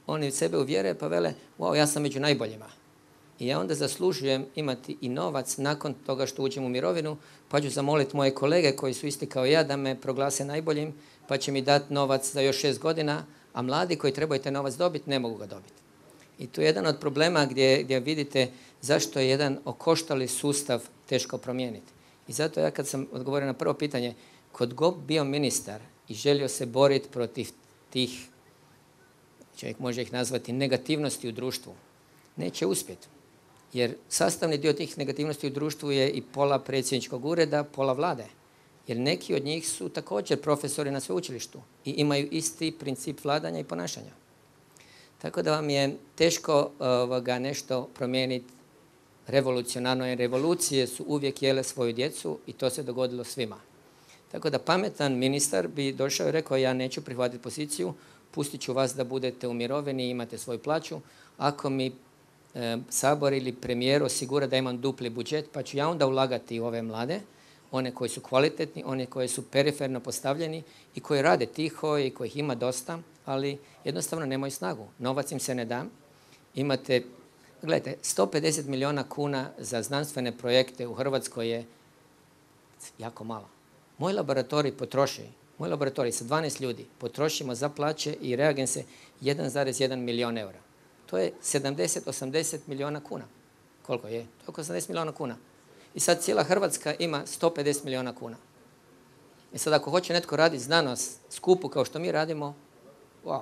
oni sebe uvjere pa vele, wow, ja sam među najboljima. I ja onda zaslužujem imati i novac nakon toga što uđem u mirovinu, pa ću zamoliti moje kolege koji su isti kao ja da me proglase najboljim, pa će mi dati novac za još 6 godina, a mladi koji trebaju taj novac dobiti, ne mogu ga dobiti. I tu je jedan od problema gdje vidite zašto je jedan okoštali sustav teško promijeniti. I zato ja kad sam odgovorio na prvo pitanje, kod god bio ministar i želio se boriti protiv tih, čovjek može ih nazvati, negativnosti u društvu, neće uspjeti. Jer sastavni dio tih negativnosti u društvu je i pola predsjedničkog ureda, pola vlade. Jer neki od njih su također profesori na sveučilištu i imaju isti princip vladanja i ponašanja. Tako da vam je teško nešto promijeniti revolucionarno, jer revolucije su uvijek jele svoju djecu i to se dogodilo svima. Tako da pametan ministar bi došao i rekao, ja neću prihvatiti poziciju, pustit ću vas da budete u mirovini i imate svoju plaću. Ako mi Sabor ili premijer osigura da imam dupli budžet, pa ću ja onda ulagati u ove mlade, one koji su kvalitetni, one koji su periferno postavljeni i koji rade tiho i kojih ima dosta, ali jednostavno nemaju snagu. Novac im se ne da. Imate, gledajte, 150 milijuna kuna za znanstvene projekte u Hrvatskoj je jako malo. Moj laboratorij sa 12 ljudi potrošimo za plaće i reagense 1,1 milijun eura. To je 70-80 milijuna kuna. Koliko je? To je oko 80 milijuna kuna. I sad cijela Hrvatska ima 150 milijuna kuna. I sad ako hoće netko raditi znanost skupu kao što mi radimo, wow.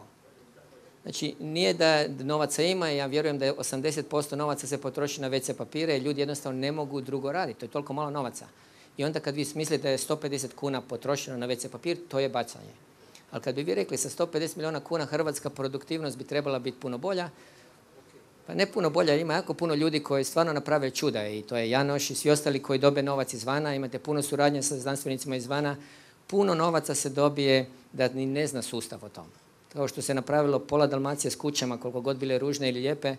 Znači, nije da novaca ima i ja vjerujem da je 80% novaca se potroši na WC papire i ljudi jednostavno ne mogu drugo raditi. To je toliko malo novaca. I onda kad vi mislite da je 150 kuna potrošeno na WC papir, to je bacanje. Ali kad bi vi rekli sa 150 milijuna kuna hrvatska produktivnost bi trebala biti puno bolja, pa ne puno bolja, ima jako puno ljudi koji stvarno naprave čuda i to je Janoš i svi ostali koji dobe novac izvana, imate puno suradnje sa znanstvenicima izvana, puno novaca se dobije da ni ne zna sustav o tom. Kao što se napravilo pola Dalmacije s kućama, koliko god bile ružne ili lijepe,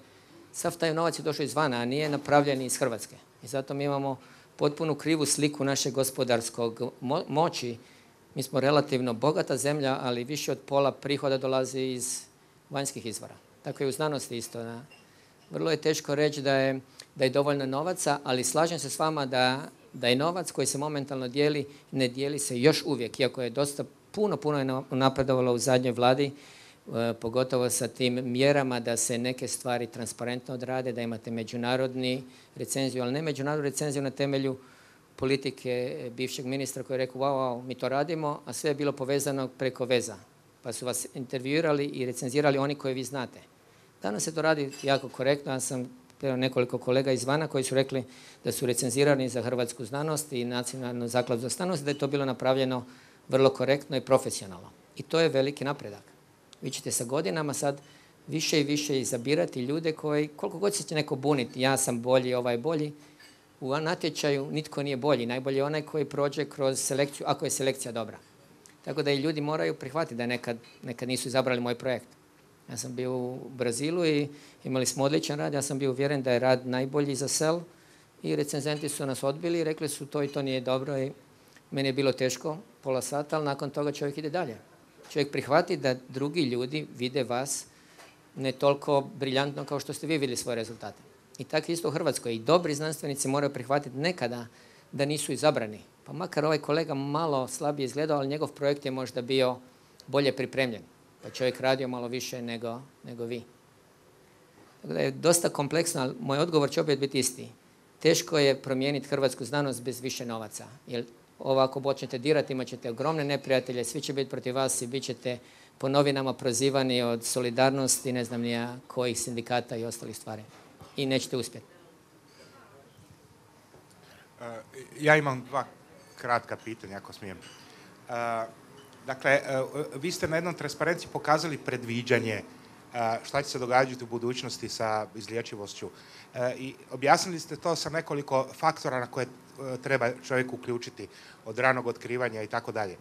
sav taj novac je došao izvana, a nije napravljen iz Hrvatske. I zato mi imamo potpuno krivu sliku našeg gospodarskog moći. Mi smo relativno bogata zemlja, ali više od pola prihoda dolazi iz vanjskih izvora. Tako je u znanosti isto. Vrlo je teško reći da je dovoljno novaca, ali slažem se s vama da je novac koji se momentalno dijeli, ne dijeli se još uvijek, iako je dosta puno je napredovalo u zadnjoj vladi, pogotovo sa tim mjerama da se neke stvari transparentno odrade, da imate međunarodni recenziju, ali ne međunarodnu recenziju na temelju politike bivšeg ministra koji je rekao wow, mi to radimo, a sve je bilo povezano preko veza. Pa su vas intervjuirali i recenzirali oni koje vi znate. Danas se to radi jako korektno. Ja sam nekoliko kolega izvana koji su rekli da su recenzirani za hrvatsku znanost i Nacionalnu zakladu za znanost, da je to bilo napravljeno vrlo korektno i profesionalno. I to je veliki napredak. Vi ćete sa godinama sad više i više izabirati ljude koji, koliko god se će neko buniti, ja sam bolji, ovaj bolji, u natječaju nitko nije bolji. Najbolji je onaj koji prođe kroz selekciju, ako je selekcija dobra. Tako da i ljudi moraju prihvatiti da nekad nisu izabrali moj projekt. Ja sam bio u Brazilu i imali smo odličan rad. Ja sam bio uvjeren da je rad najbolji za sel i recenzenti su nas odbili i rekli su to i to nije dobro i meni je bilo teško, pola sata, ali nakon toga čovjek ide dalje. Čovjek prihvati da drugi ljudi vide vas ne toliko briljantno kao što ste vi vidjeli svoje rezultate. I tako isto u Hrvatskoj. I dobri znanstvenici moraju prihvatiti nekada da nisu izabrani. Pa makar ovaj kolega malo slabije izgledao, ali njegov projekt je možda bio bolje pripremljen. Pa čovjek radio malo više nego vi. Tako da je dosta kompleksno, ali moj odgovor će opet biti isti. Teško je promijeniti hrvatsku znanost bez više novaca. Jer ovako počnete dirati, imat ćete ogromne neprijatelje, svi će biti protiv vas i bit ćete po novinama prozivani od solidarnosti, ne znam nija kojih sindikata i ostalih stvari. I nećete uspjeti.
Ja imam dva kratka pitanja, ako smijem. Dakle, vi ste na jednom transparenciji pokazali predviđanje šta će se događati u budućnosti sa izlječivošću. I objasnili ste to sa nekoliko faktora na koje treba čovjek uključiti, od ranog otkrivanja i tako dalje.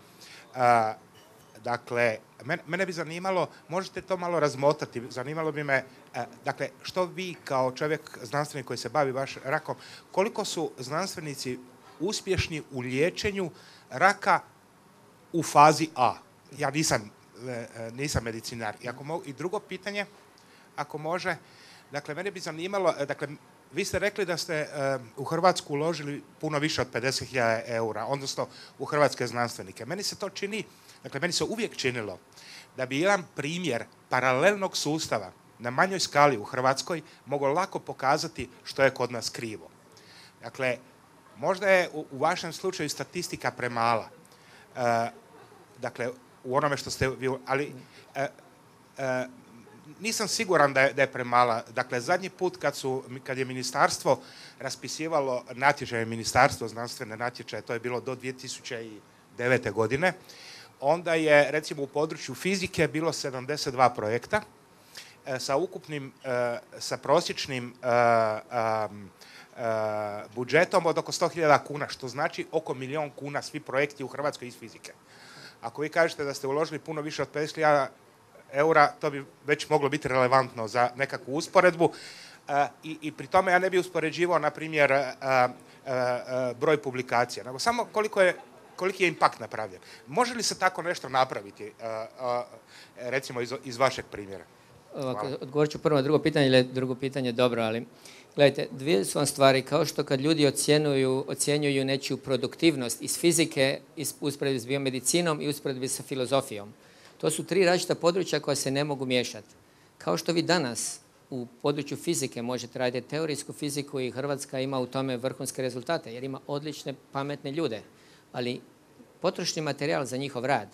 Dakle, mene bi zanimalo, možete to malo razmotati, zanimalo bi me, dakle, što vi kao čovjek znanstvenik koji se bavi baš rakom, koliko su znanstvenici uspješni u liječenju raka u fazi A? Ja nisam medicinar. I drugo pitanje, ako može, dakle, mene bi zanimalo, dakle, vi ste rekli da ste u Hrvatsku uložili puno više od 50.000 eura, odnosno u hrvatske znanstvenike. Meni se to čini, dakle, meni se uvijek činilo da bi jedan primjer paralelnog sustava na manjoj skali u Hrvatskoj mogao lako pokazati što je kod nas krivo. Dakle, možda je u vašem slučaju statistika premala. Dakle, u onome što ste vi, ali nisam siguran da je premala. Dakle, zadnji put kad je ministarstvo raspisivalo natječaje, ministarstvo znanstvene natječaje, to je bilo do 2009. godine, onda je, recimo, u području fizike bilo 72 projekta sa prosječnim budžetom od oko 100.000 kuna, što znači oko 1.000.000 kuna svi projekti u Hrvatskoj iz fizike. Ako vi kažete da ste uložili puno više od 50.000 eura, to bi već moglo biti relevantno za nekakvu usporedbu. I pri tome ja ne bi uspoređivao, na primjer, broj publikacija, nego samo koliki je impakt napravljen. Može li se tako nešto napraviti, recimo iz vašeg primjera?
Odgovorit ću prvo na drugo pitanje, jer je drugo pitanje dobro, ali gledajte, dvije su vam stvari, kao što kad ljudi ocjenjuju nečiju produktivnost iz fizike, usporedbi s biomedicinom i usporedbi sa filozofijom. To su tri različita područja koja se ne mogu miješati. Kao što vi danas u području fizike možete raditi teorijsku fiziku i Hrvatska ima u tome vrhunske rezultate, jer ima odlične, pametne ljude, ali potrošni materijal za njihov rad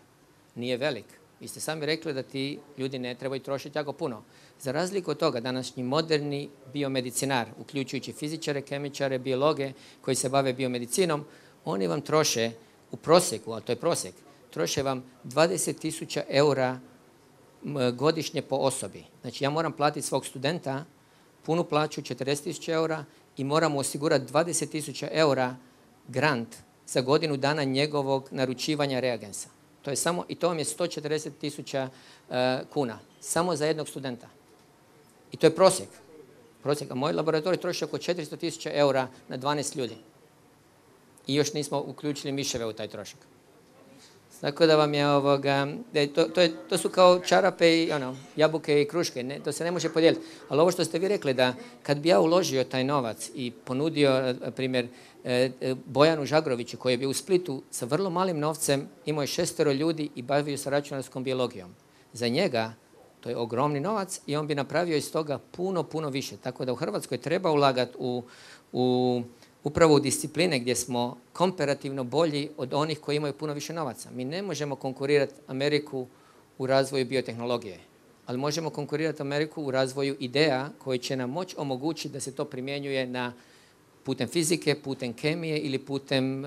nije velik. Vi ste sami rekli da ti ljudi ne trebaju trošiti jako puno. Za razliku od toga, današnji moderni biomedicinar, uključujući fizičare, kemičare, biologe koji se bave biomedicinom, oni vam troše u prosjeku, a to je prosjek, troše vam 20.000 eura godišnje po osobi. Znači, ja moram platiti svog studenta punu plaću 40.000 eura i moram mu osigurati 20.000 eura grant za godinu dana njegovog naručivanja reagensa. To je samo, i to vam je 140.000 kuna, samo za jednog studenta. I to je prosjek. A moj laboratorij troši oko 400.000 eura na 12 ljudi. I još nismo uključili miševe u taj trošak. Tako da vam je to su kao čarape i jabuke i kruške, ne, to se ne može podijeliti. Ali ovo što ste vi rekli, da kad bi ja uložio taj novac i ponudio, na primjer, Bojanu Žagroviću koji je bio u Splitu sa vrlo malim novcem, imao je 6 ljudi i bavio se računarskom biologijom. Za njega to je ogromni novac i on bi napravio iz toga puno, puno više. Tako da u Hrvatskoj treba ulagati upravo u discipline gdje smo komparativno bolji od onih koji imaju puno više novaca. Mi ne možemo konkurirati Ameriku u razvoju biotehnologije, ali možemo konkurirati Ameriku u razvoju ideja koji će nam moći omogućiti da se to primjenjuje putem fizike, putem kemije ili putem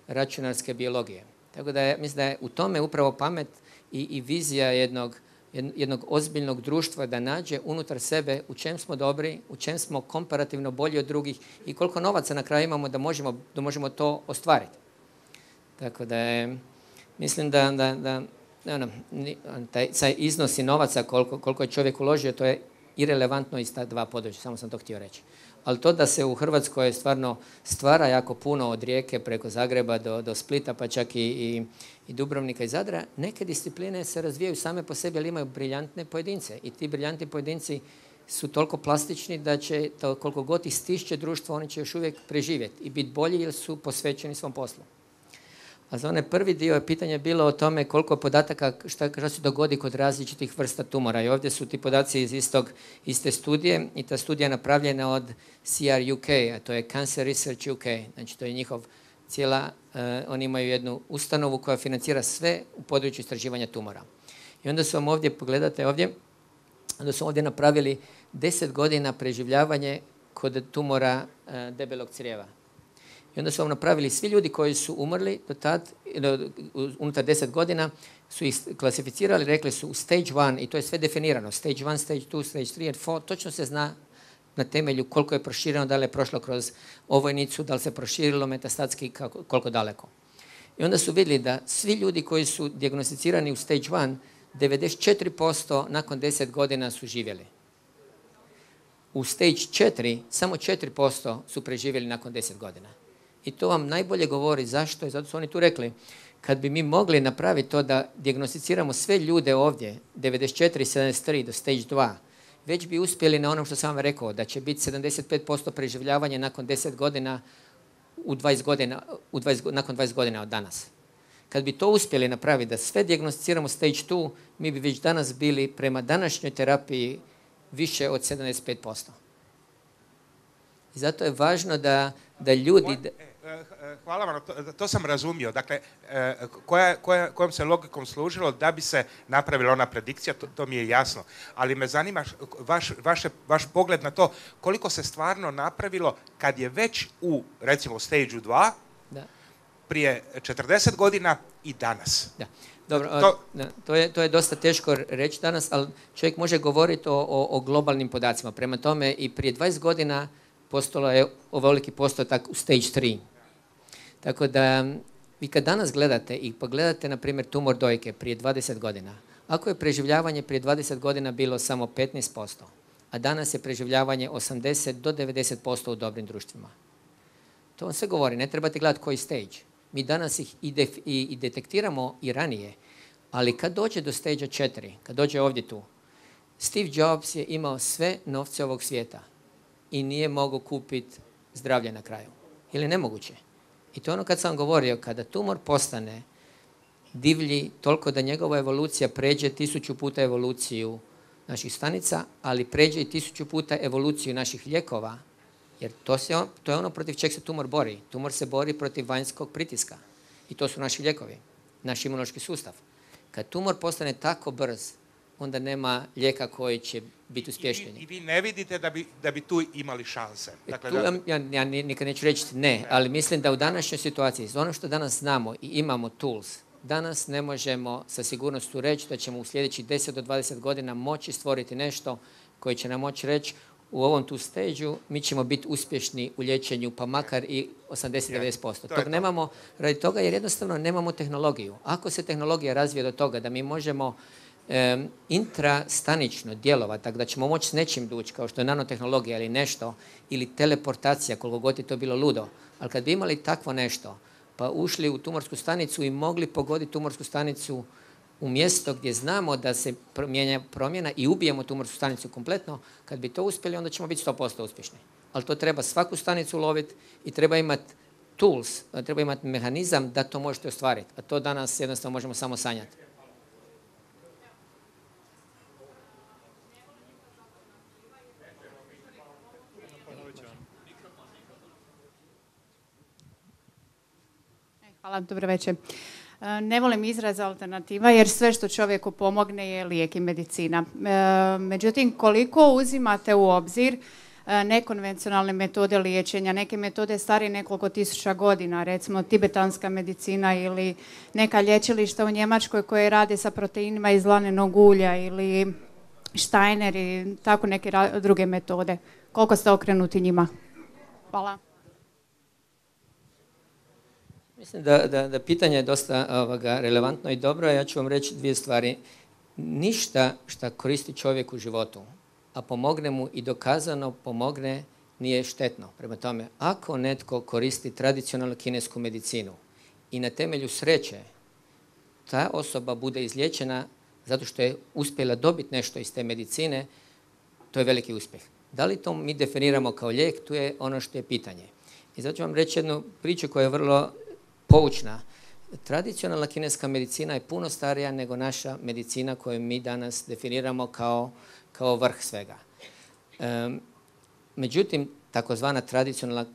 računarske biologije. Tako da mislim da je u tome upravo pamet i vizija jednog ozbiljnog društva da nađe unutar sebe u čem smo dobri, u čem smo komparativno bolji od drugih i koliko novaca na kraju imamo da možemo to ostvariti. Tako da mislim da taj iznosi novaca koliko je čovjek uložio, to je irelevantno iz ta dva područja, samo sam to htio reći. Ali to da se u Hrvatskoj stvarno stvara jako puno od Rijeke preko Zagreba do Splita, pa čak i Dubrovnika i Zadra, neke discipline se razvijaju same po sebi, ali imaju briljantne pojedince. I ti briljantni pojedinci su toliko plastični da će, koliko god ih stišće društvo, oni će još uvijek preživjeti i biti bolji jer su posvećeni svom poslu. A za onaj prvi dio pitanje je bilo o tome koliko podataka, šta se dogodi kod različitih vrsta tumora. I ovdje su ti podaci iz iste studije i ta studija je napravljena od CR UK, a to je Cancer Research UK. Znači to je njihov oni imaju jednu ustanovu koja financira sve u području istraživanja tumora. I onda su vam ovdje, pogledate ovdje, onda su ovdje napravili 10 godina preživljavanje kod tumora debelog crijeva. I onda su vam napravili svi ljudi koji su umrli do tad, unutar 10 godina, su ih klasificirali, rekli su u stage 1, i to je sve definirano, stage 1, stage 2, stage 3 and 4, točno se zna na temelju koliko je prošireno, da li je prošlo kroz ovojnicu, da li se proširilo metastatski, koliko daleko. I onda su vidjeli da svi ljudi koji su dijagnosticirani u stage 1, 94% nakon 10 godina su živjeli. U stage 4, samo 4% su preživjeli nakon 10 godina. I to vam najbolje govori zašto, i zato su oni tu rekli, kad bi mi mogli napraviti to da dijagnosticiramo sve ljude ovdje, 94 i 73 do stage 2, već bi uspjeli na onom što sam vam rekao, da će biti 75% preživljavanja nakon 10 godina, nakon 20 godina od danas. Kad bi to uspjeli napraviti, da sve dijagnosticiramo stage 2, mi bi već danas bili prema današnjoj terapiji više od 75%. I zato je važno da ljudi...
Hvala vam, to sam razumio. Dakle, kojom se logikom služilo da bi se napravila ona predikcija, to mi je jasno. Ali me zanima vaš pogled na to koliko se stvarno napravilo kad je već u, recimo, stage 2, prije 40 godina i danas.
Da. Dobro, to je dosta teško reći danas, ali čovjek može govoriti o globalnim podacima. Prema tome i prije 20 godina postalo je ovoliki postotak u stage 3. Tako da vi kad danas gledate i pogledate, na primjer, tumor dojke prije 20 godina, ako je preživljavanje prije 20 godina bilo samo 15%, a danas je preživljavanje 80 do 90% u dobrim društvima. To vam sve govori, ne trebate gledati koji stage. Mi danas ih i detektiramo i ranije, ali kad dođe do stage 4, kad dođe ovdje tu, Steve Jobs je imao sve novce ovog svijeta i nije mogao kupiti zdravlje na kraju. Ili nemoguće. I to je ono kad sam govorio, kada tumor postane divlji toliko da njegova evolucija pređe 1000 puta evoluciju naših stanica, ali pređe i 1000 puta evoluciju naših lijekova, jer to je ono protiv čeg se tumor bori. Tumor se bori protiv vanjskog pritiska. I to su naši lijekovi, naš imunološki sustav. Kad tumor postane tako brz, onda nema lijeka koji će biti uspješniji.
I vi ne vidite da bi tu imali šanse? Dakle,
ja nikad neću reći ne, ali mislim da u današnjoj situaciji, za ono što danas znamo i imamo tools, danas ne možemo sa sigurnošću reći da ćemo u sljedećih 10 do 20 godina moći stvoriti nešto koji će nam moći reći u ovom tu stage-u mi ćemo biti uspješni u liječenju, pa makar i 80-90%. Tog nemamo radi toga jer jednostavno nemamo tehnologiju. Ako se tehnologija razvije do toga da mi možemo intrastanično djelovati, tako da ćemo moći s nečim doći, kao što je nanotehnologija ili nešto, ili teleportacija, koliko god je to bilo ludo. Ali kad bi imali takvo nešto, pa ušli u tumorsku stanicu i mogli pogoditi tumorsku stanicu u mjesto gdje znamo da se promjena i ubijemo tumorsku stanicu kompletno, kad bi to uspjeli, onda ćemo biti 100% uspješni. Ali to treba svaku stanicu loviti i treba imati tools, treba imati mehanizam da to možete ostvariti. A to danas jednostavno možemo samo sanjati.
Hvala, dobro večer. Ne volim izraz alternativa jer sve što čovjeku pomogne je lijek i medicina. Međutim, koliko uzimate u obzir nekonvencionalne metode liječenja, neke metode starije nekoliko tisuća godina, recimo tibetanska medicina ili neka lječilišta u Njemačkoj koje rade sa proteinima iz lanenog ulja ili Steiner i tako neke druge metode. Koliko ste okrenuti njima? Hvala.
Mislim da pitanje je dosta relevantno i dobro. Ja ću vam reći dvije stvari. Ništa što koristi čovjek u životu, a pomogne mu i dokazano pomogne, nije štetno. Prema tome, ako netko koristi tradicionalnu kinesku medicinu i na temelju sreće ta osoba bude izliječena zato što je uspjela dobiti nešto iz te medicine, to je veliki uspjeh. Da li to mi definiramo kao lijek, tu je ono što je pitanje. I zato ću vam reći jednu priču koja je vrlo poučna. Tradicionalna kineska medicina je puno starija nego naša medicina koju mi danas definiramo kao vrh svega. Međutim, takozvana tradicionalna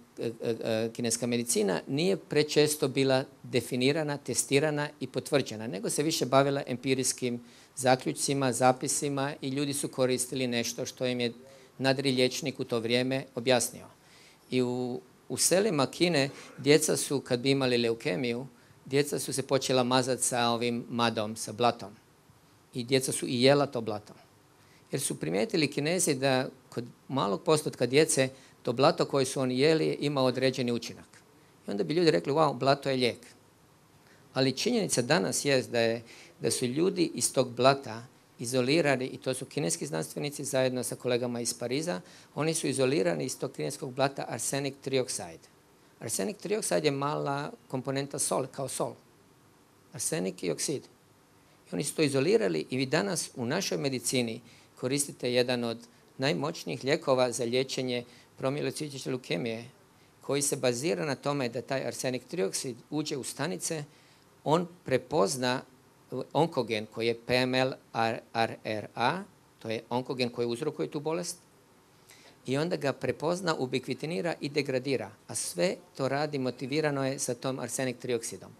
kineska medicina nije prečesto bila definirana, testirana i potvrđena, nego se više bavila empirijskim zaključcima, zapisima i ljudi su koristili nešto što im je nadri liječnik u to vrijeme objasnio. I u selima Kine djeca su, kad bi imali leukemiju, djeca su se počela mazati sa ovim madom, sa blatom. I djeca su i jela to blato. Jer su primijetili Kinezi da kod malog postotka djece to blato koje su oni jeli ima određeni učinak. I onda bi ljudi rekli, wow, blato je lijek. Ali činjenica danas je da su ljudi iz tog blata izolirani, i to su kineski znanstvenici zajedno sa kolegama iz Pariza, oni su izolirani iz tog kineskog blata arsenik triokside. Arsenik triokside je mala komponenta sol, kao sol. Arsenik i oksid. I oni su to izolirali i vi danas u našoj medicini koristite jedan od najmoćnijih lijekova za liječenje promilocistične leukemije, koji se bazira na tome da taj arsenik trioksid uđe u stanice, on prepozna onkogen koji je PML-RRA, to je onkogen koji uzrokuje tu bolest, i onda ga prepozna, ubikvitinira i degradira. A sve to radi, motivirano je sa tom arsenik trioksidom.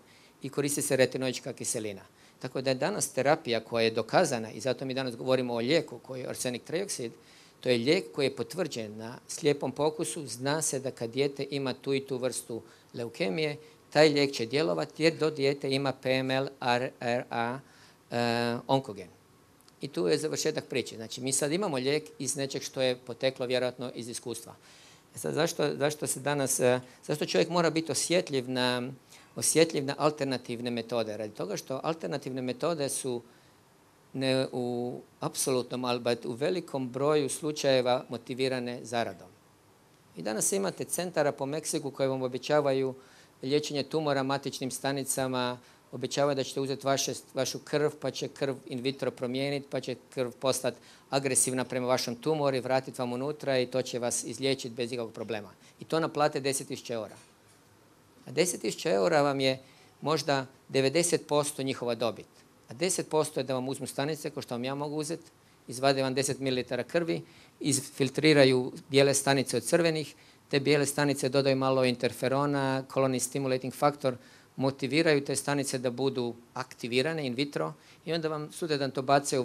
I koristi se retinoička kiselina. Tako da je danas terapija koja je dokazana, i zato mi danas govorimo o lijeku koji je arsenik trioksid, to je lijek koji je potvrđen na slijepom pokusu. Zna se da kad dijete ima tu i tu vrstu leukemije, taj lijek će djelovati jer do dijete ima PML-RRA onkogen. I tu je završetak priče. Znači, mi sad imamo lijek iz nečeg što je poteklo vjerojatno iz iskustva. Sad, zašto čovjek mora biti osjetljiv na alternativne metode? Radi toga što alternativne metode su ne u apsolutnom, ali u velikom broju slučajeva motivirane zaradom. I danas imate centara po Meksiku koje vam obećavaju liječenje tumora matičnim stanicama, obećavaju da ćete uzeti vašu krv, pa će krv in vitro promijeniti, pa će krv postati agresivna prema vašem tumoru i vratiti vam unutra i to će vas izliječiti bez ikakvog problema. I to naplate 10.000 eura. A 10.000 eura vam je možda 90% njihova dobit. A 10% je da vam uzmu stanice, kao što vam ja mogu uzeti, izvade vam 10 ml krvi, izfiltriraju bijele stanice od crvenih, te bijele stanice dodaju malo interferona, colony stimulating factor, motiviraju te stanice da budu aktivirane in vitro i onda vam sutradan to bace u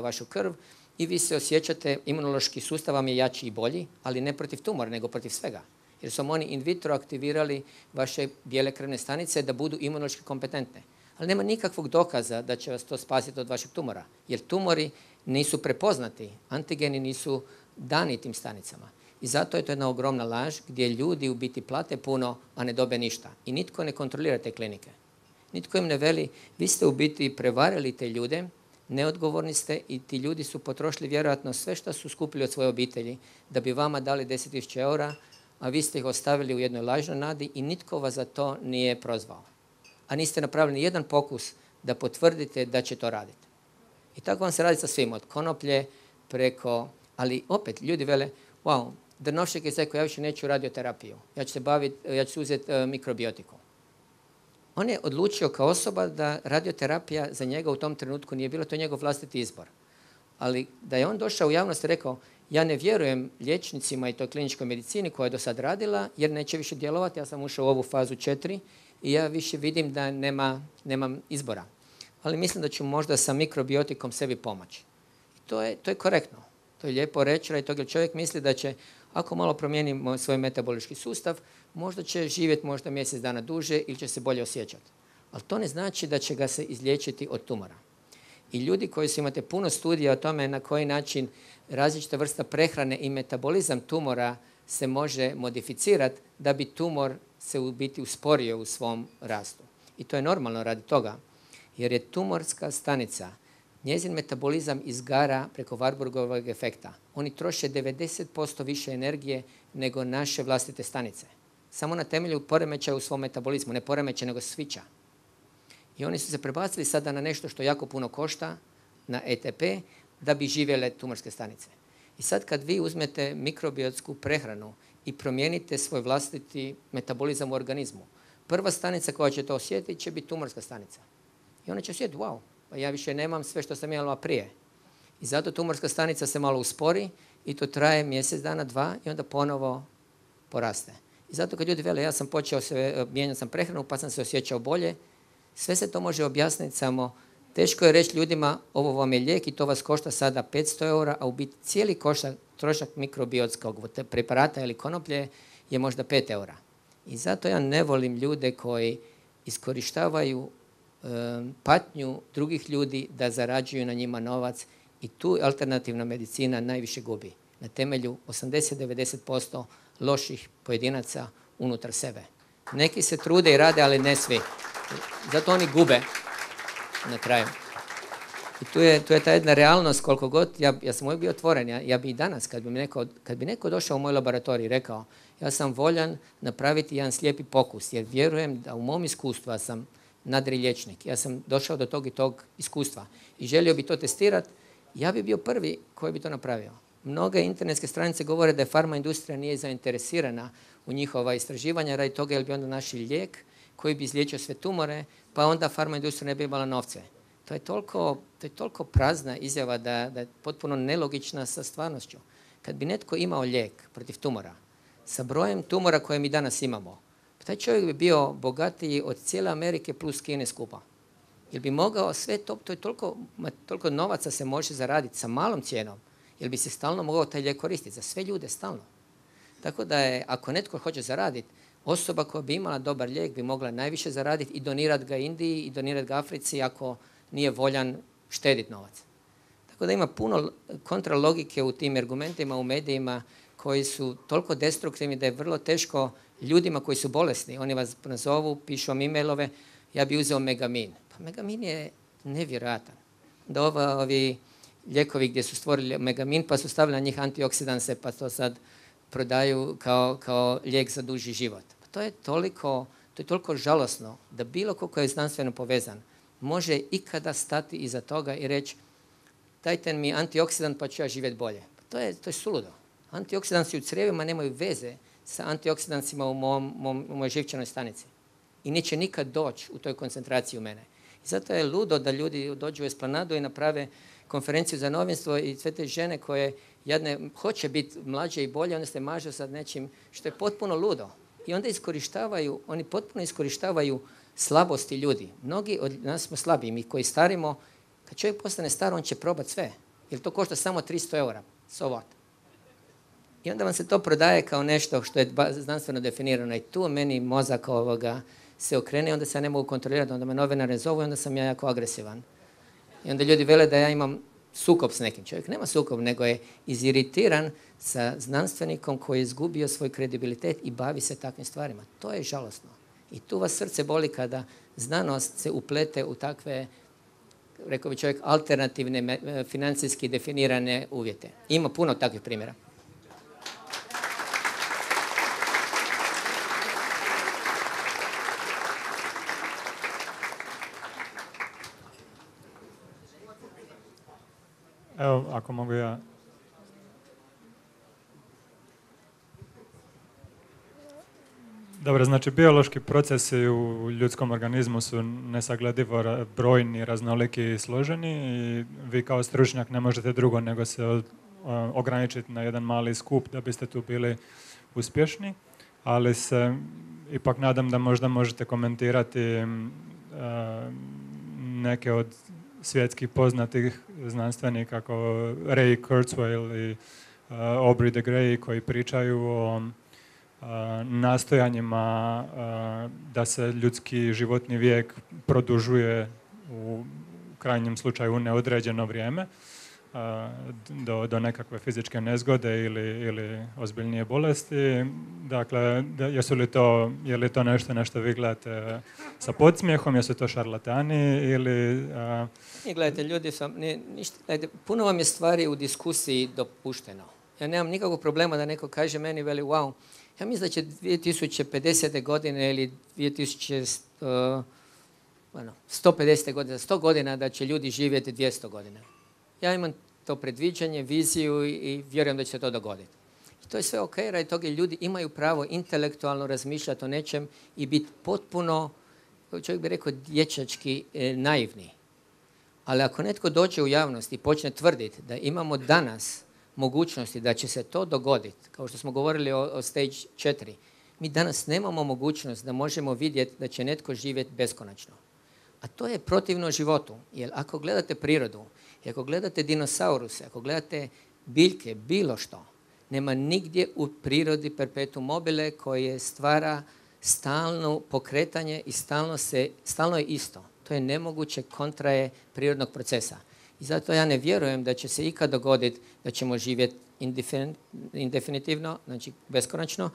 vašu krv i vi se osjećate, imunološki sustav vam je jači i bolji, ali ne protiv tumora, nego protiv svega. Jer su oni in vitro aktivirali vaše bijele krvne stanice da budu imunološki kompetentne. Ali nema nikakvog dokaza da će vas to spasiti od vašeg tumora, jer tumori nisu prepoznati, antigeni nisu dani tim stanicama. I zato je to jedna ogromna laž gdje ljudi u biti plate puno, a ne dobe ništa. I nitko ne kontrolira te klinike. Nitko im ne veli, vi ste u biti prevarili te ljude, neodgovorni ste i ti ljudi su potrošili vjerojatno sve što su skupili od svoje obitelji da bi vama dali 10.000 eura, a vi ste ih ostavili u jednoj lažnoj nadi i nitko vas za to nije prozvao. A niste napravili ni jedan pokus da potvrdite da će to raditi. I tako vam se radi sa svim, od konoplje preko, ali opet ljudi vele, wow, Drnovšek je rekao, ja više neću radioterapiju, ja ću se uzeti mikrobiotiku. On je odlučio kao osoba da radioterapija za njega u tom trenutku nije bilo, to je njegov vlastiti izbor. Ali da je on došao u javnost i rekao, ja ne vjerujem liječnicima i toj kliničkoj medicini koja je do sad radila, jer neće više djelovati, ja sam ušao u ovu fazu 4 i ja više vidim da nemam izbora. Ali mislim da ću možda sa mikrobiotikom sebi pomoći. I to je korektno. To je lijepo reći, radi toga čovjek misli da će, ako malo promijenimo svoj metabolički sustav, možda će živjeti možda mjesec dana duže ili će se bolje osjećati. Ali to ne znači da će ga se izliječiti od tumora. I ljudi koji su imate puno studija o tome na koji način različita vrsta prehrane i metabolizam tumora se može modificirati da bi tumor se u biti usporio u svom rastu. I to je normalno radi toga, jer je tumorska stanica, njezin metabolizam izgara preko Warburgovog efekta. Oni troše 90% više energije nego naše vlastite stanice. Samo na temelju poremećaja u svom metabolizmu, ne poremećaja nego svića. I oni su se prebacili sada na nešto što jako puno košta, na ETP, da bi živjele tumorske stanice. I sad kad vi uzmete mikrobiotsku prehranu i promijenite svoj vlastiti metabolizam u organizmu, prva stanica koja će to osjetiti će biti tumorska stanica. I ona će osjetiti, wow, pa ja više nemam sve što sam imala prije. I zato tumorska stanica se malo uspori i to traje mjesec dana, 2 i onda ponovo poraste. I zato kad ljudi vele, ja sam počeo mijenjati sam prehranu pa sam se osjećao bolje, sve se to može objasniti, samo teško je reći ljudima, ovo vam je lijek i to vas košta sada 500 eura, a u biti cijeli trošak mikrobiotskog preparata ili konoplje je možda 5 eura. I zato ja ne volim ljude koji iskorištavaju patnju drugih ljudi da zarađuju na njima novac i tu alternativna medicina najviše gubi. Na temelju 80-90% loših pojedinaca unutar sebe. Neki se trude i rade, ali ne svi. Zato oni gube na kraju. I tu je ta jedna realnost, koliko god, ja sam uvijek bio otvoren, ja bi i danas, kad bi neko došao u moj laboratorij i rekao, ja sam voljan napraviti jedan slijepi pokus, jer vjerujem da u mom iskustvu, ja sam nadri liječnik, ja sam došao do tog i tog iskustva i želio bi to testirati, ja bi bio prvi koji bi to napravio. Mnoge internetske stranice govore da je farma industrija nije zainteresirana u njihova istraživanja, radi toga jer bi onda našli lijek koji bi izliječio sve tumore, pa onda farma industrija ne bi imala novce. To je toliko prazna izjava da je potpuno nelogična sa stvarnošću. Kad bi netko imao lijek protiv tumora, sa brojem tumora koje mi danas imamo, taj čovjek bi bio bogatiji od cijele Amerike plus Kine skupa. Jer bi mogao sve to je toliko novaca se može zaraditi sa malom cijenom, jer bi se stalno mogao taj lijek koristiti za sve ljude stalno. Tako da je, ako netko hoće zaraditi, osoba koja bi imala dobar lijek bi mogla najviše zaraditi i donirati ga Indiji i donirati ga Africi ako nije voljan štediti novac. Tako da ima puno kontralogike u tim argumentima, u medijima koji su toliko destruktivni da je vrlo teško ljudima koji su bolesni. Oni vas nazovu, pišu vam e-mailove, ja bi uzeo Megamin. Pa Megamin je nevjerojatan. Da ovi lijekovi gdje su stvorili Megamin pa su stavili na njih antioksidanse pa to sad prodaju kao lijek za duži život. Pa to je toliko žalosno da bilo ko je znanstveno povezan može ikada stati iza toga i reći dajte mi antioksidant pa ću ja živjeti bolje. Pa to je suludo. Antioksidansi u crijevima nemaju veze sa antioksidansima u mojoj živčanoj stanici. I neće nikad doći u toj koncentraciji u mene. I zato je ludo da ljudi dođu u Esplanadu i naprave konferenciju za novinstvo i sve te žene koje jedne hoće biti mlađe i bolje, onda se mažu sa nečim što je potpuno ludo. I onda oni potpuno iskorištavaju slabosti ljudi. Mnogi od nas smo slabiji, mi koji starimo, kad čovjek postane star, on će probati sve. Jer to košta samo 300 eura. So what? I onda vam se to prodaje kao nešto što je znanstveno definirano. I tu meni mozak se okrene i onda se ja ne mogu kontrolirati. Onda me novinari zovu i onda sam ja jako agresivan. I onda ljudi vele da ja imam sukob s nekim. Čovjek nema sukob, nego je iziritiran sa znanstvenikom koji je izgubio svoj kredibilitet i bavi se takvim stvarima. To je žalosno. I tu vas srce boli kada znanost se uplete u takve, rekao bi čovjek, alternativne, financijski definirane uvjete. Ima puno takvih primjera.
Evo, ako mogu ja. Dobro, znači biološki procesi u ljudskom organizmu su nesagledivo brojni, raznoliki i složeni i vi kao stručnjak ne možete drugo nego se ograničiti na jedan mali skup da biste tu bili uspješni, ali se ipak nadam da možda možete komentirati neke od svjetskih poznatih znanstvenika kao Ray Kurzweil i Aubrey de Grey koji pričaju o nastojanjima da se ljudski životni vijek produžuje u krajnjem slučaju u neodređeno vrijeme do nekakve fizičke nezgode ili ozbiljnije bolesti. Dakle, je li to nešto na što vi gledate sa podsmijehom, jesu to šarlatani ili...
Gledajte, ljudi puno vam je stvari u diskusiji dopušteno. Ja nemam nikakvog problema da neko kaže meni, veli, wow, ja mislim da će 2050. godine ili 150. godine, 100 godina da će ljudi živjeti 200 godina. Ja imam to predviđanje, viziju i vjerujem da će se to dogoditi. I to je sve ok, radi toga ljudi imaju pravo intelektualno razmišljati o nečem i biti potpuno, čovjek bi rekao, dječački naivni. Ali ako netko dođe u javnost i počne tvrditi da imamo danas mogućnosti da će se to dogoditi, kao što smo govorili o stage 4, mi danas nemamo mogućnost da možemo vidjeti da će netko živjeti beskonačno. A to je protivno životu, jer ako gledate prirodu, i ako gledate dinosauruse, ako gledate biljke, bilo što, nema nigdje u prirodi perpetuum mobile koje stvara stalno pokretanje i stalno je isto. To je nemoguće kontra je prirodnog procesa. I zato ja ne vjerujem da će se ikad dogoditi da ćemo živjeti indefinitivno, znači beskonačno,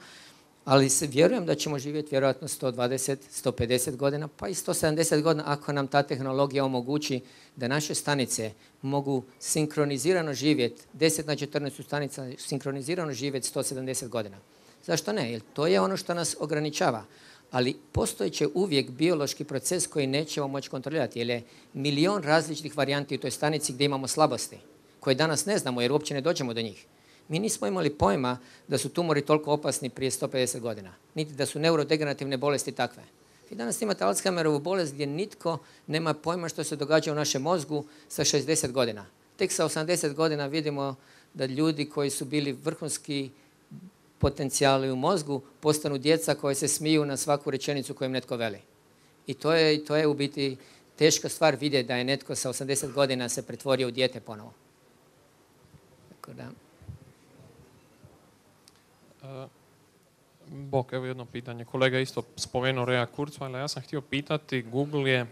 ali vjerujem da ćemo živjeti vjerojatno 120, 150 godina, pa i 170 godina ako nam ta tehnologija omogući da naše stanice mogu sinkronizirano živjeti, 10 na 14 stanica sinkronizirano živjeti 170 godina. Zašto ne? Jer to je ono što nas ograničava. Ali postojeće uvijek biološki proces koji nećemo moći kontrolirati, jer je milion različitih varijanti u toj stanici gdje imamo slabosti, koje danas ne znamo jer uopće ne dođemo do njih. Mi nismo imali pojma da su tumori toliko opasni prije 150 godina, niti da su neurodegenerativne bolesti takve. Vi danas imate Alzheimerovu bolest gdje nitko nema pojma što se događa u našem mozgu sa 60 godina. Tek sa 80 godina vidimo da ljudi koji su bili vrhunski potencijali u mozgu postanu djeca koje se smiju na svaku rečenicu koju im netko veli. I to je u biti teška stvar vidjeti da je netko sa 80 godina se pretvorio u dijete ponovo. Tako da...
Bok, evo jedno pitanje. Kolega isto spomenuo Raya Kurzweila. Ja sam htio pitati, Google je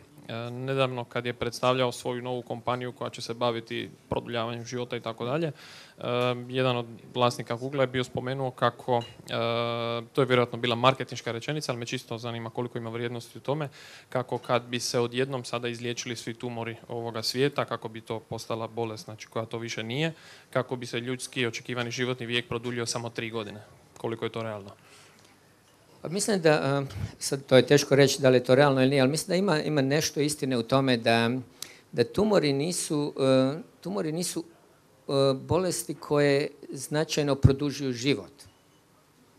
nedavno kad je predstavljao svoju novu kompaniju koja će se baviti produljavanjem života i tako dalje, jedan od vlasnika Google je bio spomenuo kako, to je vjerojatno bila marketinška rečenica, ali me čisto zanima koliko ima vrijednosti u tome, kako kad bi se odjednom sada izliječili svi tumori ovoga svijeta, kako bi to postala bolest, znači koja to više nije, kako bi se ljudski očekivani životni vijek produljio samo 3 godine. Koliko je to realno?
Pa mislim da, sad to je teško reći da li je to realno ili nije, ali mislim da ima nešto istine u tome da tumori nisu bolesti koje značajno produžuju život.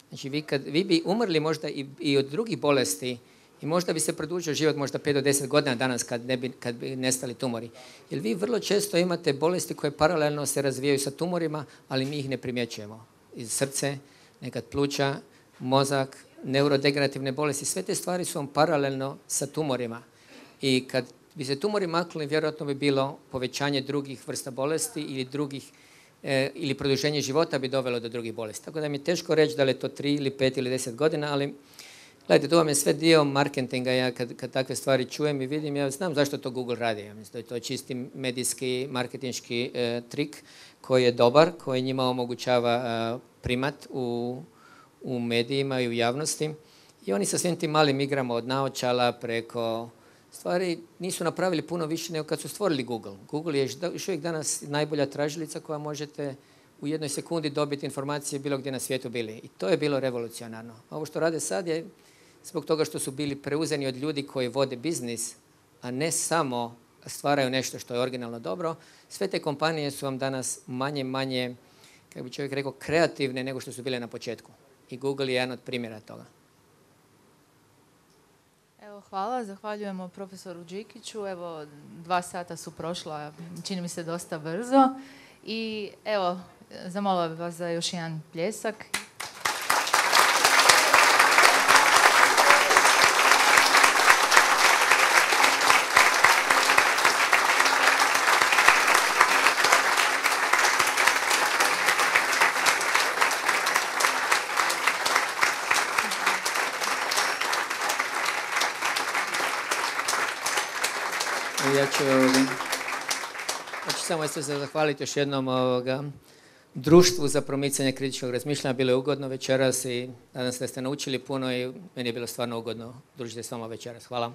Znači vi bi umrli možda i od drugih bolesti i možda bi se produžio život možda 5 do 10 godina danas kad bi nestali tumori. Jer vi vrlo često imate bolesti koje paralelno se razvijaju sa tumorima, ali mi ih ne primjećujemo. Iz srce, nekad pluća, mozak, neurodegenerativne bolesti, sve te stvari su vam paralelno sa tumorima. I kad bi se tumori maknuli, vjerojatno bi bilo povećanje drugih vrsta bolesti ili produženje života bi dovelo do drugih bolesti. Tako da mi je teško reći da li je to 3 ili 5 ili 10 godina, ali gledajte, to vam je sve dio marketinga. Ja kad takve stvari čujem i vidim, ja znam zašto to Google radi. Ja mislim da je to čisti medijski, marketinški trik koji je dobar, koji njima omogućava primat u medijima i u javnosti. I oni sa svim tim malim igrama od naočala preko stvari nisu napravili puno više nego kad su stvorili Google. Google je još uvijek danas najbolja tražilica koja možete u jednoj sekundi dobiti informacije bilo gdje na svijetu bili. I to je bilo revolucionarno. Ovo što rade sad je zbog toga što su bili preuzeni od ljudi koji vode biznis, a ne samo stvaraju nešto što je originalno dobro, sve te kompanije su vam danas manje, kako bi čovjek rekao, kreativne nego što su bile na početku. I Google je jedan od primjera toga.
Evo, hvala. Zahvaljujemo profesoru Đikiću. Evo, 2 sata su prošla, čini mi se dosta brzo. I evo, zamolila bih vas za još jedan pljesak.
Ja ću samo se zahvaliti još jednom društvu za promicanje kritičkog razmišljanja. Bilo je ugodno večeras i nadam se da ste naučili puno i meni je bilo stvarno ugodno družiti s vama večeras. Hvala.